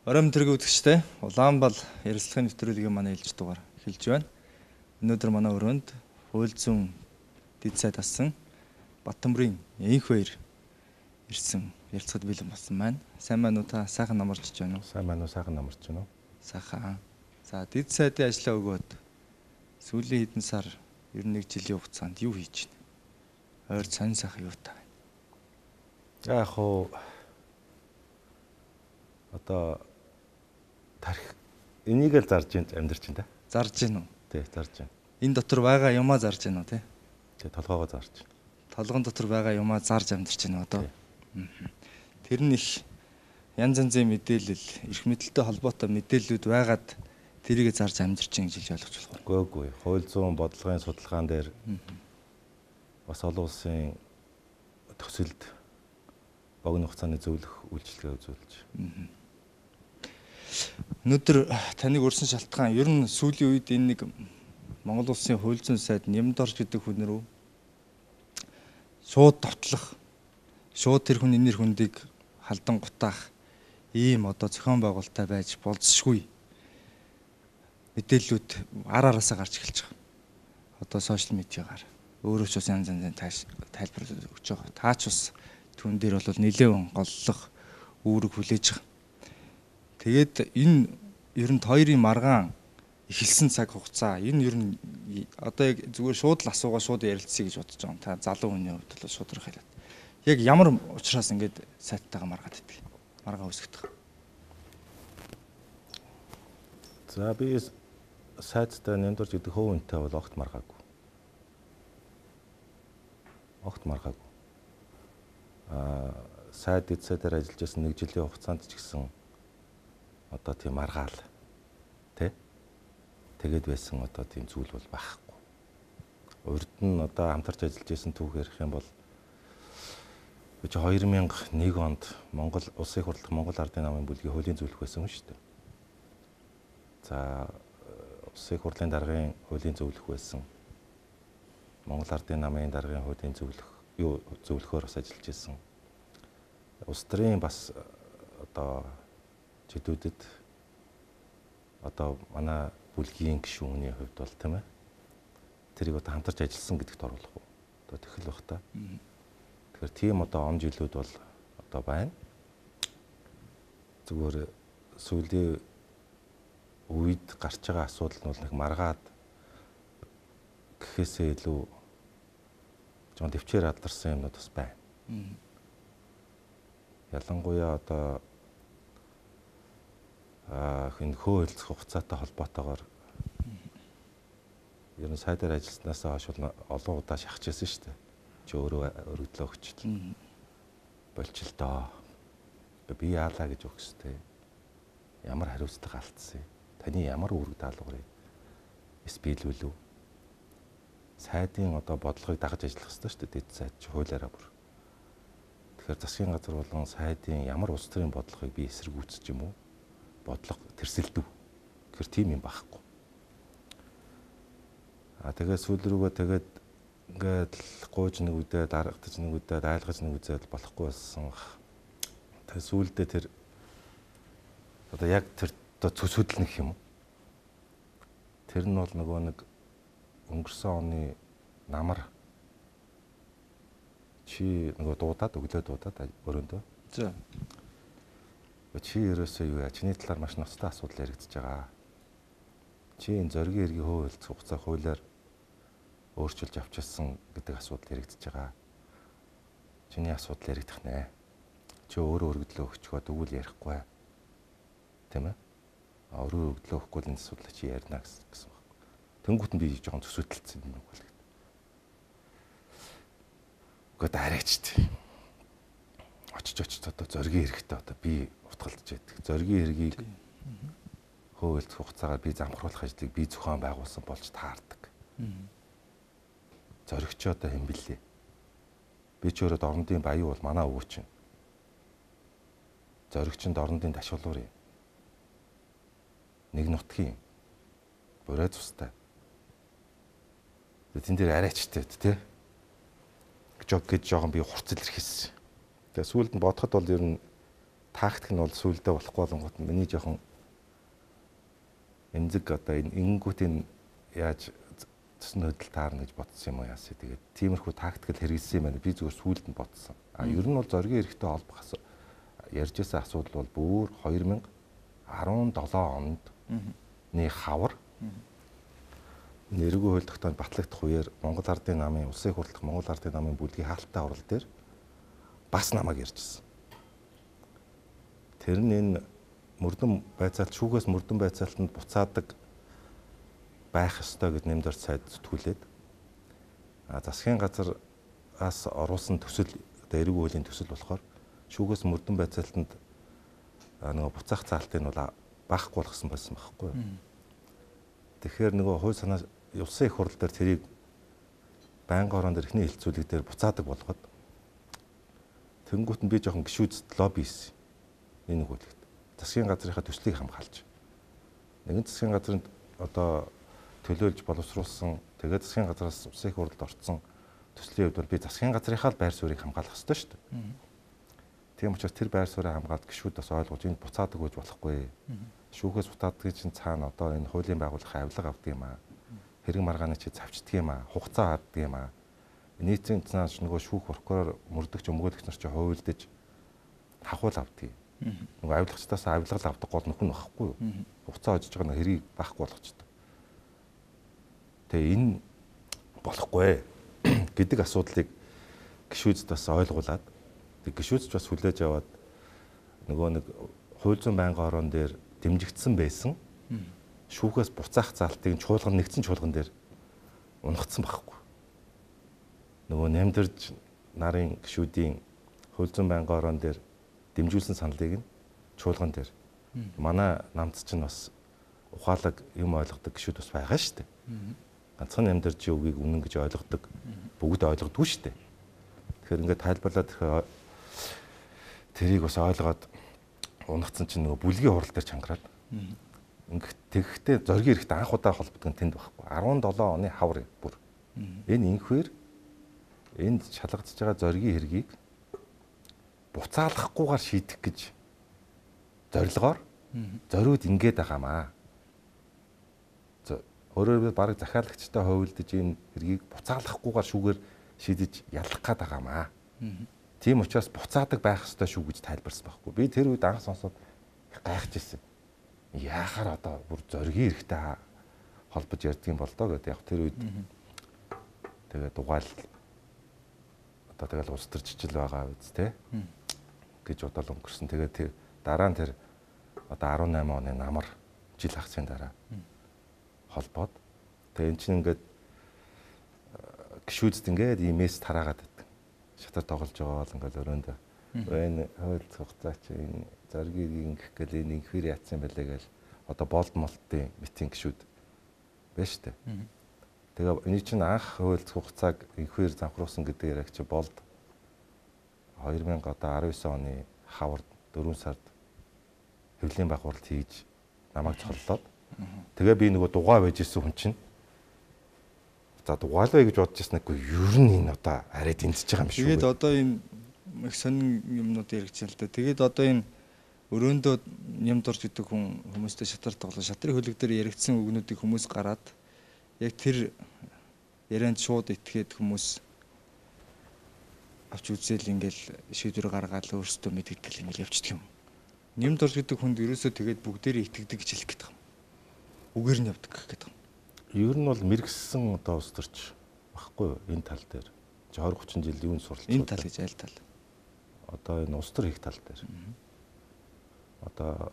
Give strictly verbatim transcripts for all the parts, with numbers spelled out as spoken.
Оройн төргийн үзэгчтэй Улаанбал ярилцлагын нэвтрүүлгийн манай ээлж дугаар эхэлж байна. Өнөөдөр манай өрөөнд хууль зүйн дэд сайд асан Баттамбарын энх баяр ирсэн ярилцлагад бэлэн болсон байна. Сайн байна уу та? Сайхан намарч байна уу? Сайн байна уу? Сайхан намарч байна уу? Сайхан. За дэд сайдын ажлаа өгөөд сүүлийн хэдэн сар ер нь нэг жилийн хугацаанд юу хийж байна? Ойр сонь сайхан юу та байна? Яг хоо одоо тарих энийг л зарж амьдарч байна та. Зарж гин үү? Тий, зарж байна. Энэ дотор байгаа юмаа зарж гин үү те? Тий, толгоогоо зарж байна. Толгон дотор байгаа юмаа зарж амьдарч байна одоо. Тэр нь их янз янзын мэдээлэл, эрх мэдэлтэй холбоотой мэдээллүүд байгаад тэрийг зарж амьдарч байна гэж ойлгож болох уу? Үгүй ээ. Хууль зүйн бодлогын судалгаан дээр бас олон улсын төсөлд богино хугацааны зөвлөх үйлчилгээ үзүүлж. Өнөөдөр таныг урьсан шалтгаан ер нь сүүлийн үед энэ нэг Монгол улсын хууль зүйн сайд Нямдорж гэдэг хүн рүү шууд товтлох, шууд тэр хүний нэр хүндийг халдан гутаах ийм одоо зохион байгуулалттай байж болзошгүй мэдээллүүд ар араасаа гарч эхэлж байгаа. Одоо сошиал медиагаар өөрөө ч бас янз янзын тайлбар өгч байгаа. Таач бас түүн дээр бол нэлээвэн голлох үүрэг хүлээж байгаа. Тэгээд энэ ер нь хоёрын маргаан эхэлсэн цаг хугацаа энэ ер нь одоо яг зүгээр шууд л асуугаа шууд ярилцъя гэж бодож байгаа. Та залуу хүний хувьд бол шууд хэлээд. Яг ямар учраас ингэж сайттайгаа маргаад идэх. Маргаа үсгэх. За би сайттай Нямдорж гэдэг хөөнтэй бол огт маргаагүй. Огт маргаагүй. Аа сайд дэд сайдаар ажиллаж байсан нэг жилийн хугацаанд ч гэсэн одоо тийм маргаал тэ тэгээд байсан одоо тийм зүйл бол байхгүй. Урд нь одоо хамтарч ажиллаж байсан түүхээр их юм бол чи хоёр мянга нэг онд Монгол улсын хурлах Монгол Ардын намын бүлгийн хуулийн зөвлөх байсан юм шүү дээ. За улсын хурлын даргын хуулийн зөвлөх байсан. Монгол Ардын намын даргын хуулийн зөвлөх юу зөвлөхөөр бас ажиллаж байсан. Улс төрийн бас одоо чөтгөдөд одоо манай бүлгийн гишүүний хувьд бол тийм ээ тэрийг одоо хамтарч ажилласан гэдэгт оруулах уу одоо тэхэл бах та. Тэгэхээр тийм одоо он жилүүд бол одоо байна. Зүгээр сүүлийн үед гарч байгаа асуудал нь бол нэг маргаад гэхээсээ илүү жоон төвчээр алдарсан юмнууд бас байна. Ялангуяа одоо а хин хөөөлцөх хугацаатай холбоотойгоор ер нь сайдаар ажилласнаас хойш олон удаа шахажсэн шүү дээ. Чи өөрөө өргөдлөө өгчл. Болчил доо. Би яалаа гэж өгстэй. Ямар хариуцлага алдсан. Таны ямар үүрэг даалгаврыг эс биелүүлв. Сайдын одоо бодлогыг дагаж ажиллах хэрэгтэй шүү дээ. Дэд сайд чи хуулиараа бүр. Тэгэхээр засгийн газар болон сайдын ямар улс төрийн бодлогыг би эсэргүүцэж юм уу? Бодлого тэрсэлдэв. Тэгэхээр тийм юм байхгүй. А тэгээд сүүл рүүгээ тэгээд ингээд гууж нэг үдээ дарагдаж нэг үдээ айлгаж нэг үзээд болохгүй болсон. Тэгээд сүүлдээ тэр одоо яг тэр одоо цөсөдөл нэг юм. Тэр нь бол нөгөө нэг өнгөрсөн оны намар чи нөгөө дуудаад өглөө дуудаад өрөөндөө. За. Чи ерөөсөө юу яа? Чиний талаар маш ноцтой асуудал яригдчихэж байгаа. Чи энэ зоригийн эргийн хууль хугацаа хуулиар өөрчилж авчихсан гэдэг асуудал яригдчихэж байгаа. Чиний асуудал яригдах нэ. Чи өөрөө өргөдлөө өгчгөө тэгвэл ярихгүй. Тийм ээ? А өөрөө өргөдлөө өгөхгүй энэ асуудлыг чи ярина гэсэн байна. Тэнгүүт нь би жоохон төсөөдөлцсөн юм уу гэдэг. Гэхдээ арайч тий. Очиж очиж одоо зоригийн хэрэгтэй одоо би утгалтж яддаг. Зоригийн хэргийг хөөөлцөх хугацаагаар би замхруулах ажлыг би зохион байгуулсан болж таардаг. Зоригч одоо хэм бэлээ. Би ч өөрөө дорнодын баян бол манай өвөө чинь. Зоригчд дорнодын ташуулуур юм. Нэг нутгийн бүрээ цустай. Тэн дээр арайчтай тий. Жог гэж жоохон би хурц илэрхийлсэн. Тэгээ сүүлд нь бодоход бол ер нь тактик нь бол сүулдэ болохгүй болонгот миний жоохон эмзэг одоо энэ ингэнгүүтийн яаж цэсн хөдөл таарна гэж бодсон юм уу яасаа. Тэгээд тиймэрхүү тактикл хэрэгэлсэн юм байна. Би зүгээр сүүлд нь бодсон. А ер нь бол зоригийн эрэхтэй холбох ярьж байсан асуудал бол бүр хоёр мянга арван долоо онд ний хавар нэргүй хууль тогтоонд батлагдах үеэр Монгол Ардын намын улсын хурлах Монгол Ардын намын бүлгийн хаалттай урал дээр бас намайг ярьжсэн. Тэр нь энэ мөрдөн байцаалт шүүгээс мөрдөн байцаалтанд буцаадаг байх ёстой гэд нэмдэр сайд зүтгүүлээд а засгийн газраас оруулсан төсөл эерэг хуулийн төсөл болохоор шүүгээс мөрдөн байцаалтанд нөгөө буцаах заалтыг нь бол баахгүй болгосон байсан байхгүй юу. Тэгэхээр нөгөө хууль санаа улсын их хурл дээр тэрийг байнгын орон дээр эхний хилцүүлэг дээр буцаадаг болгоод тэнгуут нь би жоохон гişүүдд лобби хийсэн. Энэ хуулигт засгийн газрынхаа төслийг хамгаалж нэгэн засгийн газрын одоо төлөөлж боловсруулсан тэгээд засгийн газраас улсын их хурлд орсон төслийн хувьд бол би засгийн газрынхаа байр суурийг хамгаалах ёстой шүү дээ. Тийм учраас тэр байр суурийг хамгаалт гişүүд бас ойлгож энэ буцаадаг гэж болохгүй. Шүүхээс буцаадгийн чинь цаана одоо энэ хуулийн байгууллага авилга авдаг юм аа. Хэрэг маргааны чи завчдаг юм аа. Хугацаа харддаг юм аа. Нийтийн цааш нөгөө шүүх прокурор мөрдөгч өмгөөлөгч нар чи хувилдаж хахуул авдаг. Нөгөө авилгачдаас авилгал авдаг гол нөхөн байхгүй юу? Хугацаа очиж байгаа нь хэрийг баахгүй болгочтой. Тэгээ энэ болохгүй гэдэг асуудлыг гişүүдд бас ойлгуулад тэг гişүүдч бас хүлээж аваад нөгөө нэг хууль зүйн байнгын орон дээр дэмжигдсэн байсан шүүхээс буцаах залтыг чуулган нэгдсэн чуулган дээр унгацсан байхгүй. Нөгөө нэмдэрж нарын гişүүдийн хууль зүйн байнгын орон дээр дэмжүүлсэн саналыг нь чуулган дээр манай намц чинь бас ухаалаг юм ойлгодог гişүүд бас байгаа шүү дээ. Ганцхан нэмдэрж үгийг үнэн гэж ойлгодог бүгд ойлгодгүй шүү дээ. Тэгэхээр ингээд тайлбарлаад тэрийг бас ойлгоод унагцсан чинь нөгөө бүлгийн хурал дээр чангараад ингээд тэгэхдээ зоригийн эрэхтэй анх удаа холбогдох нь тэнд байхгүй. арван долоо оны хавар бүр. Энэ инхвэр энд шалгагдж байгаа зоригийн хэргийг буцаалахгүйгээр шийдэх гэж зорилгоор зориуд ингээд байгаамаа. Өөрөөр бараг захиалагчтай хувилдаж энэ хэргийг буцаалахгүйгээр шүүгээр шийдэж ялах гээд байгаамаа. Тийм учраас буцаадаг байх ёстой шүү гэж тайлбарсан байхгүй. Би тэр үед анх сонсоод гайхаж ирсэн. Яахаар одоо бүр зоригийн эрэхтэй холбож ярьдаг юм бол доо гэдэг. Яг тэр үед тэгээд дугайл одоо тэгэл улс төр жижил байгаа үз тэ гэж бодол өнгөрсөн. Тэгээд тэр дараа нь тэр одоо арван найман оны намар жил хагцын дараа холбоод тэгээд эн чинь ингээд гişүүдд ингээд имэс тараагаад байдаг. Шатар тоглож байгаа бол ингээд өрөөндөө энэ хууль хугацаа чи энэ зоригийг ингэх гэл энэ инхвэр яатсан байлээ гэл одоо болд молтын митинг гişүүд байна штэ. Тэгээ энэ чинь анх хууль хугацааг инхвэр замхруулсан гэдэг яг чи болд хоёр мянга арван девять оны хавар дөрвөн сард хэвлэлийн байгуулалт хийж намайг цоллоод тэгээ би нөгөө дугаа байж исэн хүн чинь за дугаалвэ гэж бодож ирсэнэхгүй ер нь энэ одоо арай дэмжиж байгаа юм шүү. Тэгээд одоо энэ их сонин юмнууд яригдсан л да. Тэгээд одоо энэ өрөөндөө ням дурж гэдэг хүн хүмүүстэй шатар тоглоо шатрын хөлөг дээр яригдсан үгнүүдийг хүмүүс гараад яг тэр ярианд шууд итгээд хүмүүс авч үзэл ингээл шийдвэр гаргаад л өөрсдөө мэдгэдэг ингээл явчихдаг юм. Ням дурж гэдэг хүнд ерөөсөө тэгээд бүгдээрээ итгэдэг гэж хэлэх гээд байгаа юм. Үгээр нь явдаг гэх гээд байгаа юм. Ер нь бол мэрэгсэн одоо ус төрч багхгүй энэ тал дээр. двадцать тридцать жил юунд суралцсан. Энэ тал гэж аль тал? Одоо энэ ус төр хийх тал дээр. Одоо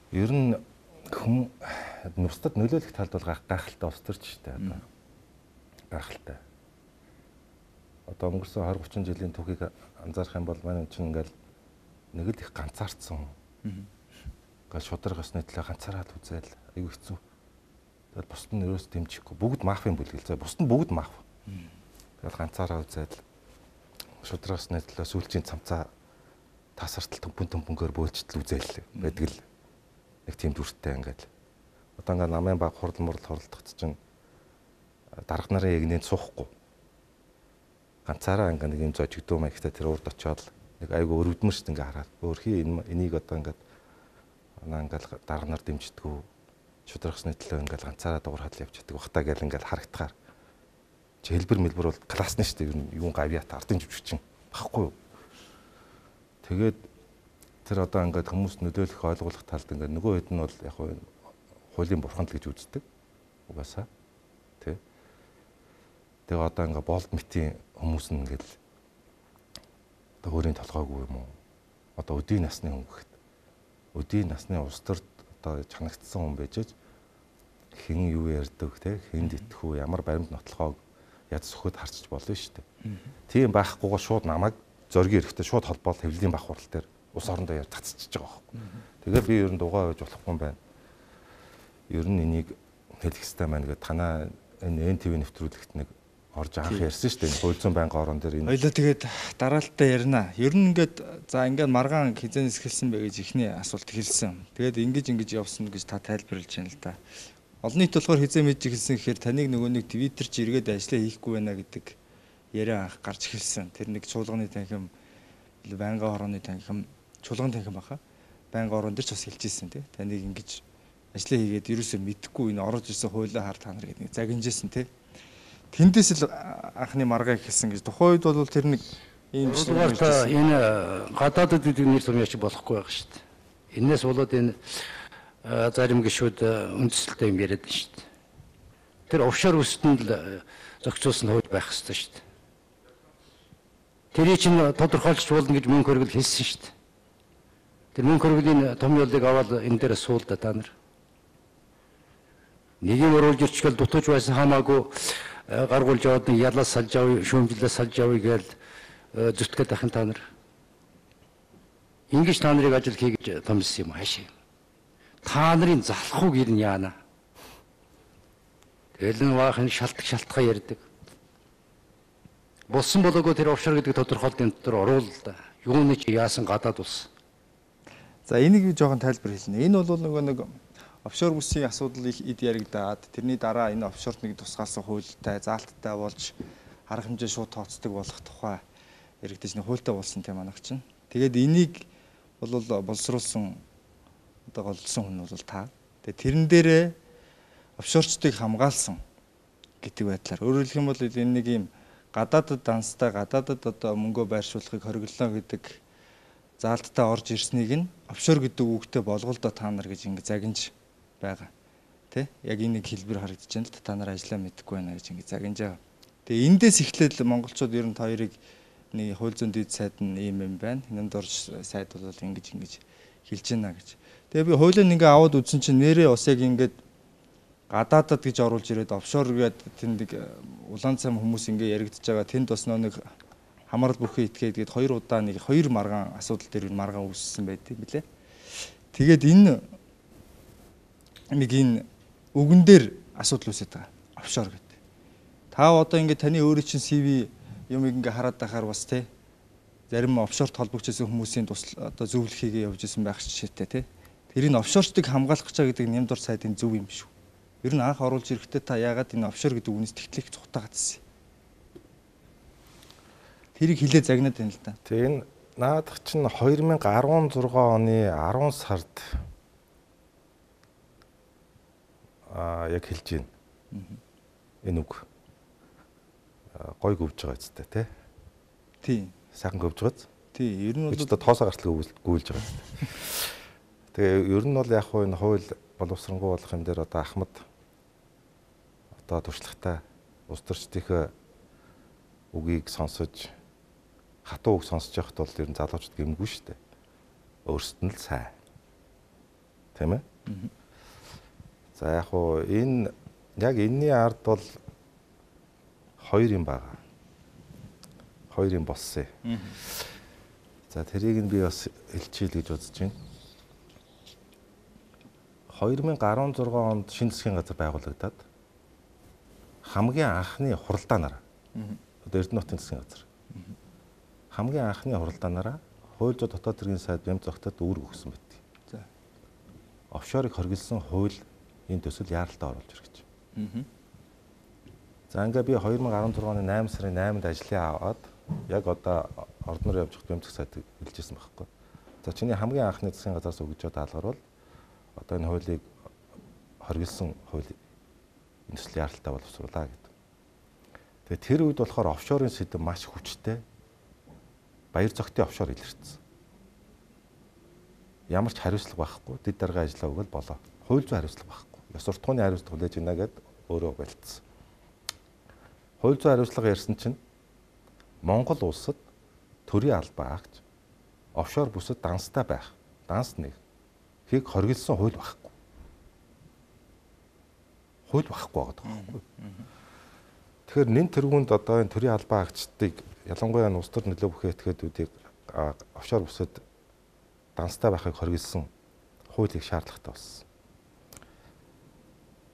ер нь хүм нустад нөлөөлөх талд бол гайхалтай ус төрч штэ одоо. Гайхалтай. Одоо өнгөрсөн двадцать тридцать жилийн түүхийг анзаарах юм бол манай чинь ингээл нэг л их ганцаардсан. Гал шударгаас нэтлээ ганцаараад үзэл айгүй хэцүү. Тэгэл бусд нь ерөөс дэмжихгүй. Бүгд мафийн бүлгэл заа. Бусд нь бүгд маф. Тэгэл ганцаараа үзэл шударгаас нэтлээ сүүлчийн цамцаа тасартал төмпөн төмпөнгөөр бөөлжтөл үзэл байдаг л нэг тийм дүртэй ингээд. Одоо ингээд намын баг хурал мурал хуралдахт чинь дарга нарын ягнэнд суухгүй. Ганцаараа ингээд нэг юм зожигдөө маягтай тэр урд очиод нэг айгу өрөвдмөр шүү дээ ингээ хараад. Өөрхий энийг одоо ингээд наа ингээл дарга нар дэмждэггүй шударгасны төлөө ингээл ганцаараа дугур хадл явчихдаг бахта гэл ингээл харагдахаар чи хэлбэр мэлбэр бол классны шүү дээ. Юу юун гавьяат ардын живччин багхгүй юу. Тэгээд тэр одоо ингээд хүмүүс нөлөөлөх ойлгуулах талд ингээд нөгөө хэд нь бол яг хуулийн бурханд л гэж үздэг. Угаасаа тий. Тэгээ одоо ингээд болд мэтийн хүмүүс нь ингээд одоо өөрийн толгойгүй юм уу? Одоо өдийн насны хүн гэхэд өдийн насны улс төрд одоо чанагдсан хүн байж хэн юу ярьдаг те хэн итгэв ямар баримт нотлохоог яд сөхөд харчиж болно шүү дээ. Тийм байхгүйгээр шууд намайг зоргийн эрэхтэй шууд холбоол хэвлэлийн бах хурал дээр ус орондоо яар цацчихж байгаа байхгүй. Тэгээ би ер нь дугаа байж болохгүй юм байна. Ер нь энийг хэлэх хэрэгтэй маань гэдэг танаа энэ эн ти ви нэвтрүүлэгт нэг орж анх ярьсан шүү дээ. Хуйлзан байнгын орон дээр энэ. Хоёлоо тэгээд дараалтаа ярина. Ер нь ингээд за ингээд маргаан хизэнээс эхэлсэн бэ гэж ихний асуулт хэлсэн. Тэгээд ингэж ингэж явсан гэж та тайлбарлаж байна л да. Олон нийт болохоор хизээ мэдж эхэлсэн гэхээр таныг нөгөө нэг Twitter чи эргээд ажиллаа хийхгүй байна гэдэг яриа анх гарч эхэлсэн. Тэр нэг чуулганы танхим байнгын орооны танхим чуулган танхим баха. Байнгын орон дээр ч бас хэлжсэн тий. Таныг ингэж ажиллаа хийгээд ерөөсөө мэдхгүй энэ орж ирсэн хуйлаа хар та нар гэдэг нэг загинжсэн тий. Тэндээс л анхны маргаа ихэлсэн гэж. Тухайн үед бол тэр нэг ийм биш нэг энэ гадаадд гэдэг нэр сумьяач болохгүй байгаа шүү дээ. Энээс болоод энэ зарим гишүүд үндэслэлтэй юм яриад байна шүү дээ. Тэр офшор үстэнд л зохицуулсан хууль байх хэрэгтэй шүү дээ. Тэрийг чинь тодорхойлж болно гэж мөнгө хөргөл хэлсэн шүү дээ. Тэр мөнгө хөргөлийн том ялыг аваад энэ дээр суулда та нар. Нэг юм оруулж ирчихвэл дутууж байсан хамаагүй гаргуулж яваад нэг ялаас салж авъя, шүүмжлээс салж авъя гээл зүтгэхэд ахын та нар. Ингэж та нарыг ажил хийгэж томилсон юм хаашаа. Та нарын залхууг ирнэ яана. Тэгэл нь ваахан шалтгаан шалтгаан ярьдаг. Болсон болоогүй тэр офшор гэдэг тодорхойлолтын дотор оруул да. Юуны чи яасан гадаад улс. За энийг би жоохон тайлбар хэлнэ. Энэ бол нөгөө нэг офшор бүсийн асуудал их эд яригдаад тэрний дараа энэ офшорт нэг тусгаалсан хуультай, заалттай болж арга хэмжээ шууд тооцдог болох тухай яригдаж нэг хуультай болсон тийм манайх чинь. Тэгээд энийг бол боловсруулсан одоо голдсон хүн бол та. Тэгээд тэрэн дээрээ офшорчдыг хамгаалсан гэдэг байдлаар. Өөрөөр хэлэх юм бол энэ нэг юм гадаадд данстай гадаадд одоо мөнгөө байршуулахыг хориглолоо гэдэг заалттай орж ирснийг нь офшор гэдэг үгтэй болгоолдоо та нар гэж ингэ загинж байгаа. Тэ? Яг энэ нэг хэлбэр харагдаж байна л та нар ажиллаа мэдхгүй байна гэж ингэ загинж байгаа. Тэгээ эндээс эхлээд монголчууд ер нь та хоёрыг нэг хууль зүйн дэд сайд нь ийм юм байна. Энэнд орж сайд бол ингэж ингэж хэлж байна гэж. Тэгээ би хуулийг ингээ аваад үзсэн чинь нэрээ ус яг ингээд гадаадад гэж оруулж ирээд офшор гэдэг тэнд улаан цам хүмүүс ингээ яригдж байгаа. Тэнд бас нэг хамаарал бүхий итгээд гээд хоёр удаа нэг хоёр маргаан асуудал дээр маргаан үүссэн байдаг билээ. Тэгээд энэ нэг энэ үгэн дээр асуудал үүсэж байгаа. Офшор гэдэг. Та одоо ингээ таны өөрийн чинь си ви юм ингээ хараад байхаар бас те зарим офшорт холбогдсон хүмүүсийн тус одоо зөвлөхийгээ явж исэн байх жишээтэй те. Тэрийг офшорчдыг хамгаалах гэж байгаа гэдэг нэмдор сайдын зөв юм шүү. Ер нь анх оруулж ирэхдээ та яагаад энэ офшор гэдэг үгнээс тэгтлэх цухтаа гацсан. Тэрийг хилээ загнаад байна л да. Тэгээ энэ наадах чинь хоёр мянга арван зургаан оны арван сард аа яг хэлж байна. Энэ үг гой гөвж байгаа үстэй тий. Тий. Сайхан гөвж байгаа. Тий. Ер нь бол одоо тоосоо гартлаа гүйлж байгаа үстэй. Тэгээ ер нь бол яг хуу энэ хууль боловсронгуй болох юм дээр одоо Ахмад одоо туршлагатай улс төрчдийнхээ үгийг сонсож хатуу үг сонсож явахд бол ер нь залуучууд гэмгүй шүү дээ. Өөрсдөд нь л сайн. Тийм ээ? За яг хуу энэ яг энэний ард бол хоёр юм байгаа. Хоёр юм болсон. За тэрийг нь би бас хэлчихье л гэж бодож байна. хоёр мянга арван зургаан онд шинэ засгийн газар байгуулагдаад хамгийн анхны хуралдаанаар одоо Эрдэнэ хотын засгийн газар хамгийн анхны хуралдаанаараа хууль зүйн дотоод хэргийн сайд бямц зогтод үүрэг өгсөн байт. За. Офшорыг хоригдсан хууль энэ төсөл яаралтай оруулж ирэх гэж. За ингээ би хоёр мянга арван зургааны найм сарын найманд ажлын аваад Яг одоо ордноор явж хад бэмцэх сайд хэлжсэн байхгүй. За чиний хамгийн анхны засгийн газраас өгж байгаа даалгавар бол одоо энэ хуулийг хоригдсан хууль энэ төслийн яралтай боловсруулаа гэдэг. Тэгээ тэр үед болохоор офшорын сэдэв маш хүчтэй. Баяр зохтын офшор илэрсэн. Ямар ч хариуцлага байхгүй. Дэд дарга ажиллаа өгөл болоо. Хууль зүйн хариуцлага байхгүй. Ёс суртахууны хариуцлага хүлээж гинэ гэд өөрөө болцсон. Хууль зүйн хариуцлага ярьсан чинь Монгол улсад төрийн албаа агч офшор бүсэд данстай байх. Данс нэг хийг хоригдсан хууль байхгүй. Хууль байхгүй байгаа байхгүй. Тэгэхээр нэн тэргуунд одоо энэ төрийн албаа агчдыг ялангуяа улс төр нөлөө бүхий этгээдүүдийг офшор бүсэд данстай байхыг хоригдсан хуулийг шаардлагатай болсон.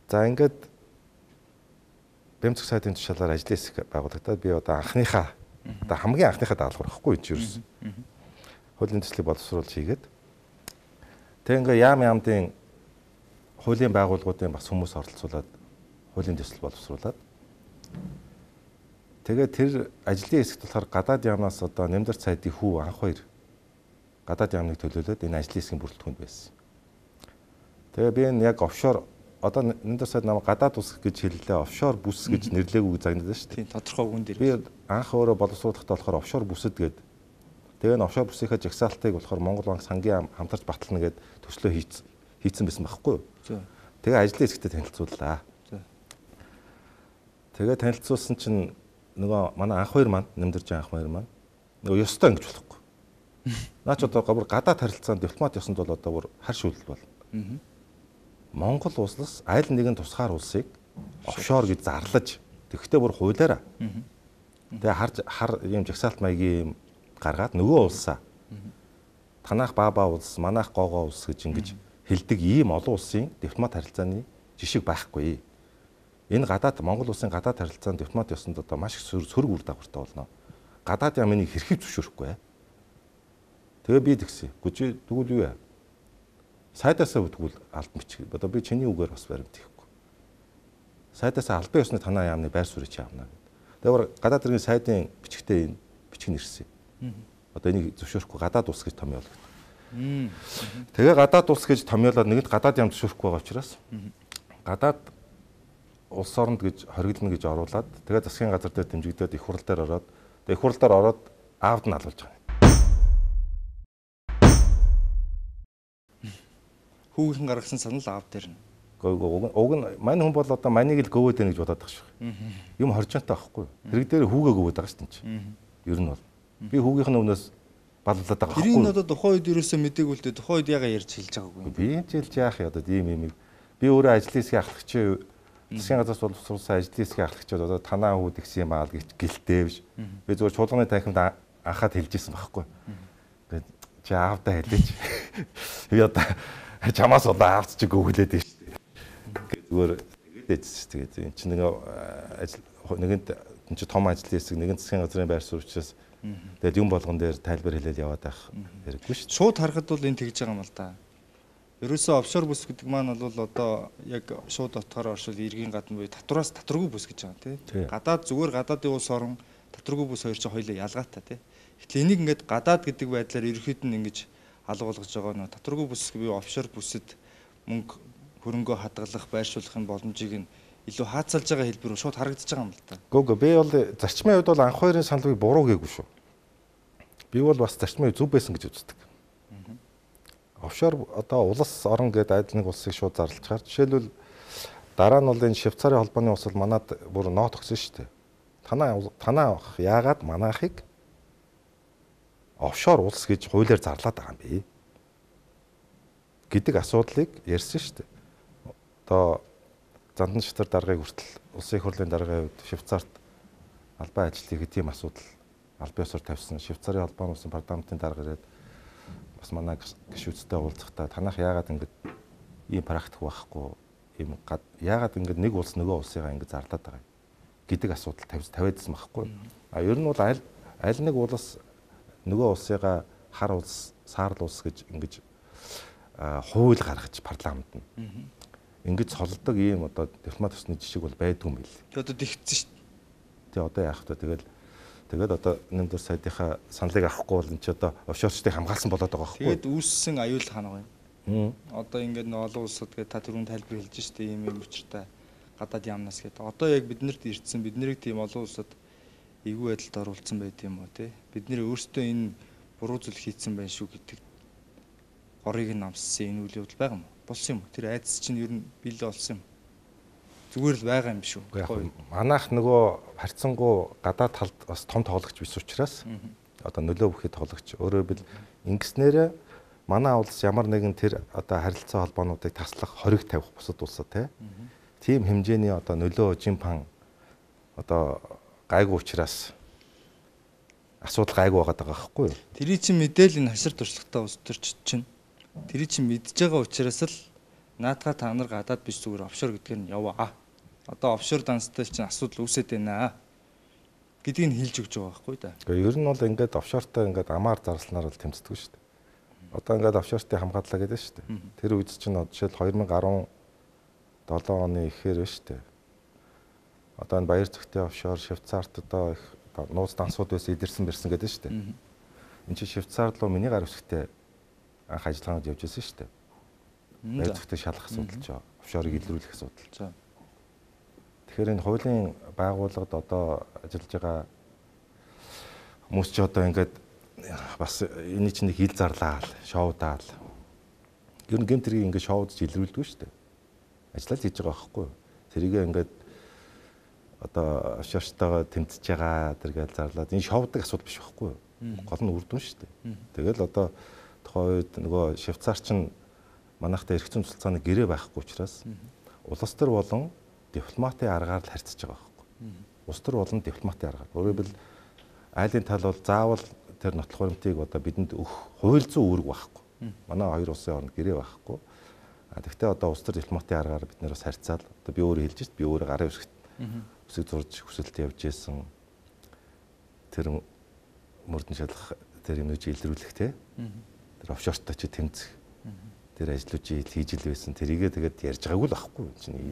За ингээд бэмцэх сайдын тушаалаар ажлын хэсэг байгуулагдаад би одоо анхныхаа одоо хамгийн анхныхаа даалгавар гэхгүй энэ юусэн. Хуулийн төслийг боловсруулж хийгээд тэг ингээ яам яамдын хуулийн байгууллагуудын бас хүмүүс оролцуулаад хуулийн төсөл боловсруулад тэгээд тэр ажлын хэсэгт болохоор гадаад яамнаас одоо нэмдэрч сайдын хүү анх хоёр гадаад яамныг төлөөлөөд энэ ажлын хэсгийн бүрэлдэхүүнд байсан. Тэгээ би энэ яг офшор одоо нэмдэрч сайд намайг гадаад ус гэж хэллээ, офшор бүс гэж нэрлээг загнаад байна шүү дээ. Тийм тодорхой үгэн дээр. Би анх өөрөө боловсруулахдаа болохоор офшор бүсэд гээд тэгээ н офшор бүсийнхээ жагсаалтыг болохоор Монгол банк сангийн хамтарч батална гээд төслөө хийцэн хийцэн байсан байхгүй юу? Тэгээ ажлын хэсэгтээ танилцууллаа. Тэгээ танилцуулсан чинь нөгөө манай анх хоёр маань нэмдэрж анх хоёр маань нөгөө ёстой ингэж болохгүй. Наач одоо гавар гадаад харилцаанд дипломат ёсонд бол одоо бүр хар шүүлэл бол. Монгол улсаас аль нэгэн тусгаар улсыг офшор гэж зарлаж тэгвэл бүр хуулиараа. Тэгээ хар хар юм жагсаалт маягийн гаргаад нөгөө улсаа танах баба улс, манайх гоогоо улс гэж ингэж хэлдэг ийм олон улсын дипломат харилцааны жишг байхгүй. Энэ гадаад Монгол улсын гадаад харилцаанд дипломат ёсонд одоо маш их сөрөг үр дагавартай болно. Гадаад ямыг хэрхий зөвшөөрөхгүй. Тэгээ би тэгсэн. Гүжи тэгвэл юу вэ? Сайдаасаа үтгүүл албан бичих. Одоо би чиний үгээр бас баримт хийхгүй. Сайдаасаа албан ёсны танаа яамны байр суурийг чи авна гэдэг. Тэгэхээр гадаад иргэн сайдын бичгтээ энэ бичиг нэрсэн. Одоо энийг зөвшөөрөхгүй гадаад улс гэж томьёолгод. Тэгээ гадаад улс гэж томьёолоод нэгэнт гадаад яам зөвшөөрөхгүй байгаа учраас гадаад улс оронд гэж хоригдно гэж оруулаад тэгээ засгийн газар дээр дэмжигдээд их хурал дээр ороод тэгээ их хурал дээр ороод аавд нь алуулж байгаа. Хүүгийнхэн гаргасан санал аав дээр нь. Уг уг нь мань хүн бол одоо маныг л гөвөөд байна гэж бодоод байгаа шүү. Юм хоржонтой байхгүй. Хэрэг дээр хүүгээ гөвөөд байгаа шүү дээ. Ер нь бол би хүүгийнх нь өмнөөс баллаад байгаа байхгүй. Тэрийг одоо тухайн үед ерөөсөө мэдээгүй л дээ. Тухайн үед яга ярьж хэлж байгаагүй. Би хэлж яах юм одоо ийм юм. Би өөрөө ажлын хэсгийн ахлагчийн засгийн газраас боловсруулсан ажлын хэсгийн ахлагчид одоо танаа хүүд гисэн юм аа гэж гэлтэй биш. Би зүгээр чуулганы танхимд анхаад хэлжсэн байхгүй. Тэгээд чи аавдаа хэлээч. Би одоо чамаас одоо аавч чиг өгүүлээд байна шүү дээ. Зүгээр тэгээд ээжс тэгээд эн чинь нэг ажил нэгэнт эн чинь том ажлын хэсэг нэгэн засгийн газрын байр суурь учраас тэгээд юм болгон дээр тайлбар хэлээд яваад байх хэрэггүй шүү дээ. Шууд харахад бол энэ тэгж байгаа юм л да. Ерөөсөө офшор бүс гэдэг маань бол одоо яг шууд отохоор оршил иргэн гадна буюу татвараас татваргүй бүс гэж байгаа тийм. Гадаад зүгээр гадаадын улс орон татваргүй бүс хоёр чинь хоёулаа ялгаатай тийм. Гэтэл энийг ингээд гадаад гэдэг байдлаар ерөөхдөө нь ингэж алга болгож байгаа нөө татваргүй бүс буюу офшор бүсэд мөнгө хөрөнгөө хадгалах, байршуулахын боломжийг нь илүү хаацалж байгаа хэлбэр шууд харагдаж байгаа юм л та. Гүг би бол зарчмын хувьд бол анх хоёрын саналыг буруу гээгүй шүү. Би бол бас зарчмын зөв байсан гэж үздэг. Офшор одоо улс орон гэдэг айдл нэг улсыг шууд зарлчаар жишээлбэл дараа нь бол энэ Швейцарын холбооны улс бол манад бүр нот өгсөн шүү дээ. Танаа танаа яагаад манайхыг офшор улс гэж хуулиар зарлаад байгаа юм бэ гэдэг асуудлыг ярьсан шүү дээ. Одоо Зандан шатар даргыг хүртэл улсын их хурлын даргын хувьд Швейцарт албан ажлыг хэдийн асуудал албан ёсоор тавьсан. Швейцарын холбооны улсын парламентын дарга ирээд бас манай гишүүдтэй уулзахдаа танах яагаад ингэж ийм практик байхгүй ийм яагаад ингэж нэг улс нөгөө улсыгаа ингэж зарлаад байгаа гэдэг асуудал тавьдсан байхгүй. А ер нь бол аль аль нэг улс нөгөө улсыгаа хар улс, саарл улс гэж ингэж хууль гаргаж парламент нь ингэж солидог ийм одоо дипломат усны жишг бол байдгүй юм бэл. Тэгээ одоо тэгсэн шүү дээ. Тэгээ одоо яах вэ? Тэгэл Тэгээд одоо нэмдэр сайдынхаа саналыг авахгүй бол энэ ч одоо офшорчдыг хамгаалсан болоод байгаа байхгүй. Тэгээд үүссэн аюул ханаа юм. Одоо ингээд нэг олон улсад гээд та түрүүн тайлбар хэлж штэ ийм юм учиртай гадаад яамнаас гээд. Одоо яг биднэрт ирсэн бид нарыг тийм олон улсад эвгүй байдалд оруулсан байт юм уу те. Бид нэр өөрсдөө энэ буруу зүйл хийцэн байх шүү гэдэг горыг нь намссан энэ үйл явдал байгаа юм уу? Болсон юм уу? Тэр айдас чинь ер нь биелээ болсон юм. Зүгээр л байгаа юм шүү. Манайх нөгөө харьцангуй гадаад талд бас том тоглогч биш учраас одоо нөлөө бүхий тоглогч өөрөөр бил ингэснээр манай улс ямар нэгэн тэр одоо харилцаа холбоонуудыг таслах хориг тавих бусад улсад тийм хэмжээний одоо нөлөө жимпан одоо гайгүй учраас асуудал гайгүй байгаа даа байхгүй юу? Тэрий чинь мэдээлэл хашир туршлагатай улс төрч чинь тэрий чинь мэдж байгаа учраас л наадхаа та нар гадаад биш зүгээр офшор гэдгээр нь яваа. Одоо офшор данстай чинь асуудал үүсээд байна гэдгийг нь хэлж өгч байгаа байхгүй да. Гэхдээ ер нь бол ингээд офшортой ингээд амаар зарсланаар бол тэмцдэг шүү дээ. Одоо ингээд офшортыг хамгааллаа гэдэг шүү дээ. Тэр үед чинь жишээл две тысячи десять оны ихээр байна шүү дээ. Одоо энэ Баяр Зүгтээ офшор, Швейцарт одоо их нууц дансууд байсан идэрсэн бэрсэн гэдэг шүү дээ. Энд чинь Швейцарт руу миний гар үсгтээ анх ажиллагаанд явж байсан шүү дээ. Баяр Зүгтээ шалах асуудал ч офшорыг илрүүлэх асуудал. Тэгэхээр энэ хуулийн байгууллагад одоо ажиллаж байгаа хүмүүс ч одоо ингээд бас энэ чинь нэг хил зарлаа, шоудаал. Ер нь гэмтрийг ингээд шоудж илрүүлдэг шүү дээ. Ажиллаж хийж байгаа байхгүй юу? Тэрийг ингээд одоо офшортойгоо тэмцэж байгаа тэргээл зарлаад энэ шоудаг асуудал биш байхгүй юу? Гол нь үр дүн шүү дээ. Тэгэл одоо тухайн үед нөгөө Швейцар чинь манайхтай эрх зүйн цуцааны гэрээ байхгүй учраас улс төр болон дипломатын аргаар л харьцаж байгаа байхгүй. Улс төр болон дипломатын аргаар. Өөрөөр хэлбэл айлын тал бол заавал тэр нотлох баримтыг одоо бидэнд өгөх хууль зүйн үүрэг байхгүй. Манай хоёр улсын хооронд гэрээ байхгүй. А тэгвэл одоо улс төр дипломатын аргаар бид нэр бас харьцаал. Одоо би өөрөө хэлж шít би өөрөө гарын үсгт үсэг зурж хүсэлт явж исэн. Тэр мөрдөн шалгах тэр юм үж илрүүлэх те. Тэр офшортой чи тэмцэх. Тэр ажлуудыг хийж ил байсан. Тэрийгээ тэгээд ярьж байгаагүй л байхгүй чинь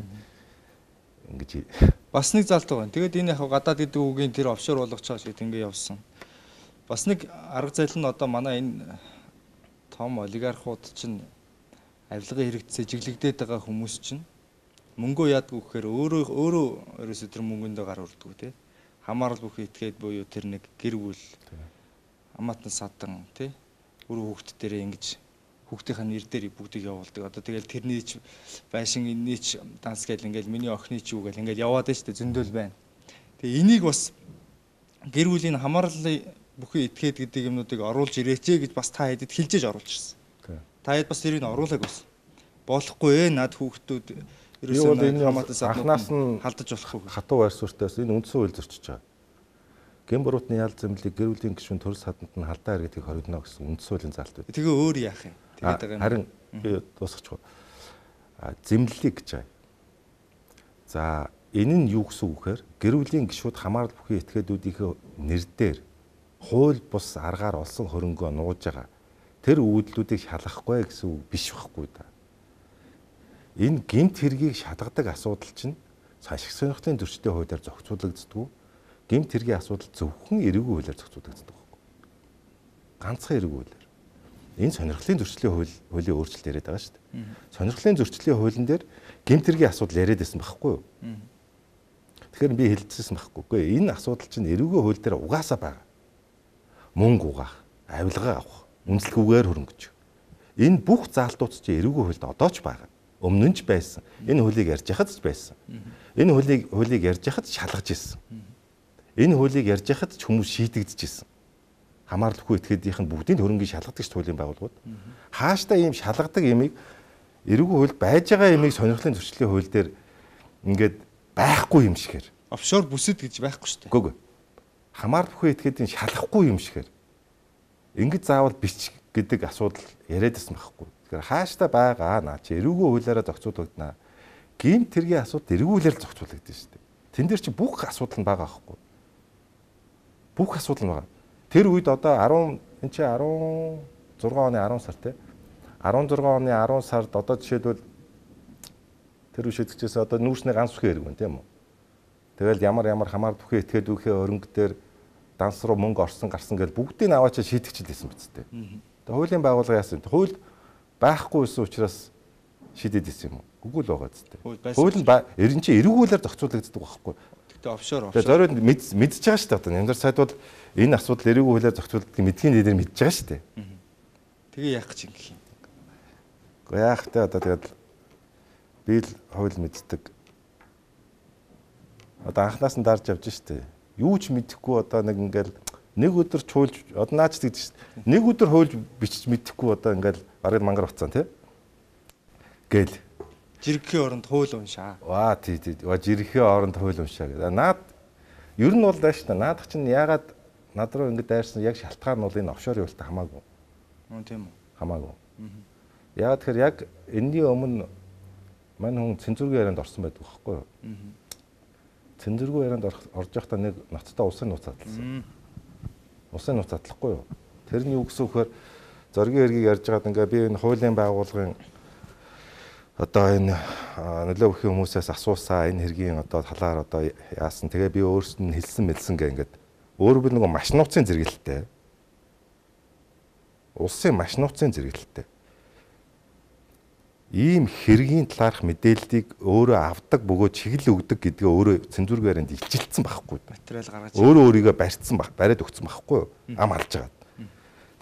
ингэж бас нэг залт байгаа. Тэгээд энэ яг гадаад гэдэг үгийн тэр офшор болгож байгаа шиг ингэ явсан. Бас нэг арга зал нь одоо манай энэ том олигархууд чинь авилгын хэрэгцээ жиглэгдээд байгаа хүмүүс чинь мөнгөө яадгүй гэхээр өөрөө өөрөө ерөөсөө тэр мөнгөндөө гар урддаг тий. Хамаарал бүхий итгээд буюу тэр нэг гэр бүл хамаатан садан тий. Өөрөө хүүхд дээрээ ингэж хүүхдийнхаа нэр дээр бүгдийг явуулдаг. Одоо тэгэл тэрний ч байшин энэний ч данс гэл ингээл миний охины ч юу гэл ингээл яваад байна шүү дээ зөндөл байна. Тэгээ энийг бас гэр бүлийн хамаарлын бүхий этгээд гэдэг юмнуудыг оруулж ирээч гэж бас та хэдэд хэлжээж оруулж ирсэн. Та хэд бас тэрийг оруулаг байсан. Болохгүй ээ над хүүхдүүд ерөөсөө хамаатан анхнаас нь халдаж болохгүй. Хатуу байр суурьтаас энэ үндсэн хууль зөрчиж байгаа. Гэм буруутны ял зэмлэлийг гэр бүлийн гишүүн төрөл саданд нь халдаа иргэдийг хоригдно гэсэн үндсэн хуулийн залт байна. Тэгээ өөр яах юм? Харин би дуусгачих. Зэмлэлийг гэж байна. За энэ нь юу гэсэн үг вэхээр гэр бүлийн гишүүд хамаарал бүхий этгээдүүдийнхээ нэр дээр хууль бус аргаар олсон хөрөнгөө нууж байгаа. Тэр үйлдэлүүдийг шалгахгүй гэсэн үг биш байхгүй да. Энэ гэмт хэргийг шалгадаг асуудал чинь ашиг сонирхлын зөрчлийн хуулиар зохицуулагддаг. Гэмт хэргийн асуудал зөвхөн эрүүгийн хуулиар зохицуулагддаг байхгүй. Ганцхан эрүүгийн хуулиар. Энэ сонирхлын зөрчлийн хууль хуулийн өөрчлөлт яриад байгаа шүү дээ. Сонирхлын зөрчлийн хуулийн дээр гэмт хэргийн асуудал яриад байсан байхгүй юу? Тэгэхээр би хэлчихсэн байхгүй. Үгүй энэ асуудал чинь эрүүгийн хууль дээр угаасаа байгаа. Мөнгө угаах, авилгаа авах, үнэлэхгүйгээр хөрөнгөж. Энэ бүх заалтууд чинь эрүүгийн хуульд одоо ч байгаа. Өмнө нь ч байсан. Энэ хуулийг ярьж яхад ч байсан. Энэ хуулийг хуулийг ярьж яхад шалгаж ирсэн. Энэ хуулийг ярьж яхад ч хүмүүс шийдэгдэж ирсэн. Хамааралгүй этгээдийнх нь бүгдийн хөрөнгийн шалгадаг хуулийн байгууллагууд. Хааштай ийм шалгадаг ямиг эрүүгийн хуульд байж байгаа ямиг сонирхлын зөрчлийн хууль дээр ингээд байхгүй юм шигээр. Офшор бүсэд гэж байхгүй шүү дээ. Үгүй ээ. Хамааралгүй этгээдийн шалгахгүй юм шигээр. Ингээд заавал бич гэдэг асуудал яриад байсан байхгүй. Тэгэхээр хааштай байгаа наа чи эрүүгийн хуулиараа зохицуулагдана. Гэмт хэргийн асуудал эрүүгийн хуулиар зохицуулагдана шүү дээ. Тэн дээр чи бүх асуудал нь байгаа байхгүй. Бүх асуудал нь байгаа. Тэр үед одоо десять энэ чи десет оны десять сар те десет оны десять сард одоо жишээлбэл тэр үшэдгчээс одоо нүүрсний ганц үхэн хэрэг байна тийм үү. Тэгэл ямар ямар хамаар бүхий этгээд үхээ өрөнгө дээр данс руу мөнгө орсон гарсан гэж бүгдийг нь аваачаа шийдэгчилсэн биз дээ. Тэгээ хуулийн байгууллага яасан. Хууль байхгүй байсан учраас шийдээд исэн юм уу? Үгүй л байгаа зү. Хууль нь ерэн чи эргүүлээр зохицуулагддаг байхгүй. Тэгтээ офшор офшор. Тэгээ зориуд мэдж байгаа шүү дээ. Одоо нямдар сайд бол энэ асуудал эргүү хуулиар зохицуулдаг мэдхийн дээр мэдж байгаа шүү дээ. Тэгээ яах гэж ингэх юм. Гэхдээ яах вэ одоо тэгээд би л хууль мэддэг. Одоо анханаас нь дарж явж шүү дээ. Юу ч мэдэхгүй одоо нэг ингээл нэг өдөр чуулж одоо наач тэгдэж шүү дээ. Нэг өдөр хуульж бичиж мэдэхгүй одоо ингээл бараг мангар уцсан тий. Гээл жиргэхийн оронд хууль уншаа. Ваа тий тий. Ва жиргэхийн оронд хууль уншаа гэдэг. Наад ер нь бол даа шүү дээ. Наадах чинь яагаад над руу ингэ дайрсан яг шалтгаан нь бол энэ офшор явуултаа хамаагүй. Мөн тийм үү. Хамаагүй. Яагаад тэгэхээр яг энэний өмнө мань хүн цензургийн ярианд орсон байдаг байхгүй юу? Цензургийн ярианд орж явахдаа нэг ноцтой улсын нууц задлсан. Улсын нууц задлахгүй юу? Тэр нь юу гэсэн үхээр зоргийн хэргийг ярьж байгаад ингээ би энэ хуулийн байгууллагын одоо энэ нөлөө өгөх хүмүүсээс асуусаа энэ хэргийн одоо талаар одоо яасан. Тэгээ би өөрсдөө нь хэлсэн мэлсэн гэ ингээд өөрөө би нэг маш нууцын зэрэгэлтэй. Улсын маш нууцын зэрэгэлтэй. Ийм хэргийн талаарх мэдээллийг өөрөө авдаг бөгөөд чиглэл өгдөг гэдгээ өөрөө цензургаараа илчилсэн байхгүй. Материал гаргаж өөрөө өөрийгөө барьцсан баг, бариад өгсөн байхгүй юу? Ам алж байгаа.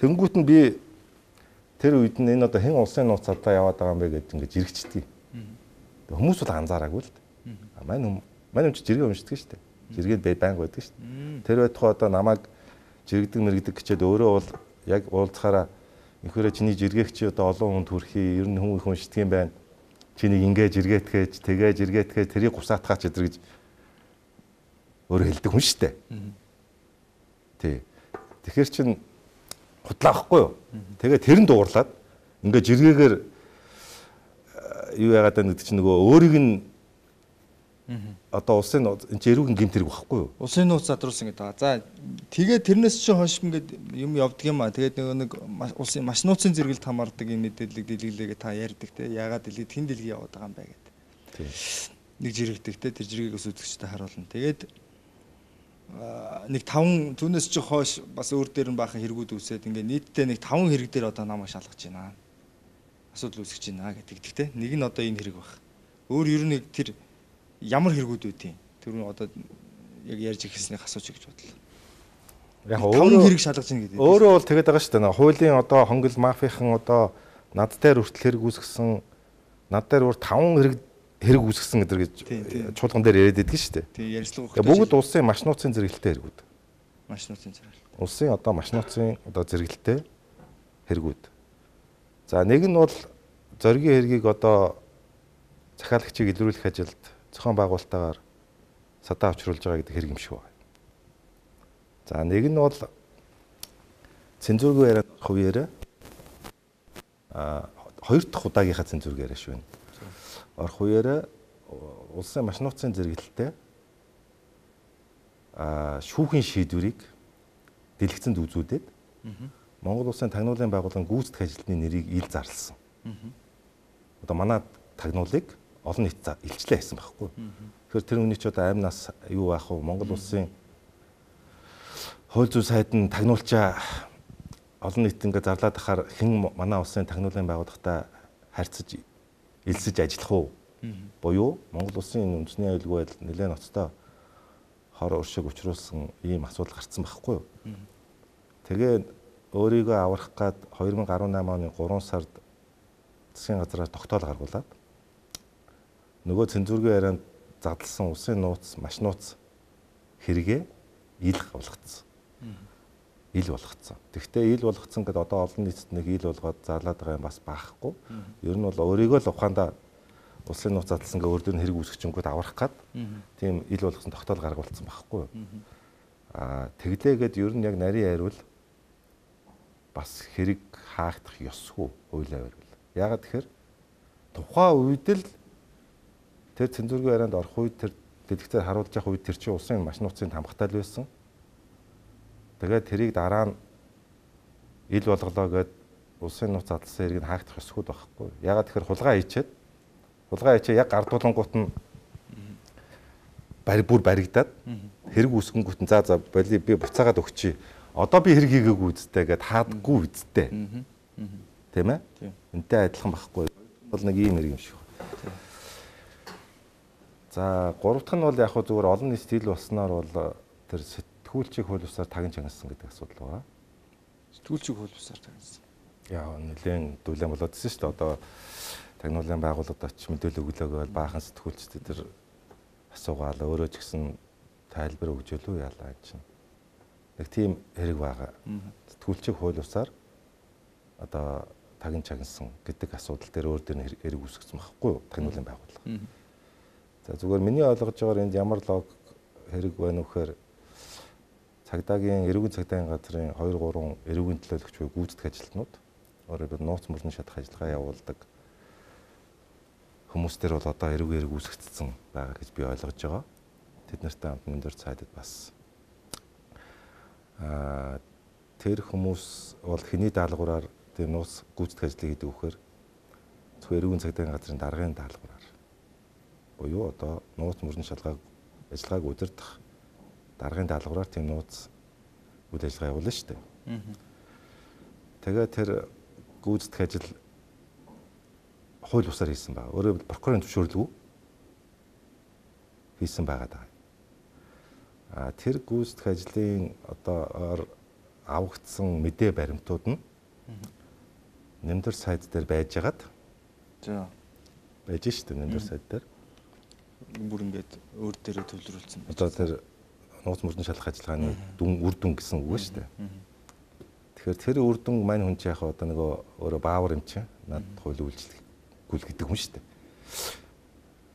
Тэнгүүт нь би тэр үед нь энэ одоо хэн улсын нууц цадаа яваад байгаа юм бэ гэж ингэж жирэгчдэг. Хүмүүс бол анзаараагүй л дээ. Мань юм, мань юм чи жиргээ уншдаг шүү дээ. Жиргээд бай байнг байдаг шүү дээ. Тэр байтугай одоо намайг жирэгдэг мэрэгдэг гэчээд өөрөө бол яг уулзахаараа инхээрээ чиний жиргээгч одоо олон хүнд хүрхий, ер нь хүн их уншдаг юм байна. Чинийг ингээ жиргээтгэж, тэгээ жиргээтгэж, тэрийг гусаатгаач өдр гэж өөрөө хэлдэг хүн шүү дээ. Тий. Тэгэхээр чин худлаа байхгүй юу? Тэгээ тэр нь дуурлаад ингээ жиргээгээр юу яагаад гэдэг чинь нөгөө өөрийг нь одоо улсын энэ ч эрүүгийн гэмт хэрэг байхгүй юу? Улсын нууц задруулсан гэдэг байгаа. За тэгээ тэрнээс чинь хойш ингээд юм явдаг юм аа. Тэгээд нөгөө нэг улсын маш нууцын зэрэгэлд хамаардаг юм мэдээллийг дэлгэлээгээ та ярьдаг те. Яагаад дэлгэд хин дэлгий яваад байгаа юм бэ гэдэг. Нэг жирэгдэг те. Тэр жиргээгээс үзэгчтэй харуулна. Тэгээд нэг таван түүнээс чинь хойш бас өөр дээр нь баахан хэрэгүүд үсээд ингээд нийтдээ нэг таван хэрэг дээр одоо намайг шалгаж байна. Асуудал үүсгэж байна гэдэг те. Нэг нь одоо энэ хэрэг баг. Өөр ер нь тэр ямар хэрэгүүд үүдийн тэр нь одоо яг ярьж ирснийг асууж гэж бодлоо. Яг өөрөө хэрэг шалгаж ийн гэдэг. Өөрөө бол тэгээд байгаа шүү дээ. Хуулийн одоо хонгил мафийн одоо над дээр хүртэл хэрэг үүсгэсэн, над дээр бүр таван хэрэг хэрэг үүсгэсэн гэдэг гэж чуулган дээр яриад байдаг шүү дээ. Тийм ярьцлага өгөх. Бүгд улсын маш нууцын зэрэгэлтэй хэрэгүүд. Маш нууцын зэрэгэлтэй. Улсын одоо маш нууцын одоо зэрэгэлтэй хэрэгүүд. За нэг нь бол зоригийн хэргийг одоо захиалагчийг илрүүлэх ажилд зохион байгуулалтаагаар садаа авчруулж байгаа гэдэг хэрэг юм шиг байна. За нэг нь бол цензургүй яриад хувьяраа а хоёр дахь удаагийнхаа цензургүй яриа шүү. Орох хувьяраа улсын маш нууцын зэрэгэлтэй а шүүхийн шийдвэрийг дэлгэцэнд үзүүлээд Монгол улсын тагнуулын байгууллагын гүйцэтгэх ажилтны нэрийг ил зарласан. Одоо манай тагнуулыг олон нийт илчлээ хийсэн байхгүй. Тэгэхээр тэр хүний ч одоо аймнаас юу байх вэ? Монгол улсын хууль зүйн сайд нь тагнуулчаа олон нийт ингээд зарлаад ахаар хэн манай улсын тагнуулын байгууллагатай харьцаж элсэж ажиллах уу? Буюу Монгол улсын үндэсний аюулгүй байдал нэлээд ноцтой хор уршиг учруулсан ийм асуудал гарцсан байхгүй юу? Тэгээ өөрийгөө аврах гад хоёр мың гаруй намын оны гурван сард засгийн газраар тогтоол гаргуулад нөгөө цензургийн ярианд задлсан улсын нууц, маш нууц хэрэгээ ил болгоцсон. Ил болгоцсон. Тэгвэл ил болгоцсон гэдээ одоо олон нийтэд нэг ил болгоод зарлаад байгаа юм бас баахгүй. Ер нь бол өөрийгөө л ухаандаа улсын нууц задлсан гэ өөр дөр нь хэрэг үүсгэжингүүд аврах гад тийм ил болгосон тогтоол гаргуулсан байхгүй. Аа тэглээгээд ер нь яг нарийн айрвал бас хэрэг хаагдах ёсгүй хуулиар байвал. Яагаад тэгэхээр тухайн үед л тэр цензургийн ярианд орох үед тэр дэлгэцээр харуулж явах үед тэр чинь улсын маш нууцын тамгатай л байсан. Тэгээд тэрийг дараа нь ил болголоо гэд улсын нууц задлсан хэргийг хаагдах ёсгүй байхгүй. Яагаад тэгэхээр хулгай хийчихэд хулгай хийчээ яг гардуулангууд нь барь бүр баригдаад хэрэг үсгэнгүүт за за боли би буцаагаад өгчий. Одоо би хэрэг хийгээгүй үсттэй гэд хаадгүй үсттэй. Тийм ээ? Энтэй адилхан байхгүй. Бол нэг ийм хэрэг юм шиг. За гурав дахь нь бол яг хөө зүгээр олон нийт стил болсноор бол тэр сэтгүүлчийг хууль бусаар тагин чангасан гэдэг асуудал байна. Сэтгүүлчийг хууль бусаар тагнасан. Яа нэлээд дүүлэн болоод ирсэн шүү дээ. Одоо тагнуулын байгууллагад очиж мэдээлэл өглөөгөө баахан сэтгүүлчдэд тэр асуугаал өөрөө ч гэсэн тайлбар өгжөөлөө яалаа чинь. Нэг тийм хэрэг байгаа. Сэтгүүлчийг хууль бусаар одоо тагин чагнасан гэдэг асуудал дээр өөр дөр хэрэг үүсгэсэн байхгүй юу? Тагнуулын байгууллага. За зүгээр миний ойлгож байгаагаар энд ямар логик хэрэг байна вэ гэхээр цагдаагийн эрүүгийн цагдаагийн газрын хоёр гурван эрүүгийн төлөөлөгч буюу гүйцэтгэх ажилтнууд өөрөөр нууц мөрний шатах ажиллагаа явуулдаг хүмүүс төр бол одоо эрүүг эрэг үүсгэсэн байгаа гэж би ойлгож байгаа. Тэд нартай хамт өндөр цаадад бас аа тэр хүмүүс бол хэний даалгавраар тэр нууц гүйцэтгэх ажлыг хийдэг вөхөр зөвхөн эрүүгийн цагдаагийн газрын даргын даалгавраар буюу одоо нууц мөрний шалгааг ажиллагааг удирдах даргын даалгавраар тийм нууц үйл ажиллагаа явуулна шүү дээ. Тэгээ тэр гүйцэтгэх ажил хууль бусаар хийсэн байна. Өөрөөр прокурорын зөвшөөрлгүй хийсэн байгаа даа. А тэр гүйцэтгэх ажлын одоо авагдсан мэдээ баримтууд нь нэмдэр сайт дээр байж хагаад за байж шүү дээ нэмдэр сайт дээр бүр ингээд өөр дээрээ төвлөрүүлсэн байна. Одоо тэр нууц мөрний шалгах ажиллагааны дүн үр дүн гэсэн үг шүү дээ. Тэгэхээр тэр үр дүн мань хүн чинь яг одоо нөгөө өөрөө баавар юм чинь над хууль үйлчлэггүй гэдэг хүн шүү дээ.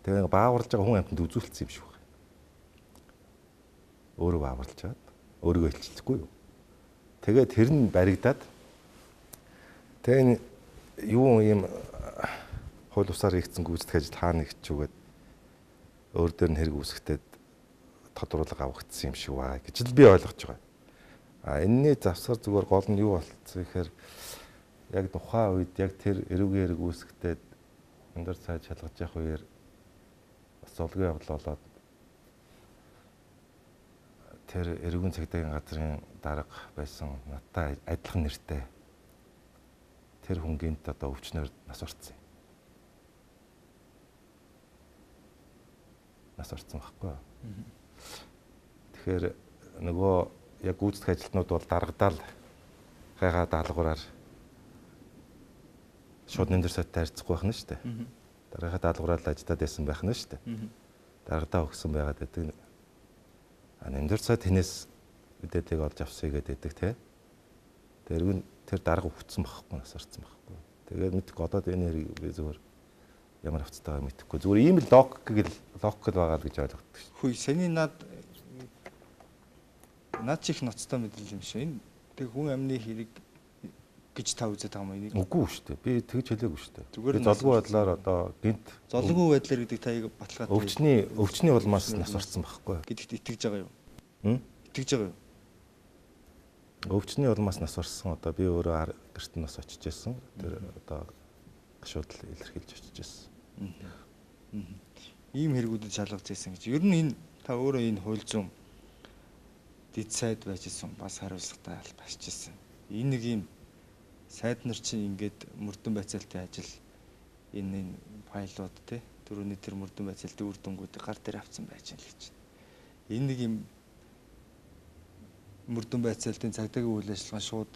Тэгээ бааварлаж байгаа хүн амьтанд үзүүлсэн юм шиг байна. Өөрөө бааварлаж чаад өөрийгөө илчлэхгүй юу. Тэгээд тэр нь баригдаад тэгээ юу юм хууль бусаар хийгдсэн гүйцэтгэх ажил хаана нэгчүүгээд өөр дөр нь хэрэг үүсгэхэд тодруулга авагдсан юм шиг байна гэж л би ойлгож байгаа. А энэний завсар зүгээр гол нь юу болцсон гэхээр яг тухайн үед яг тэр эрүүгийн хэрэг үүсгэхэд өндөр цааш шалгаж явах үеэр бас золгүй явдал болоод тэр эрүүгийн цагдаагийн газрын дарга байсан надтай адилхан нэртэй тэр хүн гинт одоо өвчнөр нас орсон юм. Нас орсон байхгүй. Тэгэхээр нөгөө яг гүйцэтгэх ажилтнууд бол даргадаал гайгаа даалгавраар шууд нэмдэр сайттай харьцахгүй байх нь шүү дээ. Даргийнхаа даалгавраар л ажиллаад байсан байх нь шүү дээ. Даргадаа өгсөн байгаад байдаг. А нэмдэр сайт хинээс мэдээллийг олж авсыг гэдэг те. Тэр тэр дарга өгсөн байхгүй нас орсон байхгүй. Тэгээд мэдээгүй одоо энэ хэрэг би зүгээр ямар хвцтайгаа мэдэхгүй. Зүгээр ийм л логик гэл логик л байгаа л гэж ойлгодог шүү. Хүй саний над над чих ноцтой мэдээлэл юм шиг. Энэ тэг хүн амны хэрэг гэж та үзээд байгаа юм. Үгүй шүү дээ. Би тэгж хэлээгүй шүү дээ. Би золгүй байдлаар одоо гинт золгүй байдлаар гэдэг та яг баталгаад өвчний өвчний улмаас нас орсон байхгүй. Гэдэгт итгэж байгаа юу? Хм? Итгэж байгаа юу? Өвчний улмаас нас орсон одоо би өөрөө гэрт нас очиж байсан. Тэр одоо гашуудл илэрхийлж очиж байсан. Ийм хэрэгүүдэд шалгаж байсан гэж. Ер нь энэ та өөрөө энэ хууль зүйн дэд сайд байж исэн бас хариуцлагатай албасч исэн. Энэ нэг юм сайд нар чинь ингээд мөрдөн байцаалтын ажил энэ энэ файлууд те дөрөвний тэр мөрдөн байцаалтын үр дүнгуудыг гар дээр авсан байж байгаа л гэж. Энэ нэг юм мөрдөн байцаалтын цагдаагийн үйл ажиллагаа шууд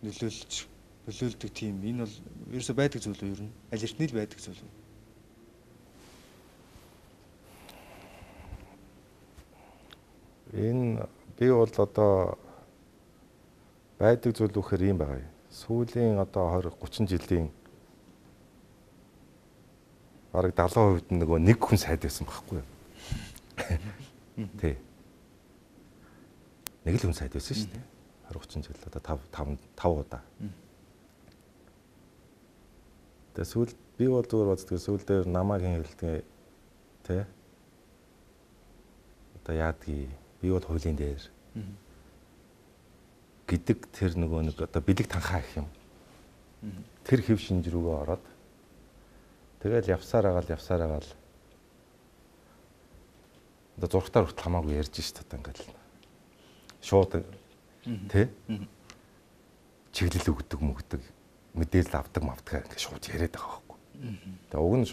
нөлөөлж нөлөөлдөг тийм энэ бол ерөөсөй байдаг зүйл үү ер нь аль эртний л байдаг зүйл үү? Энэ би бол одоо байдаг зүйл үхээр юм байгаа юм. Сүүлийн одоо двадцать тридцать жилийн бараг дагалан хувьд нөгөө нэг хүн сайд байсан байхгүй юу? Тий. Нэг л хүн сайд байсан шүү дээ. двадцать тридцать жил одоо five five удаа. Тэгээ сүүл би бол зүгээр боддог сүүл дээр намайг хэн хэлдэг тий. Одоо яадгийг би бол хуулийн дээр гэдэг тэр нөгөө нэг одоо бэлэг танхаа гэх юм. Тэр хэв шинж рүүгээ ороод тэгэл явсаар агаал явсаар агаал Одоо зургатаар хүртэл хамаагүй ярьж шít одоо ингээл шууд тий чиглэл өгдөг мөгдөг мэдээлэл авдаг мавдаг ингээд шууд яриад байгаа байхгүй. Тэгээ уг нь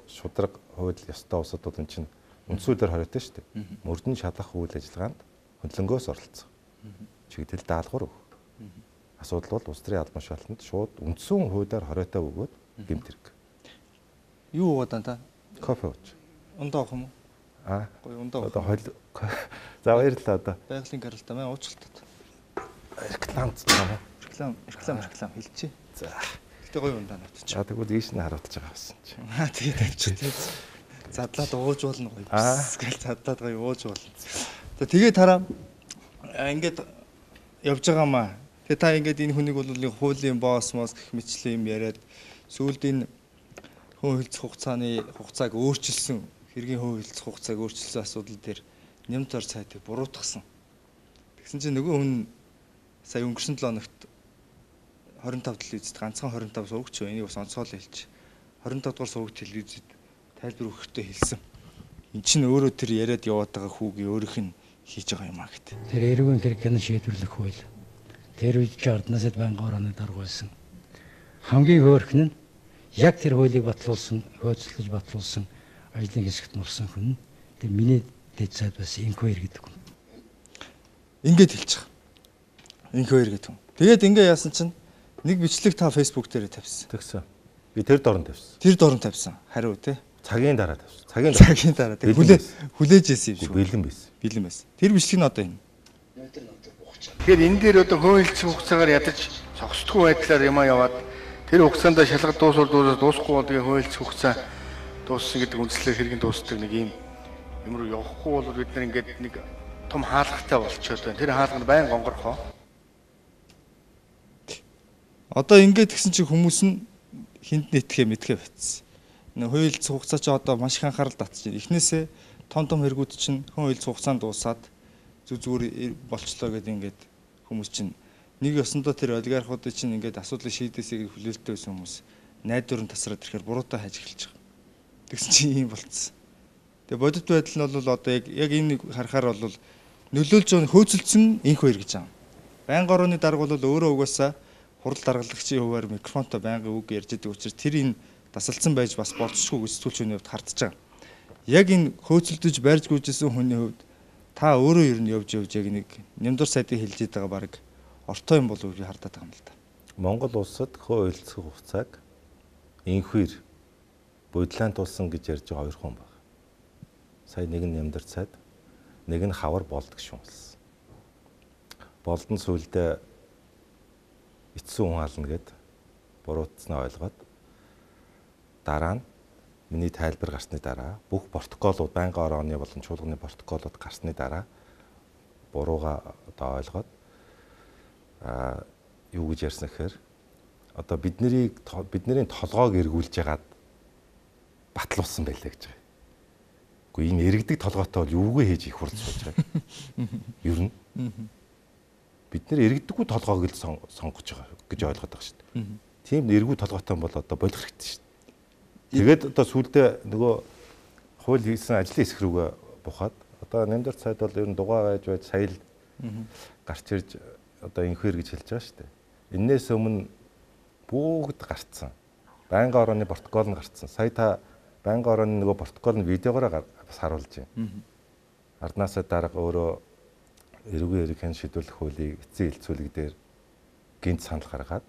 шудраг хууль ёстой улсуудад энэ чинь үндсүүлээр хориотой шүү дээ. Мөрдөн шалгах үйл ажиллагаанд хөндлөнгөөс оролцох. Чиглэл даалгавар өгөх. Асуудал бол улс төрийн албан шалтгаанд шууд үндсэн хуулиар хориотой өгөөд гэмт хэрэг. Юу уугаад та? Кофе ууж. Ундаа уух юм уу? Аа. Гоё ундаа уух. Одоо хойл. За баярлалаа одоо. Байгалийн гаралтай маань уучлалтад. Реклам цаа. Реклам, реклам, реклам хэлчихье. За. Гэтэ гоё ундаа навтчих. За тэгвэл ийш нь харуулж байгаа байсан чи. Аа тэгээд тавьчих. Задлаад ууж болно гоё. Гэл задлаад гоё ууж болно. За тэгээд тараа ингээд явж байгаа маа. Тэгээ та ингээд энэ хүнийг бол хуулийн босс мос гэх мэтлээ юм яриад сүүлд энэ хүн хөлцөх хугацааны хугацааг өөрчилсөн хэргийн хүн хөлцөх хугацааг өөрчилсөн асуудал дээр нэмт ор цайтыг буруутгасан. Тэгсэн чинь нөгөө хүн сая өнгөрсөн долоо хоногт хорин тав телевизэд ганцхан хорин тав сувагч энийг бас онцгойл хэлж хорин тав дугаар сувагч телевизэд тайлбар өгөхдөө хэлсэн. Энд чинь өөрөө тэр яриад яваад байгаа хүүгийн өөрийнх нь хийж байгаа юм а гэт. Тэр эрүүгийн хэрэгэн шийдвэрлэх хууль. Тэр үед жарднасад байнгын орооны дарга байсан. Хамгийн хөөрхөн нь яг тэр хуулийг батлуулсан, хөөцлөж батлуулсан ажлын хэсэгт нурсан хүн. Тэр миний дэд сайд бас инквайр гэдэг хүн. Ингээд хэлчих. Инквайр гэдэг хүн. Тэгээд ингээ яасан чинь нэг бичлэг та Facebook дээр тавьсан. Тэгсэн. Би тэр дорн тавьсан. Тэр дорн тавьсан. Хариу тий. Цагийн дараа тавьсан. Цагийн цагийн дараа. Тэг хүлээ хүлээж ийсэн юм шүү. Бэлэн байсан. Бэлэн байсан. Тэр бичлэг нь одоо энэ. Тэгэхээр энэ дээр одоо хөөөлцсөн хугацаагаар ядаж зогсдгүй байдлаар юмаа яваад тэр хугацаанд шалгалт дуусвал дуусаад дуусахгүй бол тэгээ хөөөлцсөн хугацаа дууссан гэдэг үндслээр хэрхэн дуусдаг нэг юм юм руу явахгүй бол бид нар ингээд нэг том хаалгатай болчиход байна. Тэр хаалганд байн гонгорхоо. Одоо ингээд гисэн чи хүмүүс нь хинт нэтгэхэ мэдхэ байтсан. Нэг хөөөлцсөн хугацаа чи одоо маш их анхаарал татчих. Эхнээсээ том том хэрэгүүд чинь хөөөлцсөн хугацаанд дуусаад зүг зүгээр болчлоо гэдэг ингээд хүмүүс чинь нэг ёсондоо тэр олигархуудын чинь ингээд асуудлыг шийдээсэй гэж хүлээлттэй байсан хүмүүс найдвар нь тасраад ирэхээр буруутай хайж эхэлж байгаа. Тэгсэн чинь ийм болцсон. Тэгээ бодит байдал нь бол одоо яг яг энэ харахаар бол нөлөөлж байгаа хөөцөлдсөн инх хоёр гэж байгаа. Байнгын орооны дарга бол өөрөө угаасаа хурал даргалагчийн хуваар микрофонтой байнгын үг ярьж байгаа учраас тэр энэ дасалцсан байж бас болцсохгүй гэж сэтгүүлчний хувьд хардж байгаа. Яг энэ хөөцөлдөж барьж гүйжсэн хүний хувьд та өөрөө ер нь явж явж яг нэг нямдар сайдыг хэлж байгаа баг ортой юм болов уу би хардаад байгаа юм л да. Монгол улсад хөөөлцөх хугацааг инхвэр бодлаан тулсан гэж ярьж байгаа хоёр хүн байна. Сая нэг нь нямдар сайд, нэг нь хавар болдог шунс. Болдон сүлдээ эцсийн хүн ална гэд буруутснаа ойлгоод дараа нь миний тайлбар гарсны дараа бүх протоколууд байнгын орооны болон чуулганы протоколууд гарсны дараа бурууга одоо ойлгоод а юу гэж ярьсан гэхээр одоо бидний бидний толгойг эргүүлж ягаад батлуулсан байлаа гэж байгаа. Гэхдээ ийм эргэдэг толгойтой бол юугүй хийж их хурц сууж байгаа. Ер нь бид нэр эргэдэггүй толгойг л сонгож байгаа гэж ойлгоод байгаа шүү дээ. Тийм эргүү толгойтой бол одоо болох хэрэгтэй шүү дээ. Тэгээд одоо сүүлдээ нөгөө хууль хийсэн ажлын хэсэг рүүгээ бухаад одоо нямдар цайд бол ер нь дугаа байж байж сая л гарч ирж одоо инхвэр гэж хэлж байгаа шүү дээ. Эннээс өмнө бүгд гарцсан. Байнгын орооны протокол нь гарцсан. Сая та байнгын орооны нөгөө протокол нь видеогоор бас харуулж байна. Арднаасаа дарга өөрөө эрүүгийн эрхийн шийдвэрлэх хуулийг эцсийн хэлцүүлэг дээр гинт санал гаргаад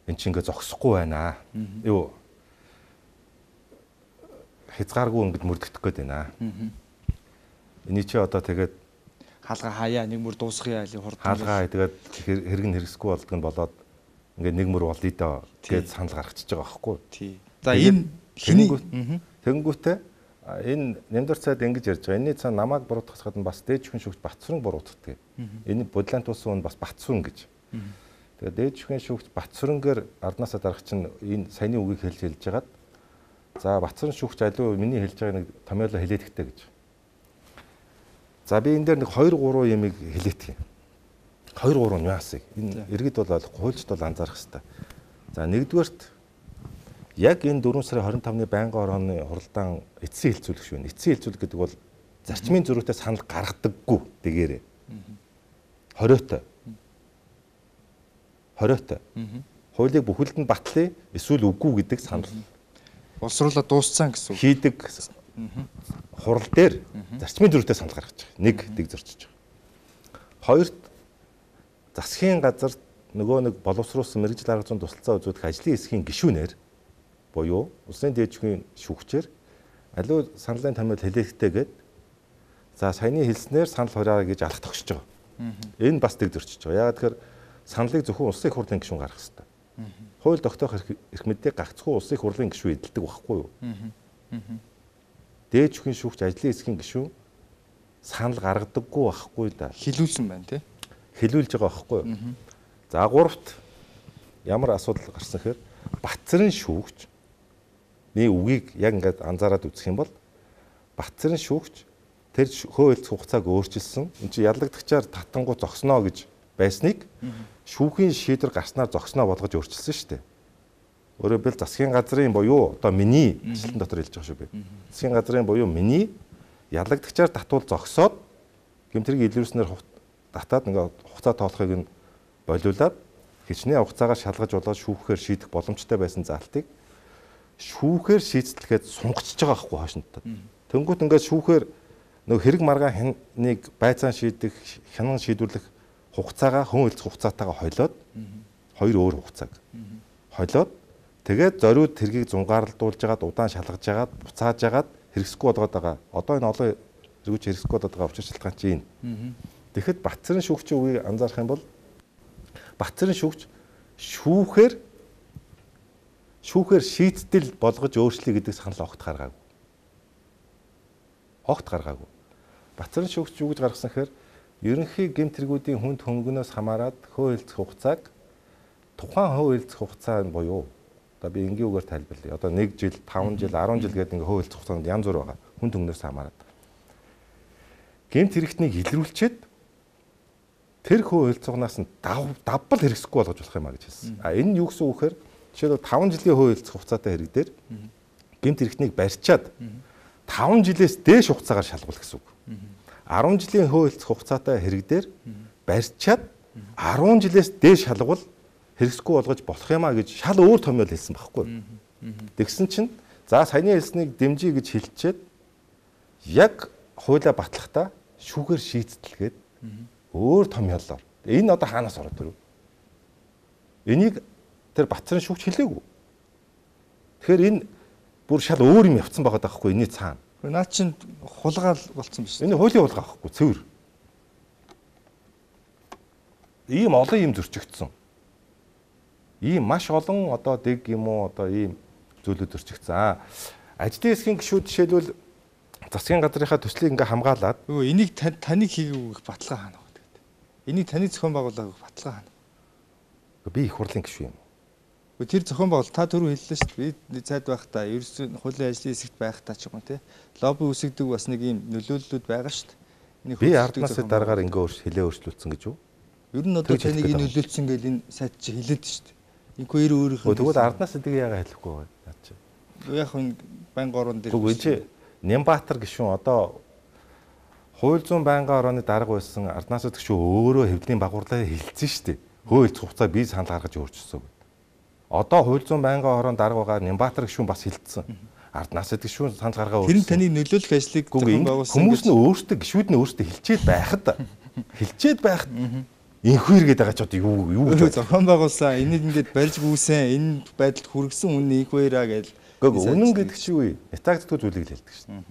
эн чинь ингээ зогсохгүй байна. Юу хязгааргүй ингэж мөрдөгдөх гээд байна. Эний чи одоо тэгээд хаалга хаяа нэг мөр дуусгая али хурд. Хаалгаа тэгээд хэрэг нь хэрэгсэхгүй болдог нь болоод ингээ нэг мөр болъё доо гэж санал гаргачихж байгаа байхгүй. Тий. За энэ хиний тэнгүүтээ энэ нямдар цайд ингэж ярьж байгаа. Энэний цаана намайг буруутгахад нь бас дээд шүүхийн шүүгч Батсүрэн буруутгдаг. Энэ бодлаан тулсан нь бас Батсүрэн гэж. Тэгээд дээд шүүхийн шүүгч Батсүрэнгээр арднаасаа дарах чинь энэ саяны үгийг хэлж хэлж хагаад за Батсүрэн шүүгч аливаа миний хэлж байгаа нэг томьёолоо хэлээд ихтэй гэж. За би энэ дээр нэг хоёр гурван ямиг хэлээдгий. хоёр гурван нюансыг. Энэ иргэд бол хуульчд бол анзаарах хэрэгтэй. За нэгдүгээрт Яг энэ дөрвөн сарын хорин тавны байнгын орооны хуралдаан эцсийн хилцүүлэг шүү. Эцсийн хилцүүлэг гэдэг бол зарчмын зөрүүтэй санал гаргадаггүй дэгээрээ. Хориотой. Хориотой. Хуулийг бүхэлд нь батлая эсвэл үгүй гэдэг санал. Боловсруулаад дууссан гэсэн үг. Хийдэг хурал дээр зарчмын зөрүүтэй санал гаргаж байгаа. Нэг дэг зорчиж байгаа. Хоёрт засгийн газар нөгөө нэг боловсруулсан мэрэгжил арга зүйн тусалцаа үзүүлэх ажлын хэсгийн гишүүнээр буюу улсын дээд шүүхийн шүүгчээр аливаа саналын томьёол хэлээхтэйгээд за саяны хэлснээр санал хурааа гэж алах тогсож байгаа. Энэ бас дэг зөрчиж байгаа. Яагаад тэгэхээр саналыг зөвхөн улсын их хурлын гишүүн гаргах хэрэгтэй. Хууль тогтоох эрх мэдээ гагцхүү улсын их хурлын гишүүн эдэлдэг байхгүй юу? Дээд шүүхийн шүүгч ажлын хэсгийн гишүүн санал гаргадаггүй байхгүй да. Хилүүлсэн байна тий. Хилүүлж байгаа байхгүй юу? За гуравт ямар асуудал гарсан гэхээр Батцэрэн шүүгч මේ үгийг яг ингээд анзаараад үзэх юм бол Батцэрэн шүүгч тэр хууль хугацааг өөрчилсөн. Энд чинь ялагдагчаар татангуу зогсноо гэж байсныг шүүхийн шийдвэр гарснаар зогсноо болгож өөрчилсөн шүү дээ. Өөрөөр хэлбэл засгийн газрын буюу одоо миний ажлын дотор хэлж байгаа шүү би. Засгийн газрын буюу миний ялагдагчаар татвал зогсоод гэмтрийг илрүүлснээр татаад ингээд хугацаа тоолохыг нь болиулаад хичнээн хугацаагаар шалгаж болоод шүүхээр шийдэх боломжтой байсан заалтыг шүүхээр шийдэлгээд сунгачж байгаа байхгүй хоошинтод. Тэнгүүт ингээд шүүхээр нөгөө хэрэг маргаан хяныг байцаан шийдэх, хянан шийдвэрлэх хугацаагаа хүн хэлцэх хугацаатайгаа хойлоод хоёр өөр хугацааг хойлоод тэгээд зориуд хэргийг зунгаарлуулж жагаад удаан шалгаж жагаад буцааж жагаад хэрэгсэхгүй болгоод байгаа. Одоо энэ олон хэрэгч хэрэгсэхгүй болоод байгаа учир шалтгаан чинь энэ. Тэгэхэд Батцэрэн шүүгчийн үгийг анзаарах юм бол Батцэрэн шүүгч шүүхээр шүүхээр шийдэл болгож өөрчлөе гэдэг санал огт гаргаагүй. Огт гаргаагүй. Батцэрэн шүүгч юу гэж гаргасан гэхээр ерөнхий гэмт хэрэгүүдийн хүнд хөнгөнөөс хамаарат хөө хэлцэх хугацааг тухайн хөө хэлцэх хугацаа нь буюу одоо би энгийн үгээр тайлбарлая. Одоо нэг жил, таван жил, арван жил гэдэг ингээ хөө хэлцэх хугацаанд янз бүр байгаа. Хүнд хөнгөнөөс хамаарат. Гэмт хэрэгтнийг илрүүлчихэд тэр хөө хэлцээгнаас нь давбал хэрэгсэхгүй болгож болох юм а гэж хэлсэн. А энэ нь юу гэсэн үг вэ гэхээр жишээлбэл таван жилийн хөө хэлцэх хугацаатай хэрэг дээр гэмт хэрэгтнийг барьчаад таван жилээс дээш хугацаагаар шалгуул гэсэн үг. арван жилийн хөө хэлцэх хугацаатай хэрэг дээр барьчаад арван жилээс дээш шалгуул хэрэгсэхгүй болгож болох юм а гэж шал өөр томьёол хэлсэн байхгүй. Тэгсэн чинь за саяны хэлснийг дэмжиж гэж хэлчихэд яг хуулиа батлахдаа шүүгээр шийдтэлгээд өөр томьёолоор. Энэ одоо хаанаас ороод ирв? Энийг тэр Батцэрэн шүүгч хэлээгүй. Тэгэхээр энэ бүр шал өөр юм явцсан байгаа даахгүй энэний цаана. Наа чинь хулгаал болцсон биш. Энэ хуулийн хулгай байхгүй цэвэр. Ийм олон юм зөрчигдсөн. Ийм маш олон одоо дэг юм уу одоо ийм зүйлүүд зөрчигдсөн. Ажлын хэсгийн гишүүд жишээлбэл засгийн газрынхаа төслийг ингээ хамгаалаад өө энийг таныг хийгээг баталгаа хаана вэ гэдэг. Энийг таны зохион байгуулаагүй баталгаа хаана. Би их хурлын гишүүн юм. Тэр зохион байгуул та түрүү хэллээ шүү дээ. Би цайд байхдаа ерөөсөө хуулийн ажлын хэсэгт байхдаа ч юм уу тий. Лобби үсгдэг бас нэг юм нөлөөллүүд байгаа шүү дээ. Би арднаас дараагаар ингээ хэлээ өөрчлөлтсөн гэж юу? Ер нь одоо таныг энэ нөлөөлсөн гэж энэ сайд чи хэлээд шүү дээ. Энэ хоёр өөрийнхөө тэгвэл арднаас эдийг яагаад хэлэхгүй байгаа наа чи. Яг энэ байнгын орон дээр үгүй чи Нямбатар гишүүн одоо хууль зүйн байнгын орооны дарга байсан арднаас гишүүн өөрөө хэвлэлийн багварлаа хэлсэн шүү дээ. Хууль хугацаа би санал гаргаж өөрчилсөн. Одоо хууль зүйн байнгын орон дарга байгаа Нямбатар гишүүн бас хэлсэн. Арднаас гишүүн санал гаргаа өөрчилсөн. Тэр нь таны нөлөөлөх ажлыг зохион байгуулсан. Хүмүүс нь өөрсдөө гишүүд нь өөрсдөө хэлчихэд байхад хэлчихэд байхад инхүү иргэд байгаа ч одоо юу юу гэж зохион байгуулсан. Энийг ингээд барьж гүйсэн энэ байдалд хүргэсэн үнэ инхүү ираа гэж. Гэхдээ үнэн гэдэг чи юу вэ? Нэтагддгүй зүйлийг л хэлдэг шин.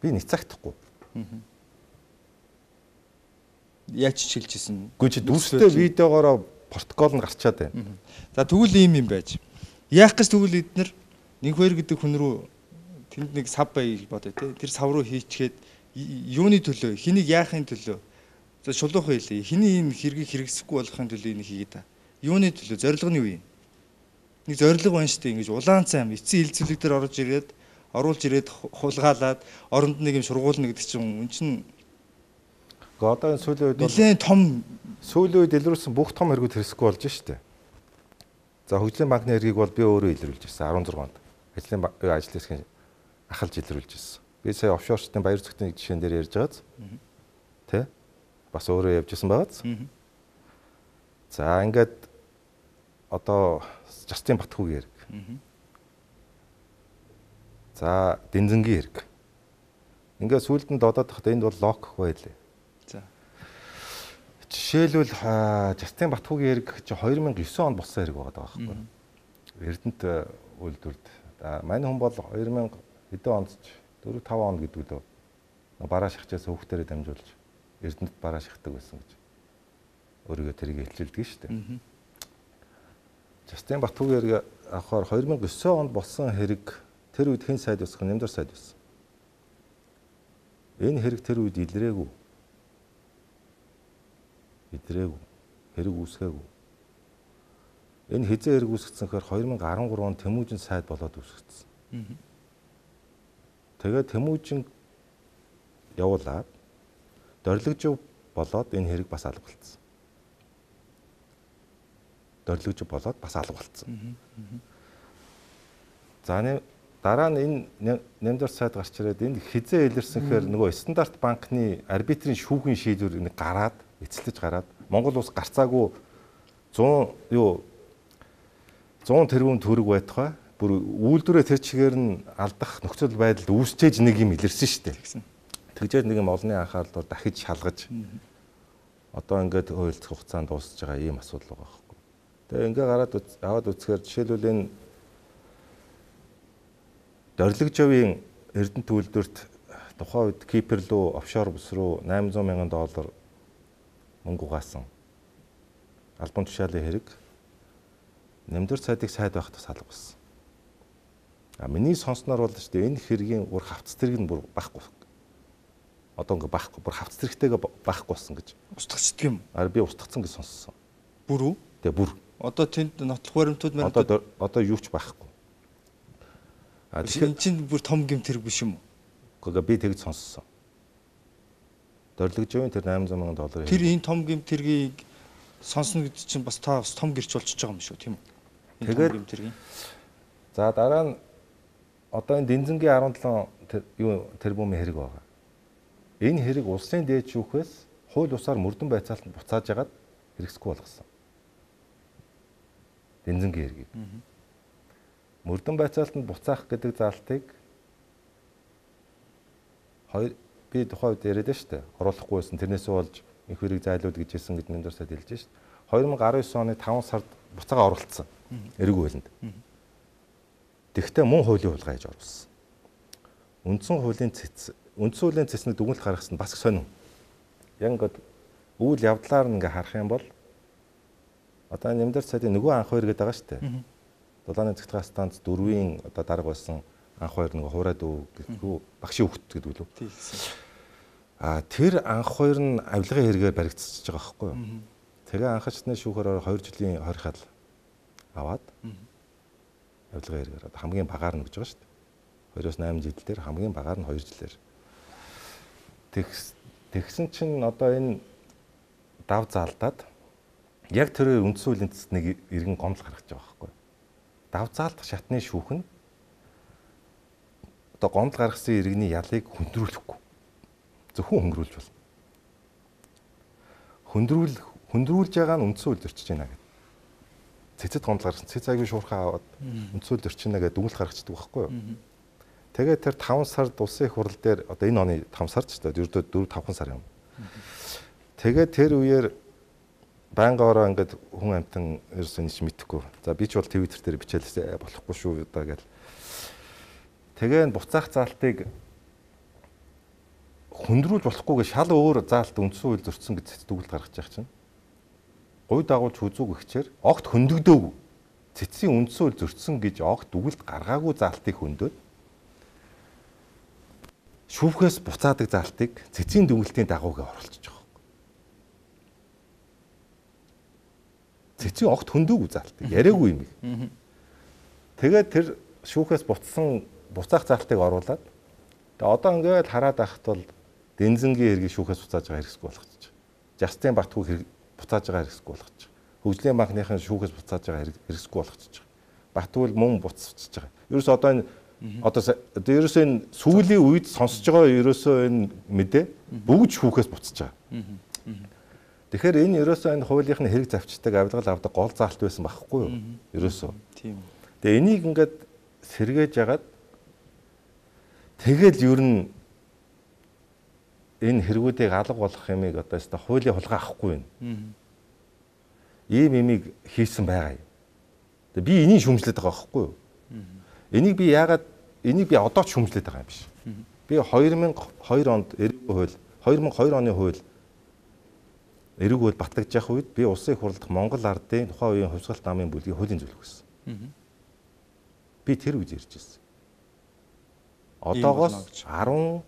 Би нэтагдахгүй. Яаж ч хэлжсэн. Гэхдээ чи дүрстэй видеогоороо протокол нь гарчаад байна. За тэгвэл ийм юм байж. Яах гэж тэгвэл эднэр нэг хоёр гэдэг хүн рүү тэнд нэг сав бай бодё те. Тэр сав руу хийчгээд юуны төлөө, хэнийг яахын төлөө. За шулуухан хэлээ. Хэний энэ хэргийг хэрэгсэхгүй болохын төлөө энийг хийгээд та. Юуны төлөө, зорилго нь юу юм? Нэг зорилго байна шүү дээ. Ингэж улаан цайм эцсийн хил цэлэг дээр орж ирээд, оруулж ирээд хулгаалаад оронд нэг юм шургуулна гэдэг чинь үн чинь Гэхдээ одоо энэ сүүлийн үед нэлээд том сүүлийн үед илрүүлсэн бүх том хэрэгүүд хэрэгсэхгүй болж штэ. За хөгжлийн банкны хэргийг бол би өөрөө илрүүлж ирсэн арван зургаанд. Ажлын ажил хэсгийн ахалж илрүүлж ирсэн. Би сая офшорчдын баяр зүгтний жишээн дээр ярьж байгааз. Тэ? Бас өөрөө явж исэн байгааз. За ингээд одоо Жастин Батхуугийн хэрэг. За Дэнзэнгийн хэрэг. Ингээд сүүлд нь додоод тахад энд бол лок гэх байлээ. За. Жишээлбэл Жастин Батхуугийн хэрэг чи хоёр мянга и девять онд болсон хэрэг байгаа байхгүй. Эрдэнэт үйлдвэрд. Мань хүн бол хоёр мянга хэдэн онд ч дөрөв таван онд гэдэг лөө. Бараа шахчаас хүүхдэрээ дамжуулж Эрдэнэт бараа шахдаг байсан гэж. Өөрийгөө тэрийг хэлцэлдэг шүү дээ. Жастин Батхуугийн хэрэг авахаар хоёр мянга и девять онд болсон хэрэг тэр үед хэн сайд байсан? Нэмдэр сайд байсан. Энэ хэрэг тэр үед илрээгүй. Илрээгүй. Хэрэг үүсгээгүй. Энэ хизээ хэрэг үүсгэсэн гэхээр хоёр мянга и арван онд Тэмүүжин сайд болоод үүсгэсэн. Тэгээд Тэмүүжин явуулаад Дорлогжив болоод энэ хэрэг бас алга болсон. Дорлогжив болоод бас алга болсон. За нэг дараа нь энэ Нэмдэр сайд гарч ирээд энд хизээ илэрсэн гэхээр нөгөө стандарт банкны арбитрийн шүүхийн шийдвэр нэг гараад эцэлж гараад Монгол улс гарцаагүй сто юу сто тэрбум төгрөг байтугай бүр үйлдвэрээ тэр чигээр нь алдах нөхцөл байдалд үүсчээж нэг юм илэрсэн шүү дээ. Тэгжээд нэг юм олонний анхаарлаар дахиж шалгаж одоо ингээд хуульцах хугацаанд дуусж байгаа ийм асуудал байгаа байхгүй. Тэгээ ингээ гараад аваад үзэхээр жишээлбэл энэ Дорлогжовын Эрдэнэт үйлдвэрт тухайн үед Кипр руу офшор бүс рүү восемьсот мянган доллар мөнгө угаасан албан тушаалын хэрэг Нэмдэр сайдыг сайд байхад бас алга болсон. А миний сонсноор бол шүү дээ энэ хэргийн бүр хавц зэрэг нь бүр байхгүй. Одоо ингээ байхгүй бүр хавц зэрэгтэйгээ байхгүй болсон гэж. Устгацдаг юм. А би устгацсан гэж сонссон. Бүр үү? Тэгээ бүр. Одоо тэнд нотлох баримтууд мань одоо одоо юу ч байхгүй. А тэгэхээр энэ чинь бүр том гэмт хэрэг биш юм уу? Гэхдээ би тэгж сонссон. Дорлогжовын тэр восемьсот мянган доллар. Тэр энэ том гэмт хэргийг сонсно гэдэг чинь бас та бас том гэрч болчихж байгаа юм шүү, тийм үү? Тэгээд гэмт хэргийн. За дараа нь одоо энэ Дэнзэнгийн арван долоо юу тэрбумын хэрэг байгаа. Энэ хэрэг улсын дээд шүүхээс хууль бусаар мөрдөн байцаалтанд буцааж ягаад хэрэгсэхгүй болгосон. Дэнзэнгийн хэргийг. Мөрдөн байцаалтанд буцаах гэдэг заалтыг хоёр би тухайн үед яриад шүү дээ. Оруулахгүй байсан. Тэрнээсээ болж их хэрэг зайлуул гэж хэлсэн гэдэг нэмдэр сайд хэлж шүү дээ. хоёр мянга и девять оны таван сард буцаага оруулсан. Эргүү хуулинд. Тэгвэл мөн хуулийн хулгай хийж оруулсан. Үндсэн хуулийн цэц үндсэн хуулийн цэцнийг дүгнэлт гаргасан бас сонин. Яг ингээд үйл явдлаар нь ингээ харах юм бол одоо нэмдэр сайдын нөгөө анх хоёр гэдэг байгаа шүү дээ. Дулааны цэгцгээ станц дөрвийн одоо дарга байсан анх хоёр нэг хуурайд үү гэдэггүй багшийн хөвгт гэдэг үү. А тэр анх хоёр нь авилгын хэрэгээр баригдчихж байгаа байхгүй юу. Тэгээ анхачны шүүхээр хоёр жилийн хорихал аваад авилгын хэрэгээр хамгийн багаар нь гэж байгаа шүү дээ. хоёроос восемь жил дээр хамгийн багаар нь хоёр жилээр. Тэгсэн чинь одоо энэ дав заалдаад яг тэр үндсэн хуулийн цэцэд нэг иргэн гомдол гаргаж байгаа байхгүй юу. Дав заалдах шатны шүүх нь одоо гомдол гаргасан иргэний ялыг хөндрүүлэхгүй. Зөвхөн хөнгөрүүлж болно. Хөндрүүл хөндрүүлж байгаа нь үндсэн хууль зөрчиж байна гэдэг. Цэцэд гомдол гаргасан цэц аягүй шуурхаа аваад үндсэн хууль зөрчинэ гэдэг дүгнэлт гаргацдаг байхгүй юу. Тэгээд тэр таван сард улсын их хурал дээр одоо энэ оны таван сард ч гэдэг ердөө дөрөв тавхан сар юм. Тэгээд тэр үеэр байнгаараа ингээд хүн амтан ерөөсөө нэг ч мэдэхгүй. За би ч бол Twitter дээр бичээлээ болохгүй шүү да гэл. Тэгээ буцаах заалтыг хөндрүүлж болохгүйгээ шал өөр заалт үндсэн хууль зөрчсөн гэж дүгнэлт гаргаж байгаа чинь. Гуй дагуулж хүзүүг ихчээр огт хөндөгдөөгүй. Цэцгийн үндсэн хууль зөрчсөн гэж огт дүгнэлт гаргаагүй заалтыг хөндөд шүүхээс буцаадаг заалтыг цэцгийн дүгнэлтийн дагуугээ оруулчих жоох. Цэцгийн огт хөндөөгүй заалтыг яриаггүй юм. Тэгээд тэр шүүхээс буцсан буцаах заалтыг оруулад тэгээ одоо ингээд хараад байхад бол Дэнзэнгийн хэргийг шүүхээс буцааж байгаа хэрэгсгүй болгочих. Жастин Батхууг хэрэг буцааж байгаа хэрэгсгүй болгочих. хөгжлийн банкныхын шүүхээс буцааж байгаа хэрэгсгүй болгочихж байгаа. Баатгүй мөн буцчихж байгаа. Ерөөсөө одоо энэ одоо ерөөсөө энэ сүүлийн үед сонсож байгаа ерөөсөө энэ мэдээ бүгд шүүхээс буцаж байгаа. Тэгэхээр энэ ерөөсөө энэ хуулийнхны хэрэг завчдаг авилгал авдаг гол заалт байсан байхгүй юу? Ерөөсөө. Тийм. Тэгээ энийг ингээд сэргээж ягаад тэгэл ер нь энэ хэрэгүүдийг алга болох юмыг одоо өстой хуулийн хулгай авахгүй байна. Ийм юмыг хийсэн байгаа юм. Тэгээ би энийг шүүмжлээд байгаа байхгүй юу? Энийг би яагаад энийг би одоо ч шүүмжлээд байгаа юм биш. Би хоёр мянга хоёр онд эрүүг хууль хоёр мянга хоёр оны хууль эрүүг хууль батлагдж явах үед би улсын их хурлд Монгол ардын тухайн үеийн хувьсгалт намын бүлгийн хуулийн зөвлөх гэсэн. Би тэр үеж ярьж ирсэн. Одоогоос арван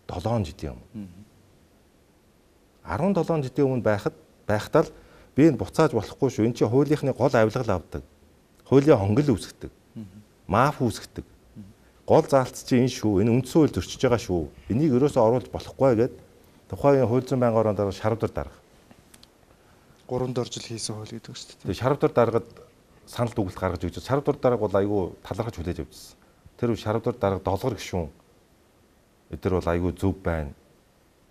долоон жилийн өмнө. арван долоон жилийн өмнө байхад байхдаа л би энэ буцааж болохгүй шүү. Энд чинь хуулийнхны гол авилгал авдаг. Хуулийн хонгил үүсгдэг. Маф үүсгдэг. Гол заалт чинь энэ шүү. Энэ үндсэн хууль зөрчиж байгаа шүү. Энийг өрөөсөө оруулж болохгүй гэд тухайн хууль зүйн байнгын орон дараа шарвдар дарга. гурван дор жил хийсэн хууль гэдэг шүү дээ. Тэгээ шарвдар даргад санал дүгнэлт гаргаж өгч. Шарвдар дарга бол айгүй талархаж хүлээж авчихсан. Тэр шарвдар дарга долгор гişүүн. Эдгээр бол айгүй зөв байна.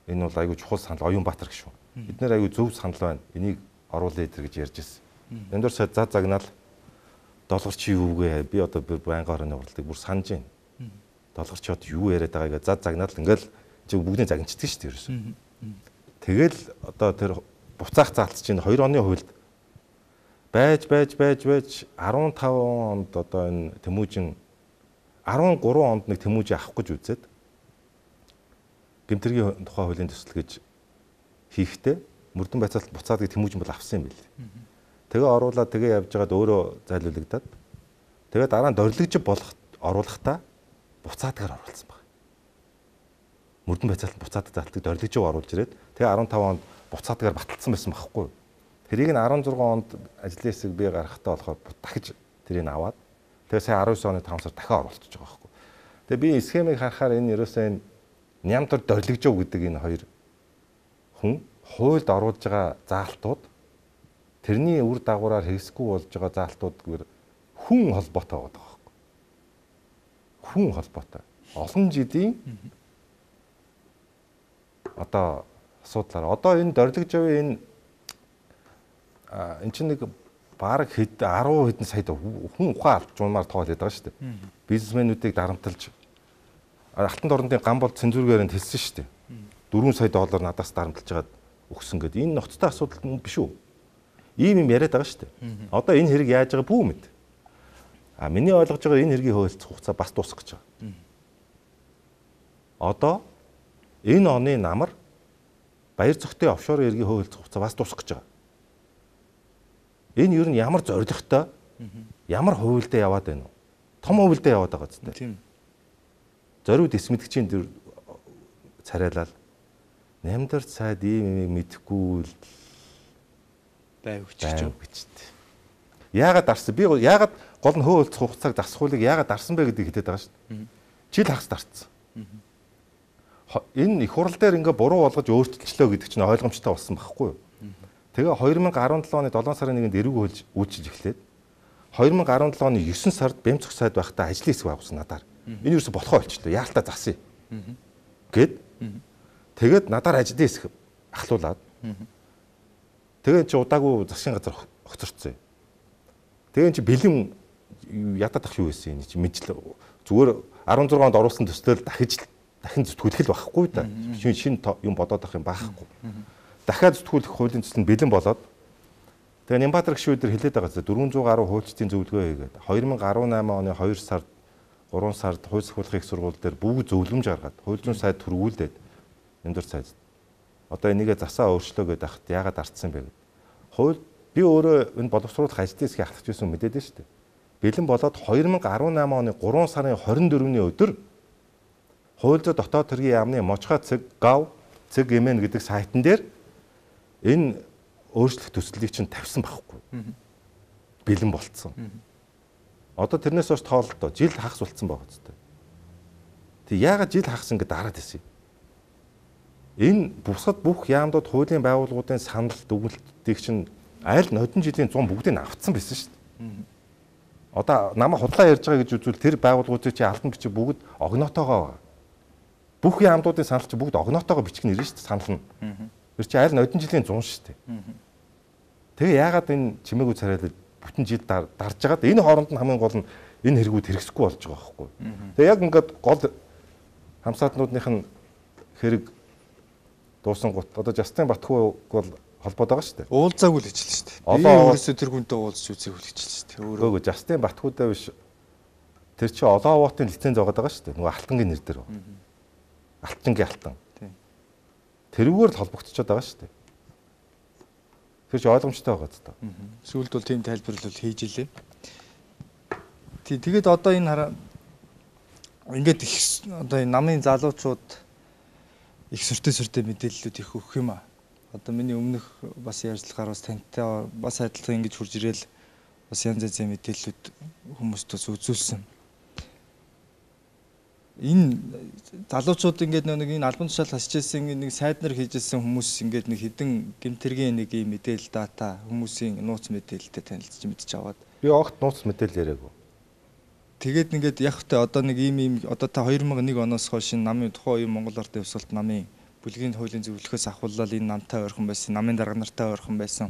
Энэ бол айгүй чухал санал Оюнбаатар гişүүн. Бид нэр айгүй зөв санал байна. Энийг оруулъя эдэр гэж ярьж ирсэн. Энд дөр сая заа загнаал долгор чи юу гээ? Би одоо байнгын орны уралдыг бүр санаж байна. Долгор чи одоо юу яриад байгаа гэж заа загнаал ингээл чи бүгдийн загнчдаг шүү дээ ерөөсөө. Тэгэл одоо тэр буцаах заалт чинь хоёр оны хуульд байж байж байж байж арван таван онд одоо энэ Тэмүүжин арван гурван онд нэг Тэмүүжин авах гэж үзээд гэмтэргийн тухай хуулийн төсөл гэж хийхдээ мөрдөн байцаалт буцаадаг Тэмүүжин бол авсан юм билээ. Тэгээ оруулаад тэгээ явж байгаад өөрөө зайлуулагдаад тэгээ дараа нь дорилгож болох оруулахдаа буцаадгаар оруулсан баг. Мөрдөн байцаалт буцаадаг заалтыг дорилгож оруулж ирээд тэгээ арван таван онд буцаадгаар баталсан байсан байхгүй. Тэрийг нь арван зургаан онд ажлын хэсэг би гаргахтаа болохоор дахиж тэрийг аваад тэгээ сая арван девять оны таван сар дахиад оруулчихж байгаа байхгүй. Тэгээ би схемийг харахаар энэ ерөөсөө энэ нямтар дорилгожоо гэдэг энэ хоёр хүн хуульд оруулж байгаа заалтууд тэрний үр дагавраар хэрэгсэхгүй болж байгаа заалтууд гэвэр хүн холбоотой байгаа байхгүй. Хүн холбоотой. Олон жилийн одоо асуудлаар одоо энэ дорилгожоо энэ эн чинь нэг баг хэд арван хэдэн сая хүн ухаан алж жуунаар тоолоод байгаа шүү дээ. Бизнесмэнүүдийг дарамтлж алтан дорнодын ган бол цензургээр нь хэлсэн шүү дээ. дөрвөн сая доллар надаас дарамтлж байгаад өгсөн гэдэг. Энэ ноцтой асуудал биш үү? Ийм юм яриад байгаа шүү дээ. Одоо энэ хэрэг яаж байгаа бүү мэд. А миний ойлгож байгаа энэ хэргийн хөвөлцөх хугацаа бас дуусах гэж байгаа. Одоо энэ оны намар баяр зохитой офшор эргийн хөвөлцөх хугацаа бас дуусах гэж байгаа. Энэ юу н ямар зоригтой ямар хувилдаа яваад байна уу? Том хувилдаа яваад байгаа зү. Тийм. Зориуд эсмэдгчийн дөр царайлал нямдар цайд ийм юм мэдэхгүй л байв гэж байна. Яагаад дарсан? Би яагаад гол нь хөвөлцөх хугацааг засахуулыг яагаад дарсан бэ гэдгийг хэлээд байгаа шүү дээ. Жил хагас дарцсан. Энэ их хурал дээр ингээ буруу болгож өөрчлөлчлөө гэдэг чинь ойлгомжтой болсон байхгүй юу? Тэгээ хоёр мянга арван долоо оны долоон сарын нэгэнд эрүүг хөлж үйлчилж эхлээд хоёр мянга арван долоо оны есөн сард Бямцх сайд байхдаа ажлын хэсэг байгуулсан надаар. Энэ юусе болохоо болчихлоо. Яалтаа засъя. Гэт тэгээд надаар ажлын хэсэг ахлуулаад тэгээд чи удаагүй засгийн газар хоцорцсон. Тэгээд чи бэлэн ядаад ах юу байсан юм чи мэдлээ. Зүгээр арван зургаан онд оруулсан төслөөл дахиж дахин зүтгүүлэх л байхгүй да. Шинэ шинэ юм бодоод ах юм байхгүй. Дахиад зүтгүүлэх хуулийн төсөл нь бэлэн болоод тэгээ Нямбатар гişүүд төр хэлээд байгаа зү дөрвөн зуун гаруй хуульчдын зөвлөгөө хийгээд хоёр мянга арван намын оны хоёр сард гурван сард хууль сахиулахын их сургууль дээр бүгд зөвлөмж гаргаад хууль зүйн сайд түргүүлээд нэмдэр сайд одоо энийгээ засаа өөрчлөө гэдэг ахт яагаад ардсан бэ гэд. Хууль би өөрөө энэ боловсруулах ажлын хэсгийг ахлах гэсэн мэдээд нь шүү дээ. Бэлэн болоод хоёр мянга арван намын оны гурван сарын хорин дөрөвний өдөр хууль зүйн дотоод хэргийн яамны Можхой цэг гав цэг эмэн гэдэг сайтн дээр энэ өөрчлөх төслийг чинь тавьсан байхгүй. Бэлэн болцсон. Одоо тэрнээс хойш тоололтоо жил хагас болцсон байгаа зү. Тэг яагаад жил хагас ингэ дараад ирсэн юм? Энэ бусад бүх яамдууд хуулийн байгууллагуудын санал дүгнэлтийг чинь Айл нодон жилийн зун бүгдийг авцсан байсан шүү дээ. Одоо намайг худлаа ярьж байгаа гэж үзвэл тэр байгууллагуудын чи алтан бичиг бүгд огнотоогоо бүх яамдуудын санал чи бүгд огнотоогоо бичих нь ирнэ шүү дээ санал нь. Тэр чи айл нодон жилийн зун шүү дээ. Тэгээ яагаад энэ чимээгүй царайлал бүтэн жил дарж байгаад энэ хооронд нь хамгийн гол нь энэ хэрэгүүд хэрэгсэхгүй болж байгаа байхгүй. Тэгээ яг ингээд гол хамсаатнуудынх нь хэрэг дуусан гут одоо Жастин Батхуу бол холбоод байгаа шүү дээ. Уулзаагүй л хичээл шүү дээ. Би өөрөөсөө тэр хүнтэй уулзч үзээг л хичээл шүү дээ. Өөрөө Жастин Батхуудаа биш. Тэр чи Олоовотын лиценз байгаа даа шүү дээ. Нөгөө алтангийн нэр дээр. Алтангийн алтан. Тэрүүгээр л холбогдчиход байгаа шүү дээ. Тэр чи ойлгомжтой байгаа ч та. Сүүлд бол тийм тайлбарлал хийж илээ. Тий тэгээд одоо энэ хараа ингээд их одоо энэ намын залуучууд их сүртэй сүртэй мэдээллүүд их өгөх юм аа. Одоо миний өмнөх бас ярьцлагаар бас тантай бас адилхан ингэж хурж ирээл бас янз янзын мэдээллүүд хүмүүст бас үзүүлсэн. Энэ залуучууд ингээд нэг энэ албан тушаал хасчихсан нэг сайд нар хийжсэн хүмүүс ингээд нэг хідэн гэмтэргийн нэг юм мэдээлэл дата хүмүүсийн нууц мэдээлэлтэй танилцж мэдж аваад би огт нууц мэдээлэл яриаггүй. Тэгээд ингээд яг хөтэ одоо нэг ийм ийм одоо та хоёр мянга нэг оноос хойш намын тухайн үеийн Монгол Ардын Хувьсгалт намын бүлгийн хуулийн зөвлөхөөс ахваллал энэ намтай ойрхон байсан, намын дарга нартай ойрхон байсан.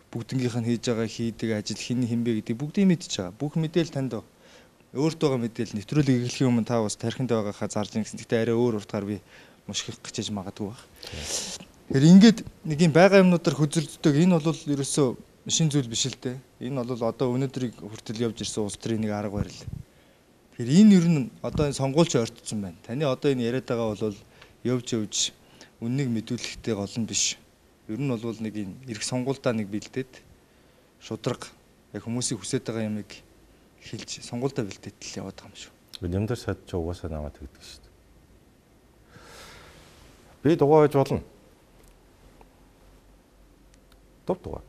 Бүгднгийнх нь хийж байгаа хийдэг ажил хин хинбэ гэдэг бүгдийг мэдчихэж байгаа. Бүх мэдээлэл танд байна. Өөртөө байгаа мэдээлэл нэвтрүүлэг эхлэхийн өмнө та бас тархинд байгаагаа зарж ин гэсэн. Гэхдээ арай өөр уртгаар би мушхих гэж яж магадгүй баг. Тэгэхээр ингээд нэг юм байгаа юмнуудаар хөзөлддөг. Энэ бол ерөөсөө шин зүйл биш л дээ. Энэ бол одоо өнөөдрийг хүртэл явж ирсэн улс төрийн нэг арга барил. Тэгэхээр энэ ер нь одоо энэ сонгуульч ойртсон байна. Таны одоо энэ яриад байгаа бол явж явж үннийг мэдүүлэхтэй гол нь биш. Ер нь бол нэг энэ эрх сонгуульдаа нэг бэлдээд шудраг яг хүмүүсийн хүсэж байгаа юмыг хэлж сонгуульдаа бэлдээд л яваад байгаа юм шүү. Нэмдэр сад ч угаасаа намайг тэгдэг шүү дээ. Би дугаа байж болно. Топ дугаа.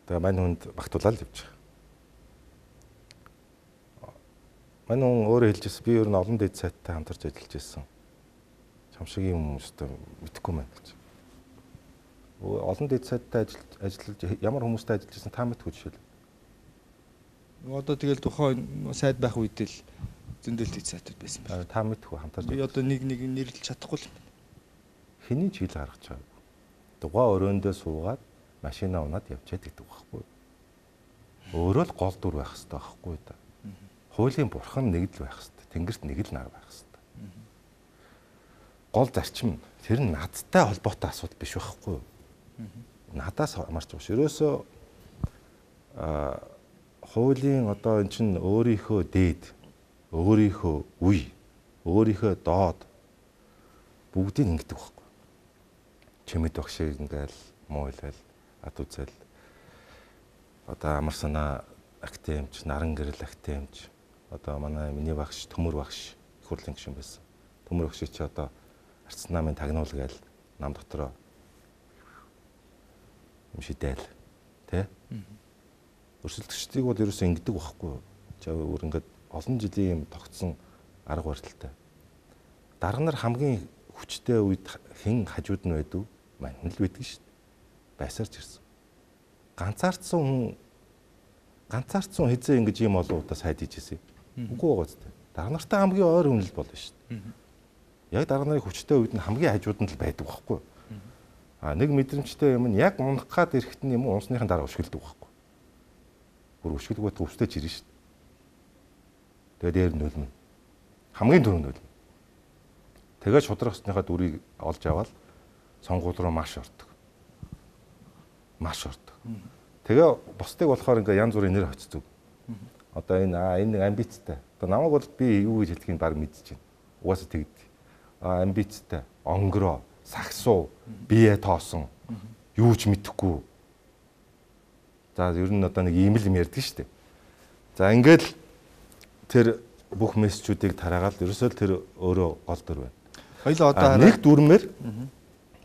Тэгээ мань хүнд багтуулаад явж байгаа. Мань хүн өөрөө хэлжсэн би ер нь олон дэд сайттай хамтарч ажиллаж байсан. Чамшигийн хүмүүстэй мэдхгүй байна гэж. Олон дэд сайттай ажиллаж ямар хүмүүстэй ажиллаж байсан та мэдгүй жишээл. Одоо тэгэл тухайн сайд байх үед л зөндөл дэд сайтууд байсан байна. Та мэдгүй хамтарч. Би одоо нэг нэг нэрлэж чадахгүй л байна. Хэний ч хэл гаргаж байгаагүй. Дугаа өрөөндөө суугаад машина унаад явчаад гэдэг байхгүй. Өөрөө л гол дүр байх хэрэгтэй байхгүй да. Хуулийн бурхан нэг л байх хэрэгтэй. Тэнгэрт нэг л нар байх хэрэгтэй. Гол зарчим тэр нь надтай холбоотой асуудал биш байхгүй. Надаас марч байгаа. Ерөөсөө а хуулийн одоо эн чинь өөрийнхөө дээд, өөрийнхөө үе, өөрийнхөө доод бүгдийг ингэдэг байхгүй. Чимэд багшийг ингээл мууйлал, ад үзэл одоо амар санаа актемч, наран гэрэл актемч одоо манай миний багш Төмөр багш их хурлын гишүүн байсан. Төмөр багш чи одоо Арц намын тагнуул гээл нам дотроо юм шидээл тэ өрсөлдөгчдийг бол ерөөсөө ингэдэг байхгүй. За өөр ингээд олон жилийн юм тогтсон арга барилтай. Дарга нар хамгийн хүчтэй үед хэн хажууд нь байдв? Мань л байдаг шүү дээ. Байсаарч ирсэн. Ганцаардсан хүн ганцаардсан хизээ ингэж юм олоудаа сайд хийжсэн. Үгүй байгаа зү. Дарга нартай хамгийн ойр хүн л болно шүү дээ. Яг дарга нарын хүчтэй үед нь хамгийн хажууд нь л байдаг байхгүй. А нэг мэдрэмжтэй юм нь яг унах гад ирэхэд нь юм унсныхын дараа өшгөлдөг байхгүй. Бүр өшгөлгөөд өвстэй ч ирнэ шүү дээ. Тэгээ дээр нөлмөн. Хамгийн түрүүнд нөлмөн. Тэгээд шудрах усныхаа дүрийг олж аваад сонгуул руу маш ордог. Маш ордог. Тэгээ бусдыг болохоор ингээ янз бүрийн нэр хоцдог. Одоо энэ аа энэ нэг амбицтай. Одоо намайг бол би юу гэж хэлдгийг баг мэдчихэв. Угаасаа тэгдэг. Аа амбицтай, онгороо, сагсуу, бие тоосон, юу ч мэдэхгүй. За ер нь одоо нэг ийм л юм ярьдаг шүү дээ. За ингээд тэр бүх мессежүүдийг тараагаад ерөөсөө л тэр өөрөө гол дүр байна. Хоёул одоо нэг дүрмээр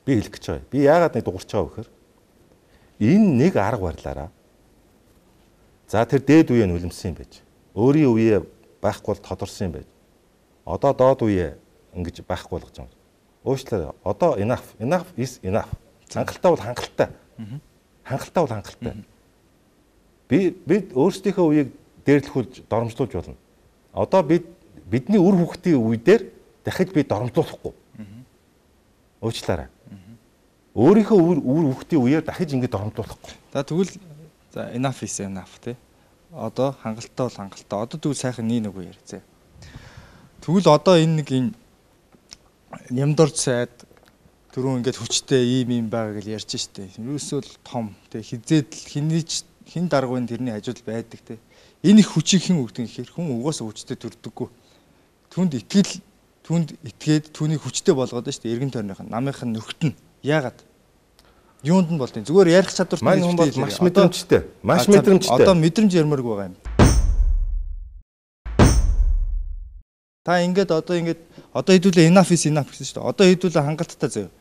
би хэлэх гэж байгаа. Би яагаад нэг дуурч байгаа вэ гэхээр энэ нэг арга барилаараа за тэр дээд үеэ нүлэмсэн юм байж. Өөрийн үеэ байхгүй бол тодорсон юм байж. Одоо доод үеэ ингэж байхгүй болгож байгаа. Уучлаарай. Одоо enough, enough is enough. Хангалттай бол хангалттай. Хангалттай бол хангалттай. Би бид өөрсдийнхөө үеийг дээрлэхүүлж доромжлуулж болно. Одоо бид бидний үр хүүхдийн үе дээр дахиж би доромжлуулахгүй. Уучлаарай. Өөрийнхөө үр хүүхдийн үеэр дахиж ингэ доромжлуулахгүй. За тэгвэл за enough is enough тий. Одоо хангалттай бол хангалттай. Одоо тэгвэл сайхан нэг нэг яриа. Тэгвэл одоо энэ нэг энэ нямдорж сайд түрүүн ингээд хүчтэй ийм юм байгаа гэж ярьж штэ. Юусэл том тий хизээд хинийч хин даргуйн тэрний хажууд байдаг тий. Энэ их хүчийг хэн өгдөг гэхээр хүн угаасаа хүчтэй төрдөггүй. Түнд итгэл түнд итгээд түүнийг хүчтэй болгоод штэ эргэн тойрных нь намынх нь нөхтөн. Яагаад? Юунд нь болдیں۔ Зүгээр ярих чадварт маань хүн бол маш мэдрэмжтэй. Маш мэдрэмжтэй. Одоо мэдрэмж ярмарг байгаа юм. Та ингээд одоо ингээд одоо хэдүүлээ enough is enough гэсэн шүү дээ. Одоо хэдүүлээ хангалттай заяа.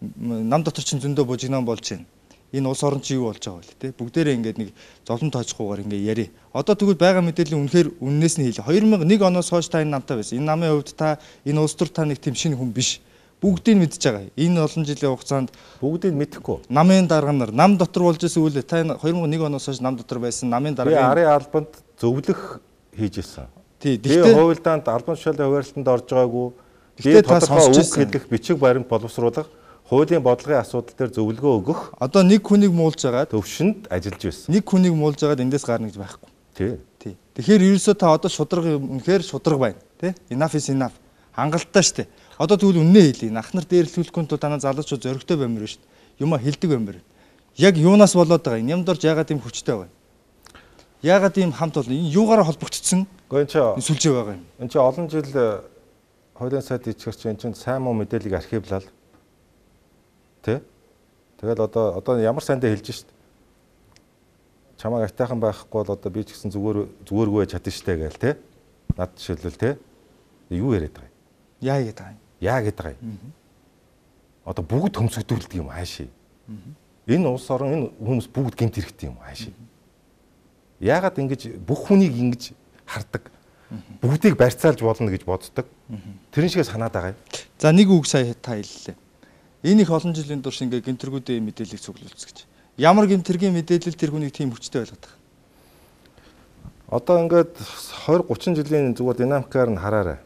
Нам дотор чинь зөндөө бужигнаан болж байна. Энэ улс орон чи юу болж байгаа вэ те? Бүгдээрээ ингээд нэг зовлон тоожхгүйгээр ингээд яри. Одоо тэгвэл байгаа мэдээллийн үнэхээр үннээс нь хэлээ. две тысячи one оноос хойш та энэ намтай байсан. Энэ намын хувьд та энэ улс төр та нэг тийм шинэ хүн биш. Бүгдийг нь мэдж байгаа. Энэ олон жилийн хугацаанд бүгдийг мэдэхгүй. Намын дарга нар нам дотор болж исэн үйл та две тысячи one оноос хойш нам дотор байсан намын дарга. Би арын албанд зөвлөх хийж ирсэн. Тий. Би хувилдаанд албан тушаалын хуваарлалтанд орж байгаагүй. Би тодорхой үг хэлэх бичиг баримт боловсруулах, хуулийн бодлогын асуудал дээр зөвлөгөө өгөх. Одоо нэг хүнийг муулж агаад төвшөнд ажиллаж байсан. Нэг хүнийг муулж агаад эндээс гарна гэж байхгүй. Тий. Тий. Тэгэхээр ерөөсөө та одоо шудраг үнэхээр шудраг байна. Тий? Enough is enough. Хангалттай штэ. Одоо тэгвэл үннээ хэлье. Ах нар дээрлүүлэхгүй тул танаа залуучууд зөрөгтэй баймир шүү дээ. Юма хэлдэг баймир. Яг юунаас болоод байгаа юм? Нямдорж яагаад ийм хүчтэй байгаа юм? Яагаад ийм хамт бол энэ юугаараа холбогдсон? Гэхдээ энэ сүлжээ байгаа юм. Энэ чинь олон жил хуулийн сайд ичгэрч энэ чинь сайн муу мэдээллийг архивлал. Тэ? Тэгэл одоо одоо ямар сайндаа хэлж шít. Чамайг айтайхан байхгүй бол одоо би ч гэсэн зүгээр зүгээргүй чадна штэ гээл тэ. Над жишээлбэл тэ. Юу яриад байгаа юм? Яа гэдэг юм? Яа гэдэг юм? Одоо бүгд төмсгдүүлдэг юм хаашаа. Энэ улс орон энэ хүмүүс бүгд гэмт хэрэгтэй юм хаашаа. Яагаад ингэж бүх хүнийг ингэж хардаг? Бүгдийг барьцаалж болно гэж боддог. Тэрэн шиг санаад байгаа юм. За нэг үг сая та хэллээ. Энэ их олон жилийн турш ингээ гэмтэргүүдийн мэдээллийг цуглуулц гэж. Ямар гэмтэргийн мэдээлэл тэр хүнийг тийм хүчтэй байлгаад байгаа? Одоо ингээд twenty thirty жилийн зүгээр динамикаар нь хараарай.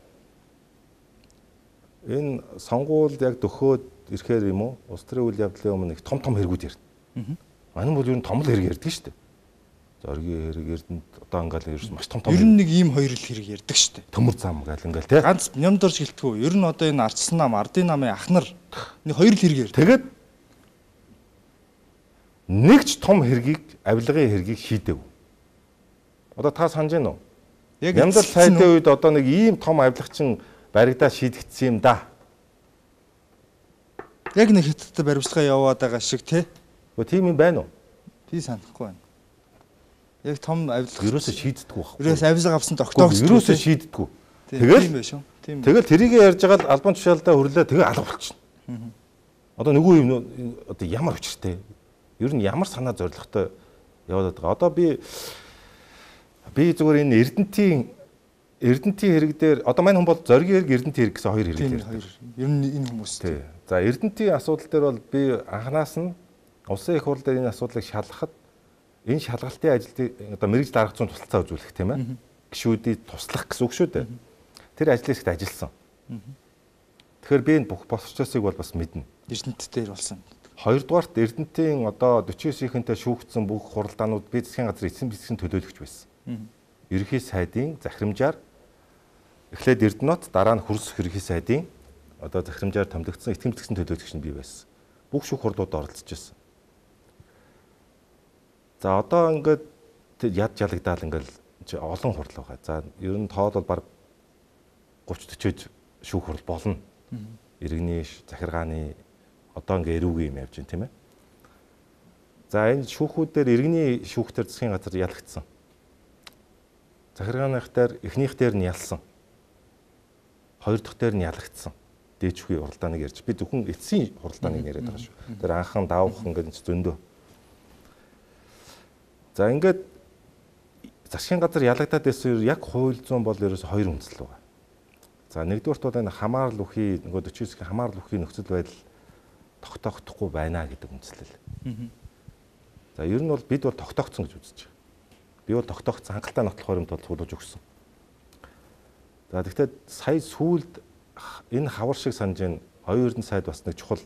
Энэ сонгуул яг дөхөөд ирэхээр юм уу? Улс төрийн үйл явдлын өмнө их том том хэрэгүүд ярина. Манай бол ер нь том л хэрэг ярьдаг шүү дээ. Зоргийн хэрэг эрдэнэт одоо ингээл ерөөс маш том том. Ер нь нэг ийм хоёр л хэрэг ярьдаг шүү дээ. Төмөр зам гээл ингээл тий. Ганц нямдорж гэлтгүү. Ер нь одоо энэ ардсан нам, ардын намын ах нар нэг хоёр л хэрэг ярьдаг. Тэгээд нэг ч том хэргийг, авилгын хэргийг шийдэв. Одоо та санаж байна уу? Яг нямдал сайдын үед одоо нэг ийм том авилгачин баригдаа шийдэгдсэн юм да. Яг нэг хятадтай баримтлагаа яваад байгаа шиг тий. Гэхдээ тийм юм байна уу? Би санахгүй байна. Яг том авилга ерөөсөө шийддэггүй байхгүй. Ерөөс авилга авсан тогтоогч ерөөсөө шийддэггүй. Тэгэл тийм байх шүү. Тийм. Тэгэл тэрийг ярьж байгаа л албан тушаалдаа хүрлээ тэгээ алга болчихно. Одоо нөгөө юм одоо ямар өчртэй. Ер нь ямар санаа зоригтой яваад байгаа. Одоо би би зүгээр энэ эрдэнтийн эрдэнтийн хэрэг дээр одоо мань хүн бол зоригийн хэрэг эрдэнтийн хэрэг гэсэн хоёр хэрэг ярьдаг. Ер нь энэ хүмүүс тий. За эрдэнтийн асуудал дээр бол би анханаас нь улсын их хурл дээр энэ асуудлыг шалгахад энэ шалгалтын ажилтны одоо мэрэгжил арга зүйн тусалцаа үзүүлэх тийм ээ. Гишүүдийг туслах гэсэн үг шүү дээ. Тэр ажлыг ихд ажилласан. Тэгэхээр би энэ бүх процессыг бол бас мэднэ. Эрдэнэт дээр болсон. Хоёрдугаарт эрдэнтийн одоо forty-nine саяхантай шүүгдсэн бүх хуралдаанууд би засгийн газрын эцсийн бичгийн төлөөлөгч байсан. Ерөнхий сайдын захирамжаар эхлээд Эрдэнэт дараа нь хөрс ерөнхий сайдын одоо захирамжаар томилогдсон этгэм бичгийн төлөөлөгч нь би байсан. Бүх шүүх хурлууд оролцож байсан. За одоо ингээд яд жалагдаал ингээд олон хурал байгаа. За ер нь тоол бол баг thirty forty шүүх хурал болно. Иргэний захиргааны одоо ингээ эрүүгийн юм явж байна тийм ээ. За энэ шүүхүүдээр иргэний шүүхтэр засгийн газар ялагдсан. Захиргааных дээр эхнийх дээр нь ялсан. Хоёр дахь дээр нь ялагдсан. Дээчгүй хуралдааныг ярьж. Би зөвхөн эцсийн хуралдааныг яриад байгаа шүү. Тэр анхан давах ингээд зөндөө. За ингээд засгийн газар ялагдаад байсан яг хууль зүйн бол ерөөсө хоёр үндэслэл байгаа. За нэгдүгээрт бол энэ хамаарал үхий нөгөө forty-nine-ийн хамаарал үхий нөхцөл байдал тогтоогдохгүй байна гэдэг үндслэл. За ер нь бол бид бол тогтоогдсон гэж үзэж байгаа. Би бол тогтоогдсон хангалттай нотолох баримт бол худалж өгсөн. За тэгэхээр сая сүүлд энэ хавар шиг санаж ин оюун эрдэнэ сайд бас нэг чухал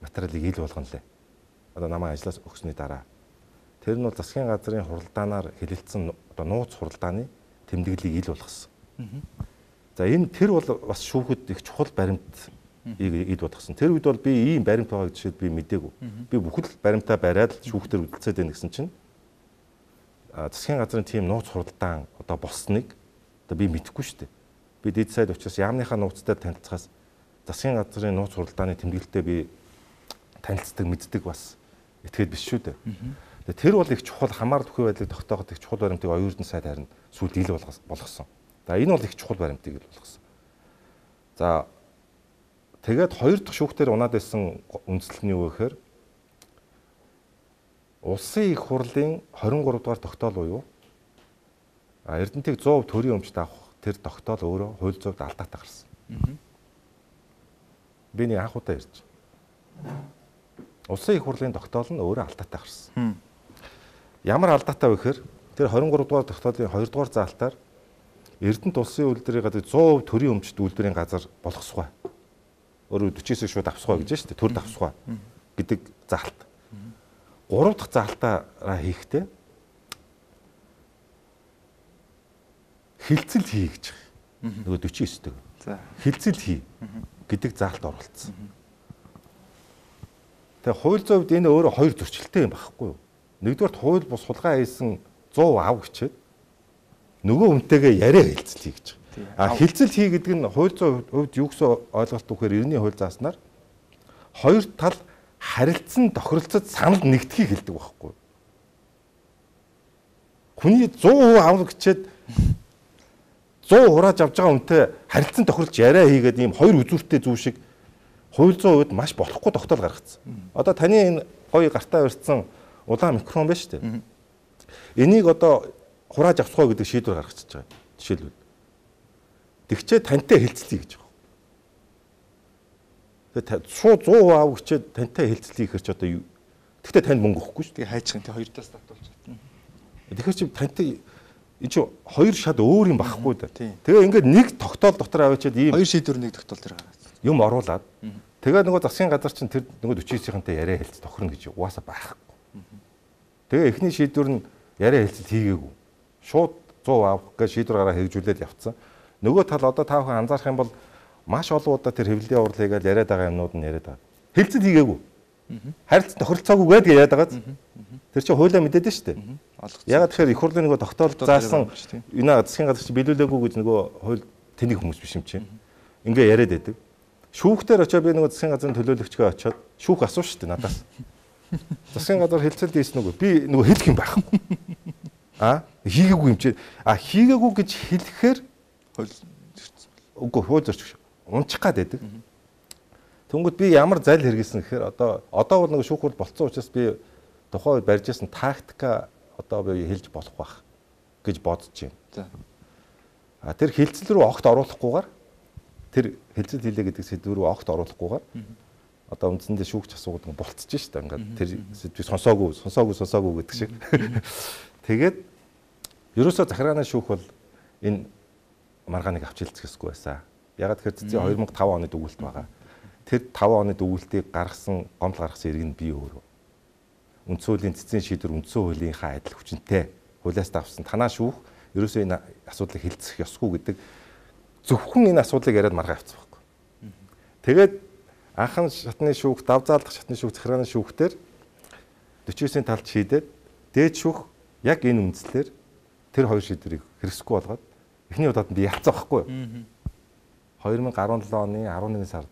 материалыг ил болгоно лээ. Одоо намайг ажлаас өгсөний дараа. Тэр нь бол засгийн газрын хуралдаанаар хэлэлцсэн одоо нууц хуралдааны тэмдэглэлийг ил болгосон. За энэ тэр бол бас шүүхэд их чухал баримт ийг ил болгосон. Тэр үед бол би ийм баримт байгааг жишээд би мэдээгүй. Би бүхэл баримтаа бариад шүүхтэр үлдсээд байна гэсэн чинь засгийн газрын тийм нууц хуралдаан одоо болсныг одоо би мэдэхгүй шүү дээ. Би дэд сайд учраас яамныхаа нууцтай танилцахаас засгийн газрын нууц хуралдааны тэмдэглэлтэй би танилцдаг мэддэг бас этгээд биш шүү дээ. Тэр бол их чухал хамаар төхөө байдлыг тогтооход их чухал баримтыг оюун эрдэнэ сайд харин сүүлд ил болгосон. За энэ бол их чухал баримтыг ил болгосон. За тэгээд хоёр дахь шүүхтэр унаад байсан үндслэл нь юу гэхээр улсын их хурлын хорин гурав дугаар тогтоол буюу Эрдэнэтийг сто процент төрийн өмчт авах тэр тогтоол өөрөө хууль зүйд алдаатай гарсан. Би нэг анх удаа ярьж. Улсын их хурлын тогтоол нь өөрөө алдаатай гарсан. Ямар алдаатай вэ гэхээр тэр хорин гурав дугаар тогтоолын хоёр дугаар заалтаар Эрдэнэт улсын үйлдвэрийн газар сто процент төрийн өмчт үйлдвэрийн газар болгосгоо. Өөрөөр forty хэсэг шууд авсгоо гэж шүү дээ. Төр давсгоо гэдэг заалт. Гурав дахь заалтаараа хийхдээ хилцэл хий гэж байгаа. Нөгөө forty хэсэг. За хилцэл хий гэдэг заалт оруулсан. Тэгээ хууль зүйн хувьд энэ өөрөө хоёр зөрчилтэй юм байхгүй юу? Нэгдүгээр хууль бус хулгай хийсэн сто ав гэчээд нөгөө үнтэйгээ яриа хилцэл хий гэж байгаа. А хилцэл хий гэдэг нь хууль зүйн хувьд юу гэсэн ойлголт өгөхээр эрдэнийн хууль зааснаар хоёр тал харилцсан тохиролцоод санал нэгдэхийг хэлдэг байхгүй. Хүний сто процент авах гэчээд сто процент хурааж авч байгаа үнтэй харилцсан тохиролж яриа хийгээд ийм хоёр үзүүртэй зүйл шиг хууль зүйн хувьд маш болохгүй тогтоол гаргацсан. Одоо таны энэ гоё гартаа барьсан улаан микрофон байна шүү дээ. Энийг одоо хурааж авцгаа гэдэг шийдвэр гаргачихж байгаа. Жишээлбэл тэгчээ тантай хэлцлэе гэж байгаа. Тэгээ шууд сто процент ав гэчээд тантай хэлцлэе гэхэр ч одоо юу? Тэгтээ танд мөнгө өгөхгүй шүү. Тэгээ хайчхан тий хоёр талаас татуулж байна. Тэгэхээр чи тантай энэ чи хоёр шат өөр юм багхгүй да. Тэгээ ингээд нэг тогтоол дотор аваачаад ийм хоёр шийдвэр нэг тогтоол дээр юм оруулаад тэгээ нөгөө засгийн газар чинь тэр нөгөө forty хэсэгтэй яриа хэлц тохирно гэж угаасаа байхгүй. Тэгээ эхний шийдвэр нь яриа хэлцэл хийгээгүй. Шууд сто процент авах гэж шийдвэр гараа хэрэгжүүлээд явцсан. Нөгөө тал одоо та бүхэн анзаарах юм бол маш олон удаа тэр хэвлэлийн урал хийгээд яриад байгаа юмнууд нь яриад байгаа. Хэлцэл хийгээгүй. Харилцан тохиролцоогүй гэдэг яриад байгаа. Тэр чинь хуулиа мэдээд нь шүү дээ. Ягаад тэгэхээр их хурлын нөгөө тогтоол заасан энэ засгийн газар чинь биелүүлээгүй гэж нөгөө хууль тэнийг хүмүүс биш юм чинь. Ингээ яриад байдаг. Шүүхтэр очоод би нөгөө засгийн газрын төлөөлөгчгөө очоод шүүх асуув шүү дээ надаас. Засгийн газар хэлцэл дийсэн үгүй. Би нөгөө хэлэх юм байхгүй. А хийгээгүй юм чи. А хийгээгүй гэж хэлэхээр үгүй хууль зорчих унчих гад байдаг. Тэнгүүд би ямар зал хэрэгсэн гэхээр одоо одоо бол нөгөө шүүх хурал болцсон учраас би тухайн үед барьж ирсэн тактика одоо би хэлж болох байх гэж бодож байна. За. А тэр хэлцэл рүү огт оруулахгүйгээр тэр хэлцэл хийлээ гэдэг сэдв рүү огт оруулахгүйгээр одоо үндсэндээ шүүгч асуудаг болцож шүү дээ. Ингээд тэр сэдвийг сонсоогүй, сонсоогүй, сонсоогүй гэдэг шиг. Тэгээд ерөөсөө захиргааны шүүх бол энэ маргааныг авч хэлцэхсгүй байсан. Ягаад тэгэхээр цэцгийн two thousand five оны дүгүүлт байгаа. Тэр five оны дүгүүлтийг гаргасан, гомдол гаргасан иргэн би өөрөө. Үндсэн хуулийн цэцгийн шийдвэр үндсэн хуулийнхаа адил хүчинтэй хуулиас давсан танаа шүүх ерөөсөө энэ асуудлыг хэлцэх ёсгүй гэдэг зөвхөн энэ асуудлыг яриад маргаа авцсан байхгүй. Тэгээд анхан шатны шүүх, давзаалдах шатны шүүх, захиргааны шүүхтэр forty хэсгийн талд шийдээд дээд шүүх яг энэ үндслээр тэр хоёр шийдвэрийг хэрэгсэхгүй болгоод эхний удаад би ялцсан байхгүй юу? twenty seventeen оны eleven сард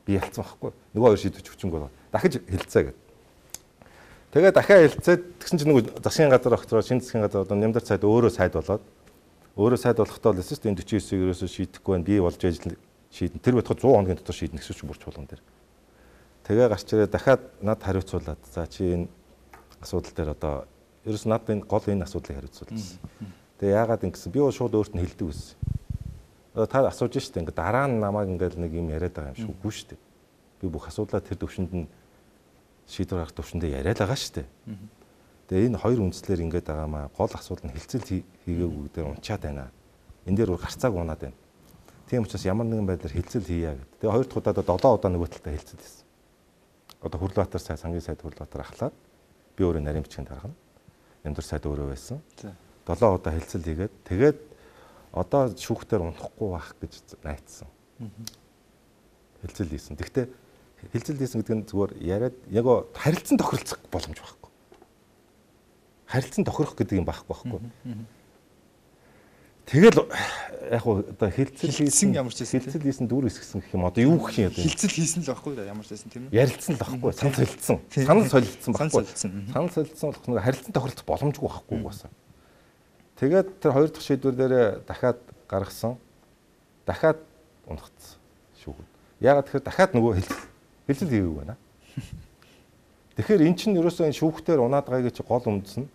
би ялцсан байхгүй юу? Нөгөө хоёр шийдвэр хүчинг болгоод дахиж хэлцээ гэдэг. Тэгээ дахиад хэлцээд тэгсэн чинь нөгөө засгийн газар огцроо шинэ засгийн газар одоо нямдар сайд өөрөө сайд болоод өөрөө сайд болохтой л эсвэл энэ forty хэсгийг ерөөсөө шийдэхгүй байна. Би болж ажил шийдэн. Тэр бодоход one hundred хоногийн дотор шийднэ гэсэн чинь бүрч болгон дээр. Тэгээ гарч ирээ дахиад над хариуцуулаад за чи энэ асуудал дээр одоо ерөөс над энэ гол энэ асуудлыг хариуцуулсан. Тэгээ яагаад ингэсэн би бол шууд өөрт нь хэлдэг байсан. Одоо та асууж штэ ингээ дараа нь намайг ингээл нэг юм яриад байгаа юм шиг үгүй штэ. Би би бүх асуудлаа тэр төвшөнд нь шийдвэр гаргах төвшөндөө яриад байгаа шүү дээ. Тэгээ энэ хоёр үндслээр ингээд байгаа маа гол асуудал нь хилцэл хийгээгүй дээр унчаад байна. Энэ дээр гарцааг унаад байна. Тийм учраас ямар нэгэн байдлаар хилцэл хийя гэдэг. Тэгээ хоёр дахь удаа долоо удаа нөгөө талдаа хилцэл хийсэн. Одоо Хүрлбаатар сайд сангийн сайд Хүрлбаатар ахлаад би өөрөө нарийн бичгийн дарга нь Нямдар сайд өөрөө байсан. долоо удаа хилцэл хийгээд тэгээд одоо шүүхтээр унахгүй байх гэж найдсан. Хилцэл хийсэн. Гэхдээ хилцэл хийсэн гэдэг нь зүгээр яриад яг харилцан тохиролцох боломж байхгүй. Харилцан тохирох гэдэг юм байхгүй байхгүй. Тэгэл яг хуу одоо хилцэл хийсэн ямар ч байсан хилцэл хийсэн дүүр хэсгсэн гэх юм одоо юу гэх юм одоо хилцэл хийсэн л байхгүй ямар ч байсан тийм үү? Ярилцсан л байхгүй. Санал солилцсон. Санал солилцсон байхгүй. Санал солилцсон болох нэг харилцан тохиролцох боломжгүй байхгүй угаасаа. Тэгээд тэр хоёр дахь шийдвэр дээр дахиад гаргасан. Дахиад унагцсан шүүхэд. Яагаад тэгэхээр дахиад нөгөө хилцэл хилцэл хийгээгүй байна. Тэгэхээр эн чинь ерөөсөө энэ шүүхтээр унаад байгаагийн чи гол үндэс нь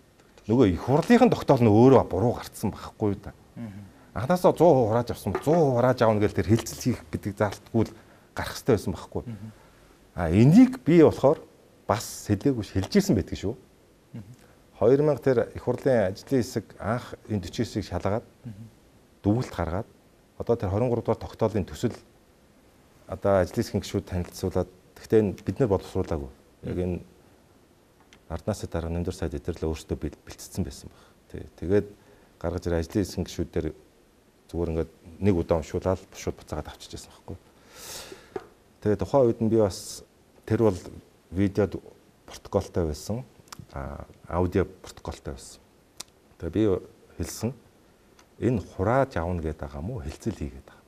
нөгөө их хурлынхын тогтоол нь өөрөө буруу гарцсан байхгүй юу та. Анхнаасаа сто процент хурааж авсан сто процент хурааж аавна гэж тэр хилцэл хийх гэдэг заалтгүй л гарах хэрэгтэй байсан байхгүй. А энийг би болохоор бас сэлээгүй хэлжсэн байдаг шүү. хоёр мянга тэр их хурлын ажлын хэсэг анх энэ forty хэсгийг шалгаад дүгнэлт гаргаад одоо тэр twenty-three дугаар тогтоолын төсөл одоо ажлын хэсгийн гишүүд танилцуулаад гэхдээ бид нар боловсруулаагүй. Яг энэ арднаас дараа Нямдар сайд эдэрлээ өөрсдөө бэлтцсэн байсан баг. Тий. Тэгээд гаргаж ир ажлын хэсгийн гишүүдээр зүгээр ингээд нэг удаа уншуулаад шууд буцаагаад авчижсэн байхгүй. Тэгээд тухайн үед нь би бас тэр бол видео протоколтой байсан. А аудио протоколтой байсан. Тэгээ би хэлсэн энэ хурааж авна гэдэг байгаа мó хэлцэл хийгээд байгаа.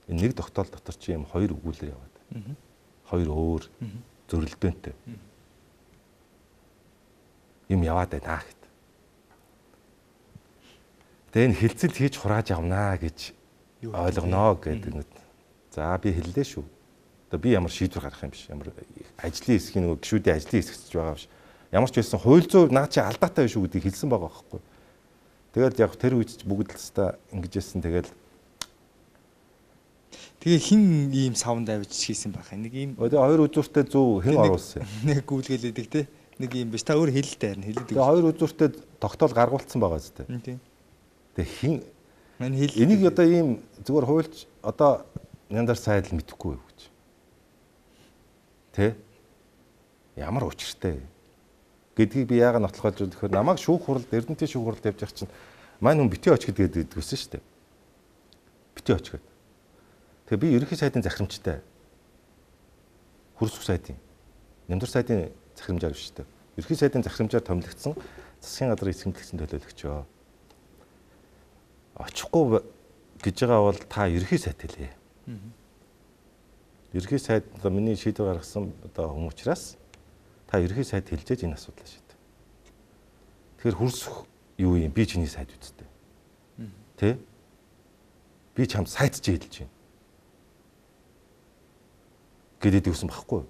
Энэ нэг тогтоол дотор чи юм хоёр өгүүлэр яваад. Хоёр өөр зөрөлдөөнтэй. Юм яваад байна гэд. Тэгээ энэ хэлцэл хийж хурааж авнаа гэж ойлгоноо гэдэг. За би хэллээ шүү. Одоо би ямар шийдвэр гаргах юм биш. Ямар ажлын хэсгийн нөгөө гишүүдийн ажлын хэсэгч байгаа биш. Ямар ч байсан хууль зүйн наа чи алдаатай биш үү гэдгийг хэлсэн байгаа байхгүй. Тэгээд яг тэр үед ч бүгд л хэвээр ингэж яасан тэгэл Тэгээ хин ийм савнд авиж хийсэн байх. Нэг ийм одоо хоёр үзүүртэй зөв хэн оруулсан юм. Нэг гүйлгэлээдэг те. Нэг ийм биш. Та өөр хэлэлтэй харин хэлээд. Тэгээ хоёр үзүүртэй тогтоол гаргуулсан байгаа зү. Тийм. Тэгээ хин мань хэл энийг одоо ийм зүгээр хуульч одоо Нямдар сайд л мэдэхгүй юу гэж. Тэ? Ямар учиртай гэдгийг би яагаад нотлохож өгөхөөр намайг шүүх хуралд Эрдэнэтийн шүүх хуралд явж явах чинь маань хүн битээ оч гэдэг гэдгүйсэн шүү дээ. Битээ оч гэдэг. Тэгээ би ерөнхий сайдын захирамжтай. Хөрсөх сайдын Нямдар сайдын захирамжаар биш шүү дээ. Ерөнхий сайдын захирамжаар томилогдсон засгийн газрын эсхэмтлэгчийн төлөөлөгчөө. Очихгүй гэж байгаа бол та ерөнхий сайд хэлээ. Ерөнхий сайд одоо миний шийдвэр гаргасан одоо хүн учраас та ерөнхий сайд хэлжээж энэ асуудлаа шийд. Тэгэхээр хөрсөх юу юм? Би чиний сайд үсттэй. Тэ? Би чамд сайд ч хэлж байна. Гэдэг үсэн багхгүй.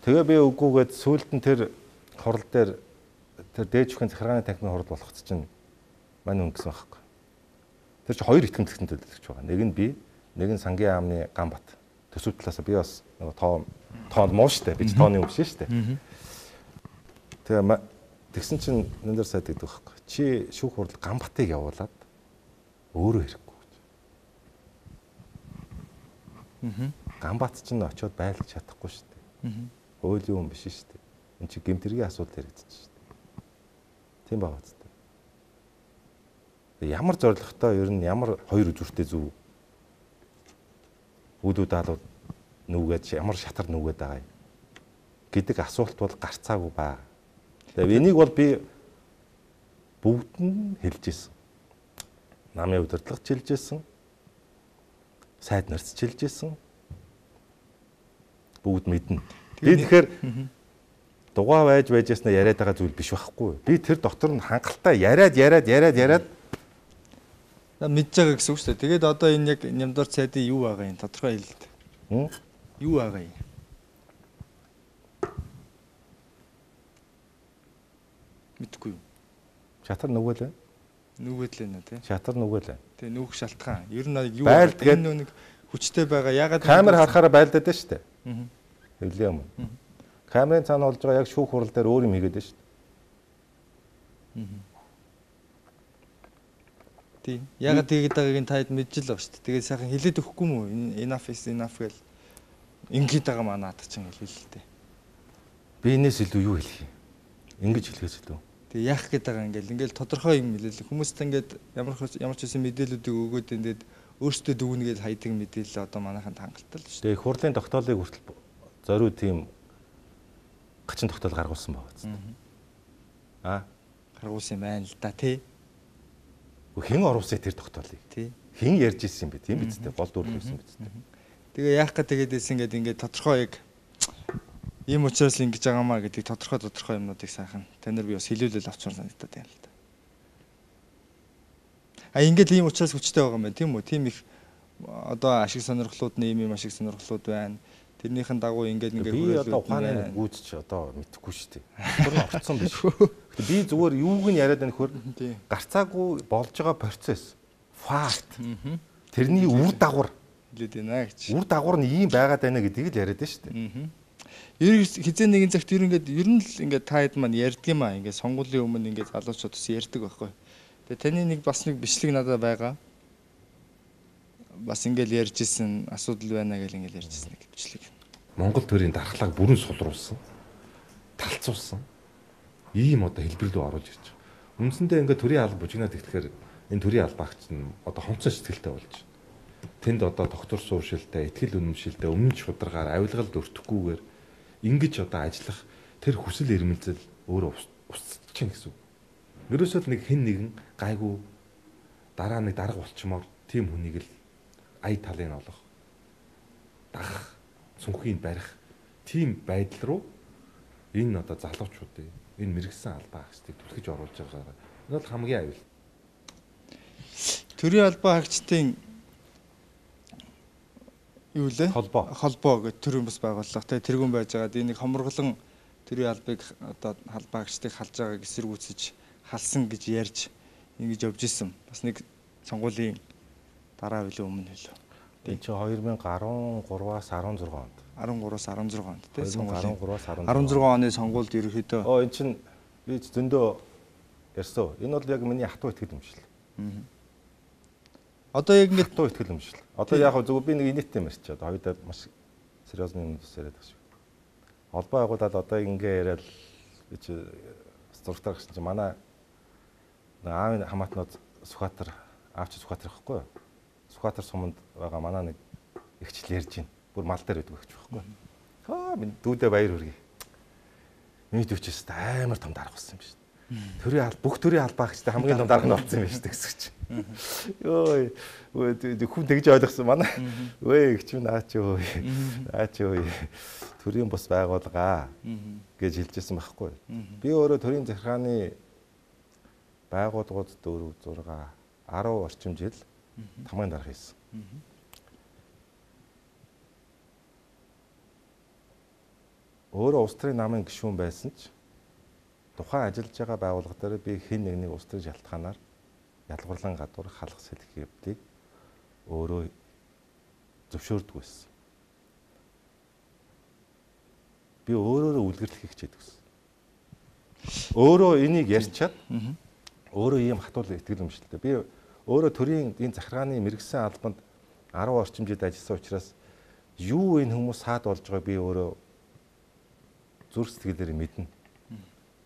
Тэгээ би үгүйгээд сүүлд нь тэр хурал дээр тэр дээж бүхэн захиргааны танхимын хурал болгоц чинь мань хүн гэсэн багхгүй. Тэр чинь хоёр итгэмжлэгтэн төлөвлөгч байгаа. Нэг нь би, нэг нь сангийн аамны Ганбат. Төсөв талаас би бас нөгөө тоо тоонд муу штэ. Би ч тооны юм биш штэ. Тэгээ тэгсэн чинь Нямдар сайд гэдэг багхгүй. Чи шүүх хурал Ганбатыг явуулаад өөрөө хэрэггүй гэж. Аа. Ганбат ч н очиод байлгах чадахгүй штэ. Аа. Хуулийн юм биш штэ. Энд чи гэмтэргийн асуудал яригдчих штэ. Тийм байгаа зү. Ямар зоригтой ер нь ямар хоёр үзүүртэй зөв үүдүүд алууд нүгээд ямар шатар нүгээд байгаа юм гэдэг асуулт бол гарцаагүй ба. Тэгээ энийг бол би бүгд нь хэлж ирсэн. Намын удирдлагч хэлж ирсэн. Сайд нарт хэлж ирсэн. Бүгд мэднэ. Би тэгэхээр дугаа байж байжснаа яриад байгаа зүйл биш байхгүй. Би тэр дотор нь хангалттай яриад яриад яриад яриад мэдж байгаа гэсэн үг шүү дээ. Тэгээд одоо энэ яг Нямдар сайдын юу байгаа юм тодорхой хэлээд. Юу байгаа юм? Мэдгүй юу? Шатар нүгэл байна. Нүгэд л байна тий. Шатар нүгэл байна. Тэгээ нүүх шалтгаан. Ер нь юу энэ нэг хүчтэй байгаа. Ягаад камер харахаараа байлдаад байна шүү дээ. Аа. Хэвлээ юм. Камерын цаана болж байгаа яг шүүх хурал дээр өөр юм хийгээд байна шүү дээ. Аа. Тийм. Ягаад тэгээд байгааг нь таад мэдж л байгаа шүү дээ. Тэгээд сайхан хэлээд өгөхгүй мүү? Enough is enough гэл ингээд байгаа маа надад ч ингэ хэлээ л дээ. Би энэс илүү юу хэлэх юм? Ингэж хэлхээс илүү. Тэгээ яах гээд байгаа ингээл ингээл тодорхой юм хэлээ. Хүмүүст ингээд ямар ямар ч үсэн мэдээллүүдийг өгөөд ингээд өөртөө дүгнэгээд хайдаг мэдээлэл одоо манайханд хангалттай л шүү дээ. Тэгээ хурлын тогтоолыг хүртэл зориуд тийм гачин тогтоол гаргуулсан байгаа зү. Аа гаргуулсан юм байна л да тий. Хэн оруулсан тэр тогтоолыг? Тий. Хэн ярьж ирсэн бэ? Тийм биз дээ. Гол дүр байсан биз дээ. Тэгээ яах гээд тэгээдээс ингээд ингээд тодорхой яг ийм учраас л ингэж байгаамаа гэдэг тодорхой тодорхой юмнуудыг сайхан танаар би бас хэлүүлэл авчмаар санагдаад байна л да. А ингээд ийм учраас хүчтэй байгаа юм байна тийм үү? Тийм их одоо ашиг сонирхлууд нь ийм ийм ашиг сонирхлууд байна. Тэрнийхэн дагуу ингээд ингээд би одоо ухааны гүйцч одоо мэдэхгүй шүү дээ. Тэр нь орцсон биш. Би зүгээр юуг нь яриад байна хөр гарцаагүй болж байгаа процесс факт. Тэрний үр дагавар хэлээд байна гэж. Үр дагавар нь ийм байгаад байна гэдгийг л яриад байна шүү дээ. Ер хизээ нэгэн цагт ер ингээд ер нь л ингээд та хэд маань ярьдгиймаа ингээд сонгуулийн өмнө ингээд залуучууд бас ярьдаг байхгүй. Тэгээ таны нэг бас нэг бичлэг надад байгаа. Бас ингээд ярьж исэн асуудал байна гэж ингээд ярьж исэн нэг бичлэг. Монгол төрийн дархлааг бүрэн сулруулсан. Талцуулсан. Ийм одоо хэлбэр рүү оруулж ирж байгаа. Үндсэндээ ингээд төрийн алба бужигнаад ихлэхээр энэ төрийн албаагч нь одоо хонцон сэтгэлтэй болж байна. Тэнд одоо доктор сууршилтай, ихтгэл үнэмшилтэй, өмнө шударгаар авилгалд өртөхгүйгээр ингэж одоо ажиллах тэр хүсэл эрмэлзэл өөрөө устчих гэсэн үг. Ерөөсөө нэг хэн нэгэн гайгүй дараа нэг дарга болчмоор тийм хүнийг л ая талын олох, дагах, цүнхийг барих тийм байдал руу энэ одоо залуучуудын энэ мэрэгсэн албаа хаагчдыг түлхэж оруулж байгаа. Энэ бол хамгийн аюул. Төрийн албаа хаагчдын юу лээ? Холбоо. Холбоо гэх төрийн бас байгууллага те тэргүүн байж байгаа. Энийг хомроглон төрийн албыг одоо албаагчдыг халж байгааг эсэргүүцэж халсан гэж ярьж ингэж явж исэн. Бас нэг сонгуулийн дараа үеийн өмнө хэлв. Энд чи две тысячи десять-аас десять онд. десять-аас десять онд те сонгуулийн десять оны сонгуульд ерөөхдөө оо эн чин би зөндөө ярьсан. Энэ бол яг миний хатуу итгэл юмшил. Одоо яг ингэ хатуу итгэл юмшил. Одоо яг зөв би нэг инээдтэй марч чад. Хоёудаа маш сериозны юм яриад байгаа шүү. Холбоо байгуулаад одоо ингэ яриад би чи структур гэсэн чи манай аавын хамаатнууд Сүхбаатар аавч Сүхбаатар ихгүй юу? Сүхбаатар суманд байгаа манай нэг ихчл ярьж байна. Бүр мал дээр байдаг гэж байхгүй. Аа минь дүүдээ баяр хүргэе. Миний төвчөөс амар том дарга болсон юм биш. Төрийн алба бүх төрийн албаагчтай хамгийн том дарга нь болсон юм биш гэсэн чинь. Йоо хүн тэгж ойлгосон манай. Өө их ч наа ч өө. Наа ч өө. Төрийн бус байгуулгаа гэж хэлжсэн байхгүй. Би өөрөө төрийн захиргааны байгууллагууд дөрөв зураг десять орчим жил тамгын дарга хийсэн. Өөрөө улс төрийн намын гишүүн байсан ч тухайн ажиллаж байгаа байгууллага дээр би хэн нэгнийг улс төрийн шалтгаанаар ялгуурлан гадуур халах сэлэх явдлыг өөрөө зөвшөөрдөг байсан. Би өөрөөрөө үлгэрлэх хичээдэг байсан. Өөрөө энийг ярьчаад өөрөө ийм хатуул итгэл юмшилтэй. Би өөрөө төрийн энэ захиргааны мэрэгсэн албанд десять орчим жил ажилласан учраас юу энэ хүмүүс саад болж байгааг би өөрөө зүрх сэтгэлээр мэднэ.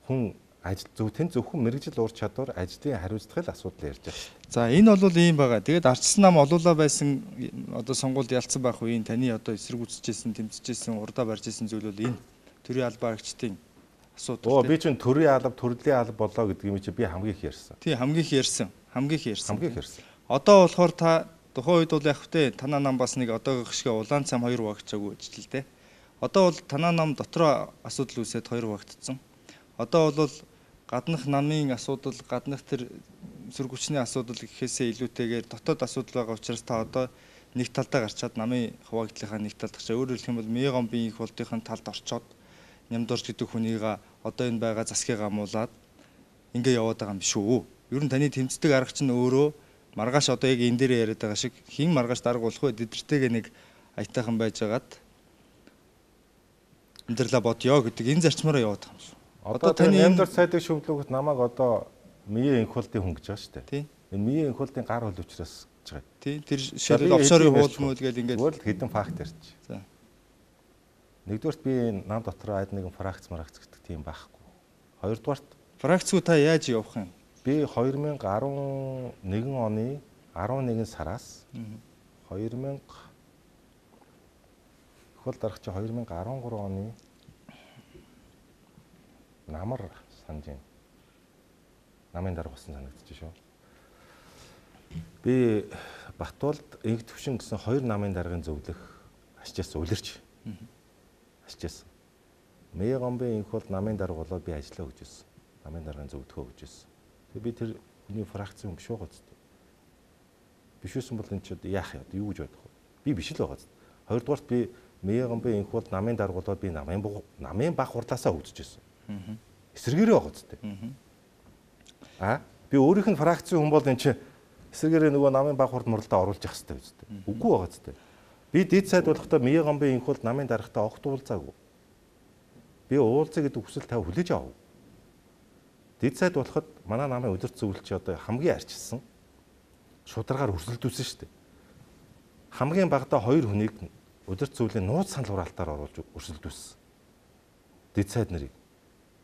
Хүн ажил зөв тэн зөвхөн мэрэгжил уур чадвар ажлын хариуцлагын асуудал ярьж байгаа. За энэ бол ийм байгаа. Тэгээд ардчсан нам олуулаа байсан одоо сонгуульд ялцсан байх үеийн таны одоо эсэргүүцэжсэн, тэмцэжсэн, урдаа барьж исэн зүйл бол энэ төрийн албаагчдын асуудал. Оо би чинь төрийн алба, төрлийн алба болоо гэдэг юм чи би хамгийн их ярьсан. Тий хамгийн их ярьсан. Хамгийн их ярьсан. Хамгийн их ярьсан. Одоо болохоор та тухайн үед бол яг хөтэ танаа нам бас нэг одоогийнх шиг улаан цам хоёр багчаагүй гэж л дээ. Одоо бол танаа нам дотроо асуудал үүсээд хоёр багтцсан. Одоо бол гаднах намын асуудал, гаднах тэр сүргүчний асуудал гэхээсээ илүүтэйгээр дотоод асуудал байгаа учраас та одоо нэг талдаа гарчаад намын хаваагдлынхаа нэг талд гарчаа. Өөрөөр хэлэх юм бол Меган биеийн их болтын талд орчоод Нямдорж гэдэг хүнийг одоо энэ байгаа засгийг амуулаад ингээ яваад байгаа юм шүү. Ер нь таны тэмцдэг арга чинь өөрөө маргааш одоо яг энэ дээр яриад байгаа шиг хин маргааш дарга болох вэ? Эдэртэйгээ нэг аятайхан байжгаад амьдралаа бодё гэдэг энэ зарчмаараа яваад байгаа юм шүү. Одоо таны Нямдар сайдыг шүмжлүүлэхэд намайг одоо Мие инхултын хүн гэж байгаа шүү дээ. Тийм. Энэ Мие инхултын гар хөл учраас гэж байгаа. Тийм. Тэр жишээлбэл офшорын хууль мөл гэл ингээд бол хэдэн факт ярьж. За. Нэгдүгээрт би нам дотор айд нэгэн фракц маракц гэдэг тийм байхгүй. Хоёрдугаарт фракцгүй та яаж явах юм? Би две тысячи eleven оны eleven сараас две тысячи хөл дарах чи две тысячи thirteen оны намар санаж байна. Намын дарга болсон санагдчих шүү. Би Батболд инх төвшин гэсэн хоёр намын даргын зөвлөх ачаас үлэрч. Ачаас. Мие гомбын инх бол намын дарга болоод би ажиллаа гэж байсан. Намын даргын зөвлөхөө гэж байсан. Тэгээ би тэр хүний фракцийн хүн биш байгаа зү. Биш үсэн бол энэ ч яах юм юу гэж бодох вэ? Би биш л байгаа зү. Хоёрдугаарт би Мие гомбын инх бол намын дарга болоод би намын намын баг хурлаасаа үзэж байсан. Эсэргээрээ байгаа зү. А би өөрийнх нь фракцийн хүн бол энэ чи эсэргээрээ нөгөө намын баг хурд муралдаа оруулж явах хэрэгтэй биз дээ. Үгүй байгаа зү. Би дэд сайд болохдоо Мие гомбын инх бол намын даргатаа огт уулзаагүй. Би уулзъя гэдэг хүсэл тав хүлээж авав. Дэд сайд болоход манай намын өдөрт зөвлөлч одоо хамгийн арчилсан шударгаар өрсөлдүүлсэн шүү дээ. Хамгийн багадаа хоёр хүнийг өдөрт зөвлөлийн нууц санал хураалтаар оруулж өрсөлдүүлсэн. Дэд сайд нарыг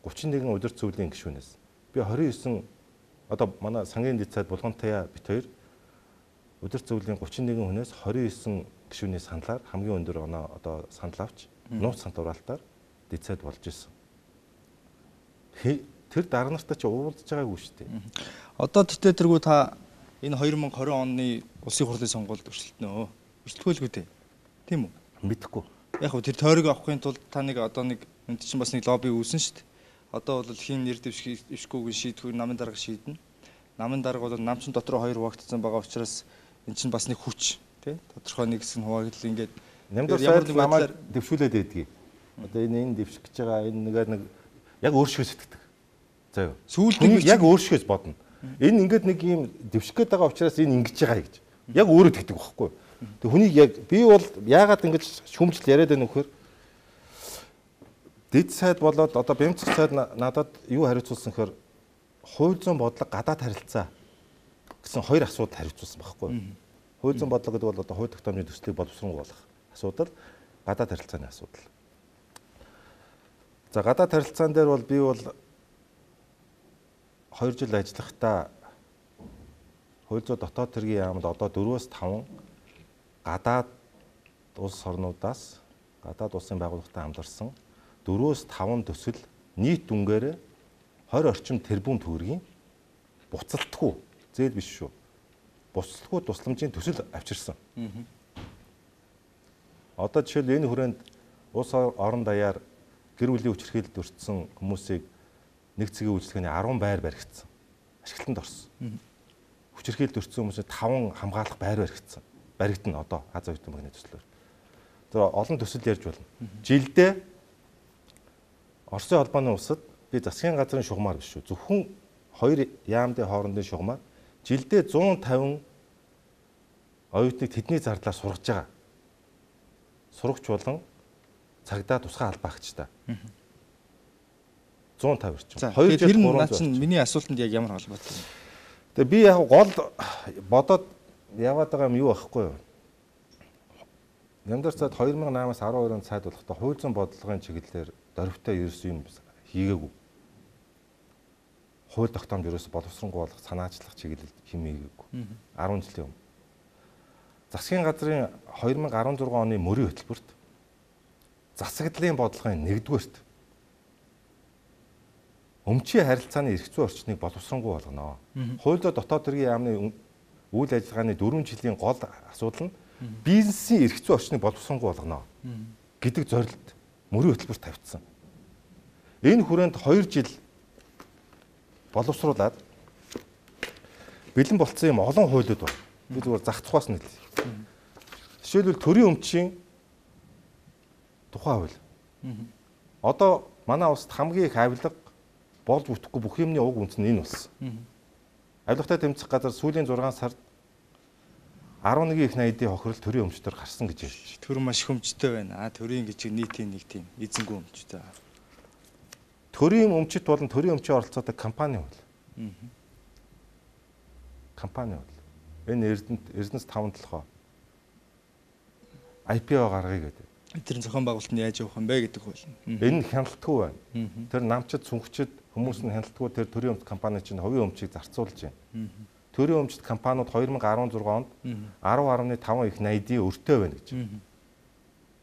thirty-one өдөрт зөвлөлийн гишүүнээс би twenty-nine одоо манай сангийн дэд сайд Булгантаяа бит хоёр өдөрт зөвлөлийн thirty-one хүнээс twenty-nine гишүүний саналаар хамгийн өндөр оноо одоо санал авч нууц санал хураалтаар дэд сайд болж исэн. Тэр дарга нартай ч уулзж байгаагүй шүү дээ. Одоо тэгтээ тэргүй та энэ twenty twenty оны улсын хурлын сонгуульд өрсөлдөнө. Өрсөлдөхөөлгүй дээ. Тийм үү? Мэдхгүй. Яг хөө тэр тойрог авахын тулд та нэг одоо нэг энэ чинь бас нэг лобби үүсэн шүү дээ. Одоо бол хин нэр дэвшгүйг шийдвэр намын дарга шийднэ. Намын дарга бол намчин дотор хоёр хуваагдсан байгаа учраас эн чинь бас нэг хүч тий тодорхой нэг хэсэг хуваагдал ингээд Нямдар сайд намайг дэвшүүлээд байдгийг. Одоо энэ энэ дэвших гэж байгаа энэ нэгээр нэг яг өөршгөө сэтгэдэг. За юу. Сүүлдээ яг өөршгөөс бодно. Энэ ингээд нэг юм дэвших гээд байгаа учраас энэ ингэж байгаа гэж. Яг өөрөө тэгдэг байхгүй. Тэг хүнийг яг би бол яагаад ингэж шүмжил яриад байна вөхөр дэд сайд болоод одоо бямцх сайд надад юу хариуцуулсан гэхээр хууль зүйн бодлого гадаад харилцаа гэсэн хоёр асуудал хариуцуулсан байхгүй. Хууль зүйн бодлого гэдэг бол одоо хууль тогтоомжийн төслийг боловсронгуй болгох асуудал, гадаад харилцааны асуудал. За гадаад харилцаан дээр бол би бол хоёр жил ажиллахдаа хууль зүйн дотоод хэргийн яамд одоо four-аас five гадаад улс орнуудаас гадаад улсын байгууллагатай хамтарсан four-аас five төсөл нийт дүнгээр twenty орчим тэрбум төгрөгийн буцалтгүй зээл биш шүү. Буцалтгүй тусламжийн төсөл авчирсан. Одоо жишээл энэ хүрээнд улс орон даяар гэр бүлийн хүчирхийлэлд өртсөн хүмүүсийг нэг цэгийн үйлчлэгээний ten байр баригдсан. Ашиглалтанд орсон. Хүчирхийлэлд өртсөн хүмүүсээ five хамгаалах байр баригдсан. Баригдана одоо Аз оюутан багны төслөөр. Тэр олон төсөл ярьж болно. Жилдээ Оросын холбооны улсад би засгийн газрын шугамар биш шүү. Зөвхөн хоёр яамдын хоорондын шугамар жилдээ one fifty оюутныг тэдний зардлаар сургаж байгаа. Сурагч болон цагдаа тусгай албаагчтай. one fifty орчим. хоёр жил гурван жил. Миний асуултанд яг ямар холбоотой юм? Тэгээ би яг гол бодоод яваад байгаа юм юу аахгүй юу? Нямдар цаад two thousand eight-аас twelve оны цайд болохдоо хууль зүйн бодлогын чиглэлээр дөрвтэй ерөөс юм хийгээгүй. Хууль тогтоомж ерөөс боловсронгуй болгох санаачлах чиглэлд хэм хийгээгүй. ten жилийн өмнө. Засгийн газрын two thousand sixteen оны мөрийн хөтөлбөрт засаглалын бодлогын нэгдүгээрт өмчийн харилцааны эрх зүйн орчныг боловсронгуй болгоно. Хууль зүйн дотоод хэргийн яамны үйл ажиллагааны four жилийн гол асуудал нь бизнесийн эрх зүйн орчныг боловсронгуй болгоно гэдэг зорилт мөрийн хөтөлбөрт тавьчихсан. Энэ хүрээнд two жил боловсруулад бэлэн болцсон юм олон хуулиуд байна. Би зүгээр зах тухаас нь хэлье. Жишээлбэл төрийн өмчийн тухай хууль. Одоо манай улсад хамгийн их авилга болж бүтэхгүй бүх юмны уг үндэс нь энэ болсон. Авилгатай тэмцэх газар сүүлийн six сард арван нэг их найдын хохирол төрийн өмчтөр гарсан гэж ярьж. Төр маш их өмчтэй байна. А төрийн гэж нийтийн нэг тийм эзэнгүй өмчтэй. Төрийн өмчт болон төрийн өмчийн оролцоотой компани бол. Компани бол. Энэ Эрдэнэт Эрдэнэс таван толгой ай пи о гаргая гэдэг. Тэр зохион байгуулалт нь яаж явах юм бэ гэдэг хөл. Энэ хяналтгүй байна. Тэр намчид сүнхчид хүмүүс нь хяналтгүй тэр төрийн өмч компани чинь хувийн өмчийг зарцуулж байна. Төрийн өмчт компаниуд две тысячи десять онд ten гаруй five их найдын өртөө байна гэж. ten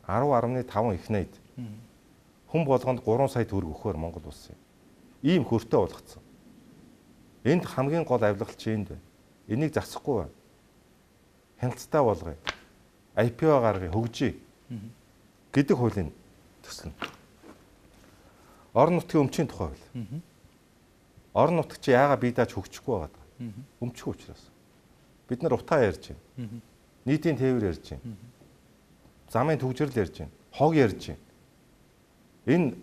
гаруй five их найд. Хүн болгонд three сая төгрөг өгөхөөр Монгол улс юм. Ийм хөртөө болгоцсон. Энд хамгийн гол авилгал чи энд байна. Энийг засахгүй байна. Хяналттай болгоё. ай пи о гаргая, хөгжиж гэдэг хуулийн төсөл. Орон нутгийн өмчийн тухай хууль. Орон нутг чи яагаад бие дааж хөгжихгүй байгаад байгаа. Өмчих учраас. Бид нар утаа ярьж байна. Нийтийн тээвэр ярьж байна. Замын төгжрөл ярьж байна. Хог ярьж байна. Энэ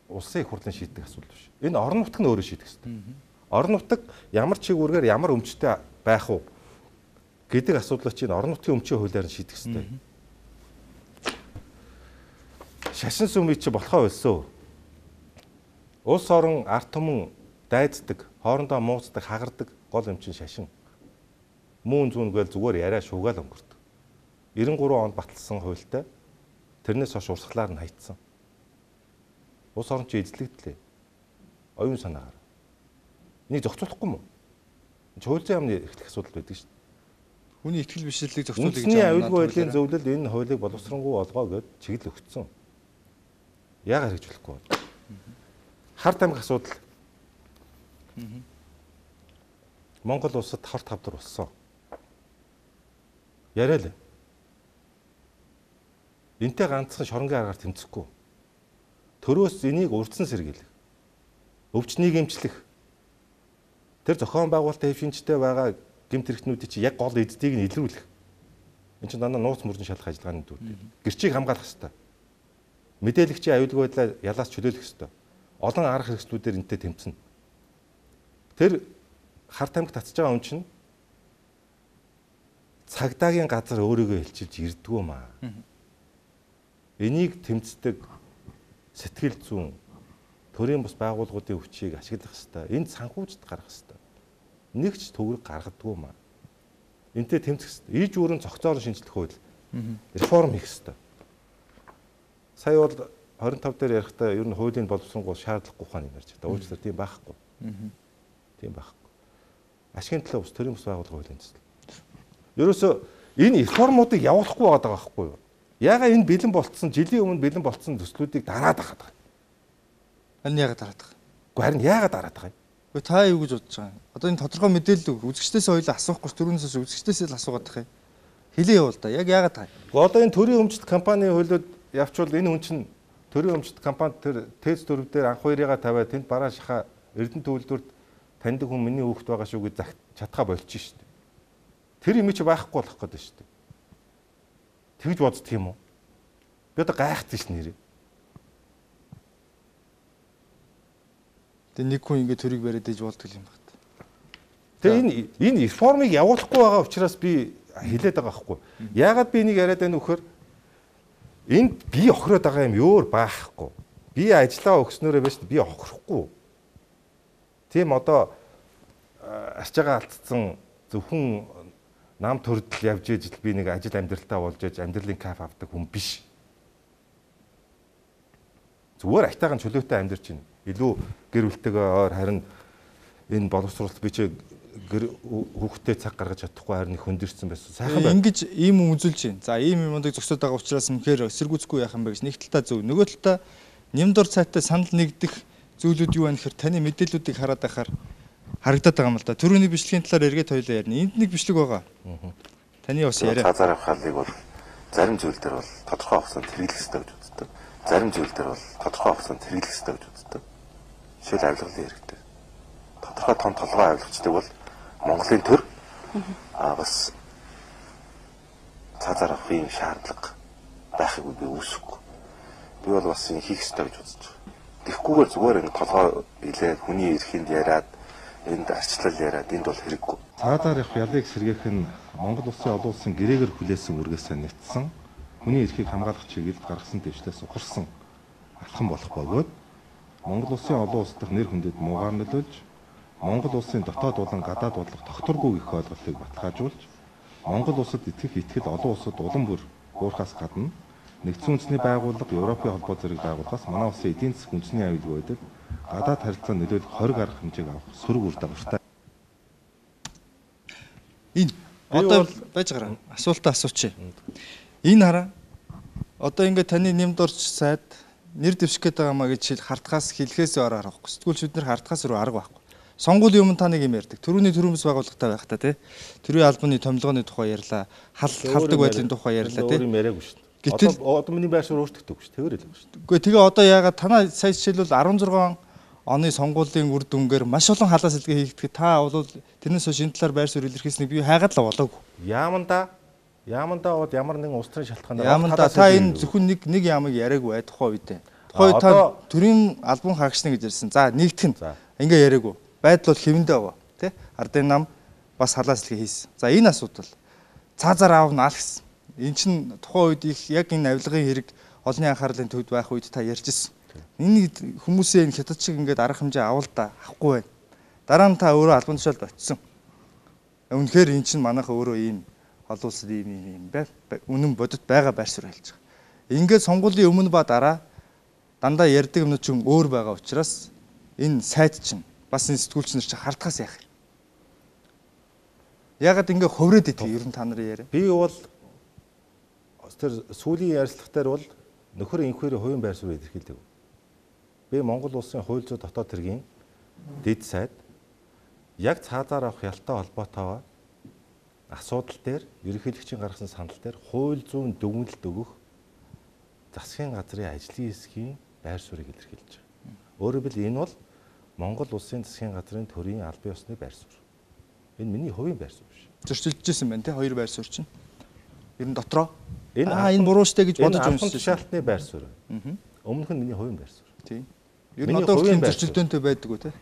улсын их хурлын шийдэх асуудал биш. Энэ орон нутг нь өөрөө шийдэх ёстой. Орон нутг ямар чигүүргээр ямар өмчтэй байх уу гэдэг асуудлыг чинь орон нутгийн өмчийн хуулиар нь шийдэх ёстой. Шашин сүмийг чи болохоо байлсоо. Улс орон ард түмэн дайддаг, хоорондоо мууцдаг, хагардаг гол юм чинь шашин. Мөн зүүнгээл зүгээр яриа шуугаал өнгөрдөг. ninety-three онд баталсан хуультай тэрнээс хойш урсгалаар нь хайцсан. Улс орон чи эзлэгдлээ. Оюун санаагаар. Энийг зохицуулахгүй мó? Хуулийн яамны эхлэх асуудал байдаг шүү дээ. Хүний ихтгэл бишрлийг зохицуулах гэж байна. Үндэсний аюулгүй байдлын зөвлөл энэ хуулийг боловсронгуй олгоо гэж чиглэл өгсөн. Яагаад хийж болохгүй вэ? Харт амиг асуудал. Монгол улсад хор тавдар болсон. Яриа л. Энтэй ганцхан шоронгийн аргаар тэмцэхгүй. Төрөөс энийг урдсан сэргийлэх. Өвчнийг эмчлэх. Тэр зохион байгуулалтын хэвшинчтэй байгаа гэмт хэрэгтнүүдийг чи яг гол эддийг нь илрүүлэх. Энд чинь дандаа нууц мөрдөн шалах ажиллагааны дүр. Гэрчийг хамгаалах хэрэгтэй. Мэдээлэгчийн аюулгүй байдлаа ялаас чөлөөлөх хэрэгтэй. Олон арга хэрэгслүүдээр энтэй тэмцэнэ. Тэр харт амигт татж байгаа хүн чинь цагдаагийн газар өөрийгөө хэлчилж ирдгүү маа. Энийг тэмцдэг сэтгэл зүйн төрийн бус байгууллагуудын өвчийг ашиглах хэрэгтэй. Энд санхүүжд гаргах хэрэгтэй. Нэг ч төгрөг гаргадгүй маа. Энтэй тэмцэх хэрэгтэй. Иж өөрийн цогцоор шинжлэх хууль реформ хийх хэрэгтэй. Сая бол twenty-five дээр ярихдаа ер нь хуулийн боловсронгуй шаардлагагүй ухааны ярьж байгаа. Уучлаарай тийм байхгүй. Тийм байхгүй. Ашигын төлөө ус төрийн бус байгууллага хуулийн төсөл. Ерөөсөө энэ реформуудыг явуулахгүй байгаа байхгүй юу? Яагаад энэ бэлэн болцсон жилийн өмнө бэлэн болцсон төслүүдийг дараад байгаа юм? Энэ яагаад дараад байгаа? Гэхдээ харин яагаад дараад байгаа юм? Гэхдээ та юу гэж бодож байгаа юм? Одоо энэ тодорхой мэдээлэл үзэгчдээс хоёул асуухгүй түрүүнээс үзэгчдээс л асуугаад байгаа юм. Хэлээ явуул да. Яг яагаад таа? Гэхдээ одоо энэ төрийн өмчт компани хуулиуд явчвал энэ хүн чинь төрийн өмчт компани тэр тэц дөрөв дээр анх хоёрыгаа тавиад тэнд бараа шаха Эрдэнэ төвлөрд таньдаг хүн миний хүүхэд байгаа шүү гэж чадхаа болчих шүү дээ. Тэр юм чи байхгүй болох гэдэг шүү дээ. Тэгж боддог юм уу? Би одоо гайхдаг ш нэрээ. Тэгээ нэг хүн ингэ төрийг бариад иж болдог юм байна. Тэгээ энэ энэ реформыг явуулахгүй байгаа учраас би хэлээд байгаа байхгүй. Яагаад би энийг яриад байна вөхөр энд би охироод байгаа юм өөр баахгүй. Би ажиллаа өгснөөрөө байж би охирохгүй. Тийм одоо арчаага алдсан зөвхөн нам төрдөл явж ижил би нэг ажил амьдралтаа болж ээж амьдралын кафе авдаг хүн биш. Зүгээр айтайхан чөлөөтэй амьдарч байна. Илүү гэр бүлтэйгээ ойр харин энэ боловсруулалт би чи хүүхдээ цаг гаргаж чадахгүй харин их хөндөрсөн байсан. Сайхан байна. Ингэж ийм юм үзүүлж байна. За ийм юмдыг зөксөд байгаа учраас мөхөр эсэргүүцэхгүй яах юм бэ гэж нэг талдаа зөв. Нөгөө талдаа нямдор цайтай санал нэгдэх зүйлүүд юу вэ гэхээр таны мэдээллүүдийг хараад байхаар харагдаад байгаа юм л да. Төрөний бичлэгийн талаар эргээд хоёлаа ярина. Энд нэг бичлэг байгаа. Таны бас яриа. Цаазаар авахлыг бол зарим зүйл дээр бол тодорхой хугацаанд хэрэглэх ёстой гэж үздэг. Зарим зүйл дээр бол тодорхой хугацаанд хэрэглэх ёстой гэж үздэг. Жишээл авилгалын хэрэгтэй. Тодорхой том толгой авилгачдаг бол Монголын төр аа бас цаазаар авахын шаардлага байхыг би үүсэхгүй. Би бол бас энэ хийх ёстой гэж үзэж байна. Тэгэхгүйгээр зүгээр энэ толгой илээд хүний эрхэнд яриад энд арчлал яриад энд бол хэрэггүй. Цаадаар явах ялыг сэргээх нь Монгол улсын олон улсын гэрээгээр хүлээсэн үргээсээ нэгтсэн хүний эрхийг хамгаалах чиглэлд гаргасан дэвшлээс ухарсан алхам болох бөгөөд Монгол улсын олон улс дахь нэр хүндэд муугаар нөлөөлж Монгол улсын дотоод болон гадаад бодлого тогтворгүй гэх ойлголтыг баталгаажуулж Монгол улсад итгэх итгэл олон улсад улам бүр буурахаас гадна нэгдсэн үндэсний байгууллага, Европын холбоо зэрэг байгууллагаас манай улсын эдийн засаг үндэсний аюулгүй байдаг гадаад харилцаанд нөлөөлөх хориг арга хэмжээг авах сөрөг үр дагавартай. Энэ одоо байж гараа асуултаа асуучих. Энэ хараа одоо ингээд таны нэмд орч сайд нэр дэвших гээд байгаа маа гэж хартахаас хэлхээс ор арахгүй. Сэтгүүлч бид нэр хартахаас руу арга байхгүй. Сонгуулийн өмнө та нэг юм ярьдаг. Төрөүний төрөмс байгууллагатай байх та тий. Төрийн албаны томилгооны тухай ярьлаа. Хал халдаг байдлын тухай ярьлаа тий. Өөр юм яриаггүй шүү дээ. Гэтэл Одоо миний байр суурь өөрчлөгдөв шүү дээ. Тэгэр л байгаа шүү дээ. Үгүй тэгээ одоо яагаад танаа сая жишээлбэл арван зургаан оны сонгуулийн үр дүнгээр маш олон халаа сэлгээ хийгдэхэд та бол тэрнээс хойш энэ талаар байр суурь илэрхийлсэнийг би хайгаад л болоогүй. Яаманда Яаманда бод ямар нэгэн улс төрийн шалтгаанаар Яаманда та энэ зөвхөн нэг нэг ямыг яриаггүй бай тухай үедээ. Тухай та төрийн албан хаагчна гэж ярьсан. За нэгдэх нь ингээ яриаггүй. Байдал бол хэвэндээ байгаа тий. Ардын нам бас халаа сэлгээ хийсэн. За энэ асуудал цаазаар аавна аль гэсэн. Энд чинь тухайн үед их яг энэ авилгын хэрэг олонний анхаарлын төвд байх үед та ярьж ирсэн. Энэ хүмүүсээ энэ хятад шиг ингээд арга хэмжээ авал да авахгүй байна. Дараа нь та өөрөө албан тушаалд очсон. Үнэхээр эн чинь манайха өөрөө ийм олон улсад ийм ийм бай үнэн бодит байгаа байр суурь хэлж байгаа. Ингээд сонгуулийн өмнө ба дараа дандаа ярьдаг юмнууд ч өөр байгаа учраас энэ сайд чинь бас энэ сэтгүүлч нар чинь хартахаас яах юм. Ягаад ингээд ховроод идэх ер нь та нарын яриа. Би бол тэр сүүлийн ярилцлагатаар бол нөхөр инхүүрийн хувийн байр суурийг илэрхийлдэг. Би Монгол улсын хууль зүйн дотоод хэргийн дэд сайд яг цаазаар авах ялтай холбоотойгоо асуудал дээр ерөнхийлөгчийн гаргасан санал дээр хууль зүйн дүгнэлт өгөх засгийн газрын ажлын хэсгийн байр суурийг илэрхийлж байгаа. Өөрөөр хэлбэл энэ бол Монгол улсын засгийн газрын төрийн албан ёсны байр суурь. Энэ миний хувийн байр суурь биш. Зөрчилдөжсэн байна тий хоёр байр суурь чинь. Ер нь дотроо энэ аа энэ буруу штэ гэж бодож уншсан. Энэ шалтны байр суурь. Өмнөх нь миний хувийн байр суурь. Тий. Ер нь одоо тийм зөрчилдөөнтэй байдаг уу тий?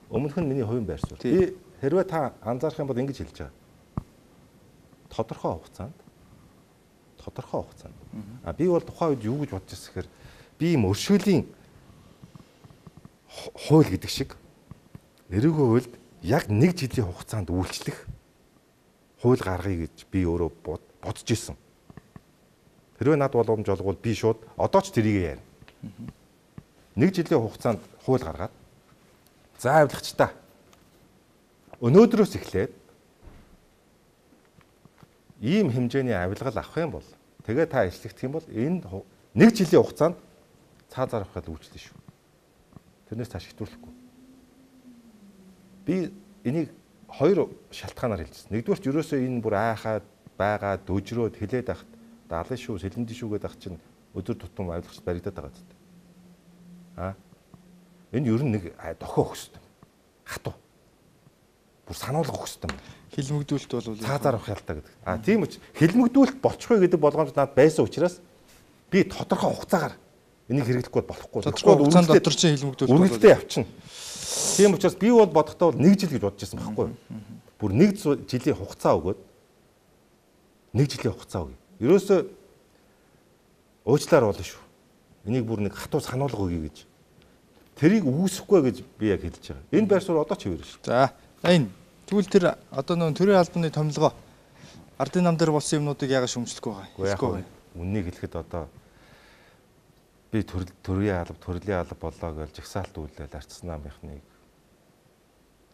Өмнөх нь миний хувийн байр суурь. Би хэрвээ та анзаарах юм бол ингэж хэлж байгаа. Тодорхой хугацаанд тодорхой хугацаанд. А би бол тухайн үед юу гэж бодож байсан гэхээр би ийм өршөөлийн хууль гэдэг шиг эрүүгийн хуульд яг нэг жилийн хугацаанд үйлчлэх хууль гаргая гэж би өөрөө бодож исэн. Хэрвээ над боломж олгвол би шууд одоо ч тэрийг ярина. Нэг жилийн хугацаанд хууль гаргаад за авилгач та өнөөдрөөс эхлээд ийм хэмжээний авилгал авах юм бол тэгээ та ажиллагдах юм бол энэ нэг жилийн хугацаанд цаазаар авахад үйлчлэн шүү. Тэрнээс цааш хэвтүүлэхгүй. Би энийг хоёр шалтгаанаар хэлжсэн. Нэгдүгээрт ерөөсөө энэ бүр айхаад байгаа дөжрөөд хилээд ахт даалын шүү, сэлэндийн шүүгээд ах чинь өдөр тутам авилгач баригдаад байгаа зү. Аа. Энэ ер нь нэг дохио өгөх юм. Хатуу. Бүр сануулга өгөх юм. Хилмигдүүлэлт бол цаазаар авах ялтаа гэдэг. Аа тийм үуч хилмигдүүлэлт болчихгүй гэдэг болгоомж над байсан учраас би тодорхой хугацаагаар энийг хэрэглэхгүй болохгүй. Тодорхой хугацаанд дотор чинь хилмигдүүлэлт үргэлжлээ явчихна. Тийм учраас би бол бодохдоо бол нэг жил гэж бодож байсан байхгүй юу? Бүр нэг жилийн хугацаа өгөөд нэг жилийн хугацаа өгье. Ерөөсөө уучлаар болно шүү. Энийг бүр нэг хатуу сануулга өгье гэж. Тэрийг үүсэхгүй гэж би яг хэлж байгаа. Энэ байр суурь одоо ч хэвээр шүү. За энэ тэгвэл тэр одоо нөө төрийн албаны томилгоо ардын нам дээр болсон юмнуудыг яагаад шөмжлөхгүй байгаа юм? Үннийг хэлэхэд одоо би төрийн алба, төрлийн алба болоо гэж жагсаалт үйлдэл арчсан намынхныг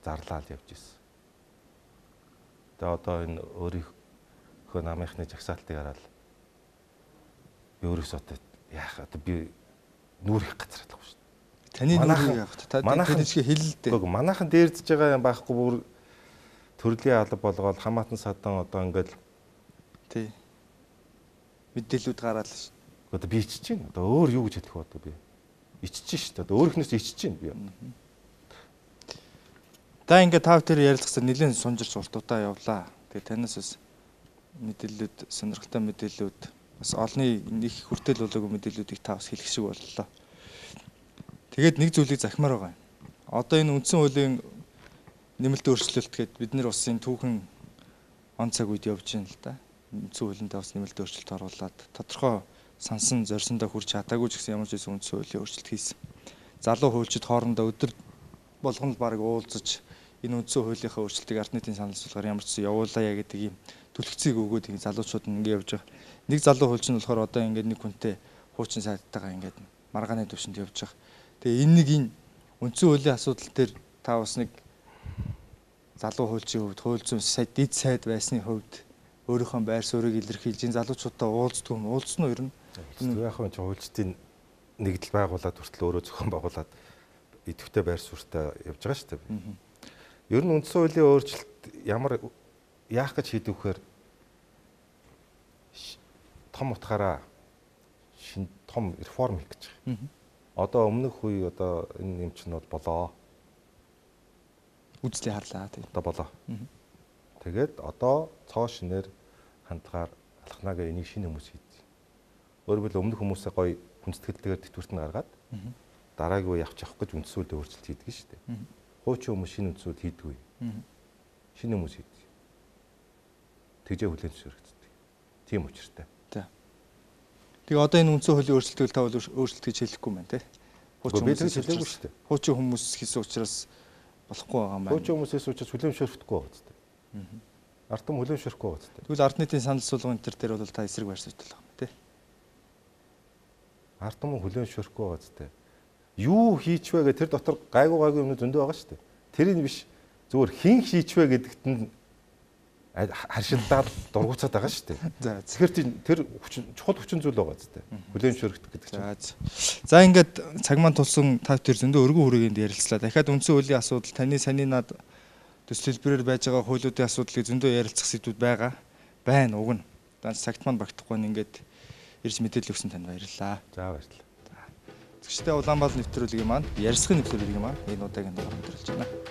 зарлаад явж ирсэн. Тэгээ одоо энэ өөрийнхөө намынхны жагсаалтыг хараад би өөрөөсөө яах одоо би нүүр их газарлахгүй шүү дээ. Таны нүүрийг яах вэ? Та тэр чигээ хэлэлдээ. Үгүй манайхан дээрдэж байгаа юм байхгүй бүр төрлийн алба болгоод хамаатан садан одоо ингээл тий мэдээлүүд гараад л шүү. Одоо би ичиж чинь одоо өөр юу гэж хэлэх вэ одоо би ичиж шүү дээ. Одоо өөрөхнөөс ичиж чинь би. Та ингээд тав тэр ярилцсан нэлээд сунжирч уртуудаа явлаа. Тэгээ танаас бас мэдээлэлүүд сонирхолтой мэдээлэлүүд бас олны нэг хүртэл болоогүй мэдээллүүдийг та бас хэлэх шиг боллоо. Тэгээд нэг зүйлийг захимаар байгаа юм. Одоо энэ үндсэн хуулийн нэмэлт өөрчлөлт гээд бид нэр улсын түүхэн он цаг үед явж байна л да. Үндсэн хуулиндаа бас нэмэлт өөрчлөлт оруулаад тодорхой сансан зорьсондоо хүрч чадаагүй ч гэсэн ямар ч үндсэн хуулийн өөрчлөлт хийсэн. Залуу хуульчид хоорондоо өдөр болгон л баг уулзаж энэ үндсэн хуулийнхаа өөрчлөлтийг ард нийтийн санал асуулгаар ямар ч зүйл явуулаа гэдэг ийм түлхцийг өгөөд ингэ залуучууд нь ингэ явж байгаа. Нэг залуу хуульч нь болохоор одоо ингэ нэг хүнтэй хуучин сайдтайгаа ингэ маргааны төвшөнд явж байгаа. Тэгээ энэ нэг энэ үндсэн хуулийн асуудал дээр та бас нэг залуу хуульчийн хувьд хууль зүйн сайд дид сайд байсны хувьд өөрийнхөө байр суурийг илэрхийлж энэ залуучуудаа уулздаг юм уулзсан уу ер нь? Яг нь хуульчдын нэгдэл байгуулад хүртэл өөрөө зохион байгуулад идэвхтэй байр суурьтай явж байгаа шүү дээ. Ер нь үндсэн хуулийн өөрчлөлт ямар яах гэж хийдэг вэхээр том утгаараа шин том реформ хийх гэж байгаа. Одоо өмнөх үе одоо энэ юм чинь бол болоо. Үзлээ харлаа тийм. Одоо болоо. Тэгээд одоо цоо шинээр хандгаар алхнагаа энийг шинэ хүмүүс хийдэг. Өөрөөр хэлбэл өмнөх хүмүүсээ гоё хүндэтгэлтэйгээр тэтгэврт нь гаргаад дараагийн үе явах явах гэж үндсэн хуулийг өөрчлөлт хийдэг шүү дээ. Хуучин хүмүүс шинэ үндсэн хууль хийдэггүй. Шинэ хүмүүс хийдэг. Тэгжээ хүлээн зөвшөөрөгддөг. Тийм учиртай. Тэгээ одоо энэ үндсэн хуулийн өөрчлөлтийг та өөрчлөлт гэж хэлэхгүй байна те. Хуучин хүмүүс хэлээгүй шүү дээ. Хуучин хүмүүс хийсэн учраас болохгүй байгаа юм байна. Хуучин хүмүүсээс учраас хүлээн зөвшөөрөхгүй байгаа зү. Ард түмэн хүлээн зөвшөөрөхгүй байгаа зү. Тэгвэл ард нийтийн санал суулгын энэ төр дээр бол та эсрэг байр суурьтай байгаа юм те. Ард түмэн хүлээн зөвшөөрөхгүй байгаа зү. Юу хийчвэ гэх тэр дотор гайгүй гайгүй юм зөндөө байгаа шүү дээ. Тэрийг биш зүгээр хин хийчвэ гэдэгт нь харшилдаад дургуцаад байгаа шүү дээ. За тэгэхээр тэр чухал хүчин зүйл байгаа зү. Хүлээн зөвшөөрөгдөх гэдэг чинь. За ингээд цаг маань тулсан та тэр зөндөө өргөн хүрээнд ярилцлаа. Дахиад үндсэн хуулийн асуудал таны саний над төсөл хэлбэрээр байж байгаа хуулиудын асуудлыг зөндөө ярилцах сэдвүүд байгаа. Байна уг нь. Данч цагт маань багтахгүй нь ингээд ирж мэдээлэл өгсөн танд баярлалаа. За баярлалаа. Тэгштэй Улаанбаатар нэвтрүүлгийн маань ярилцлагын нэвтрүүлэг юм аа. Энэ удаагийн дугаар өндөрлөж байна.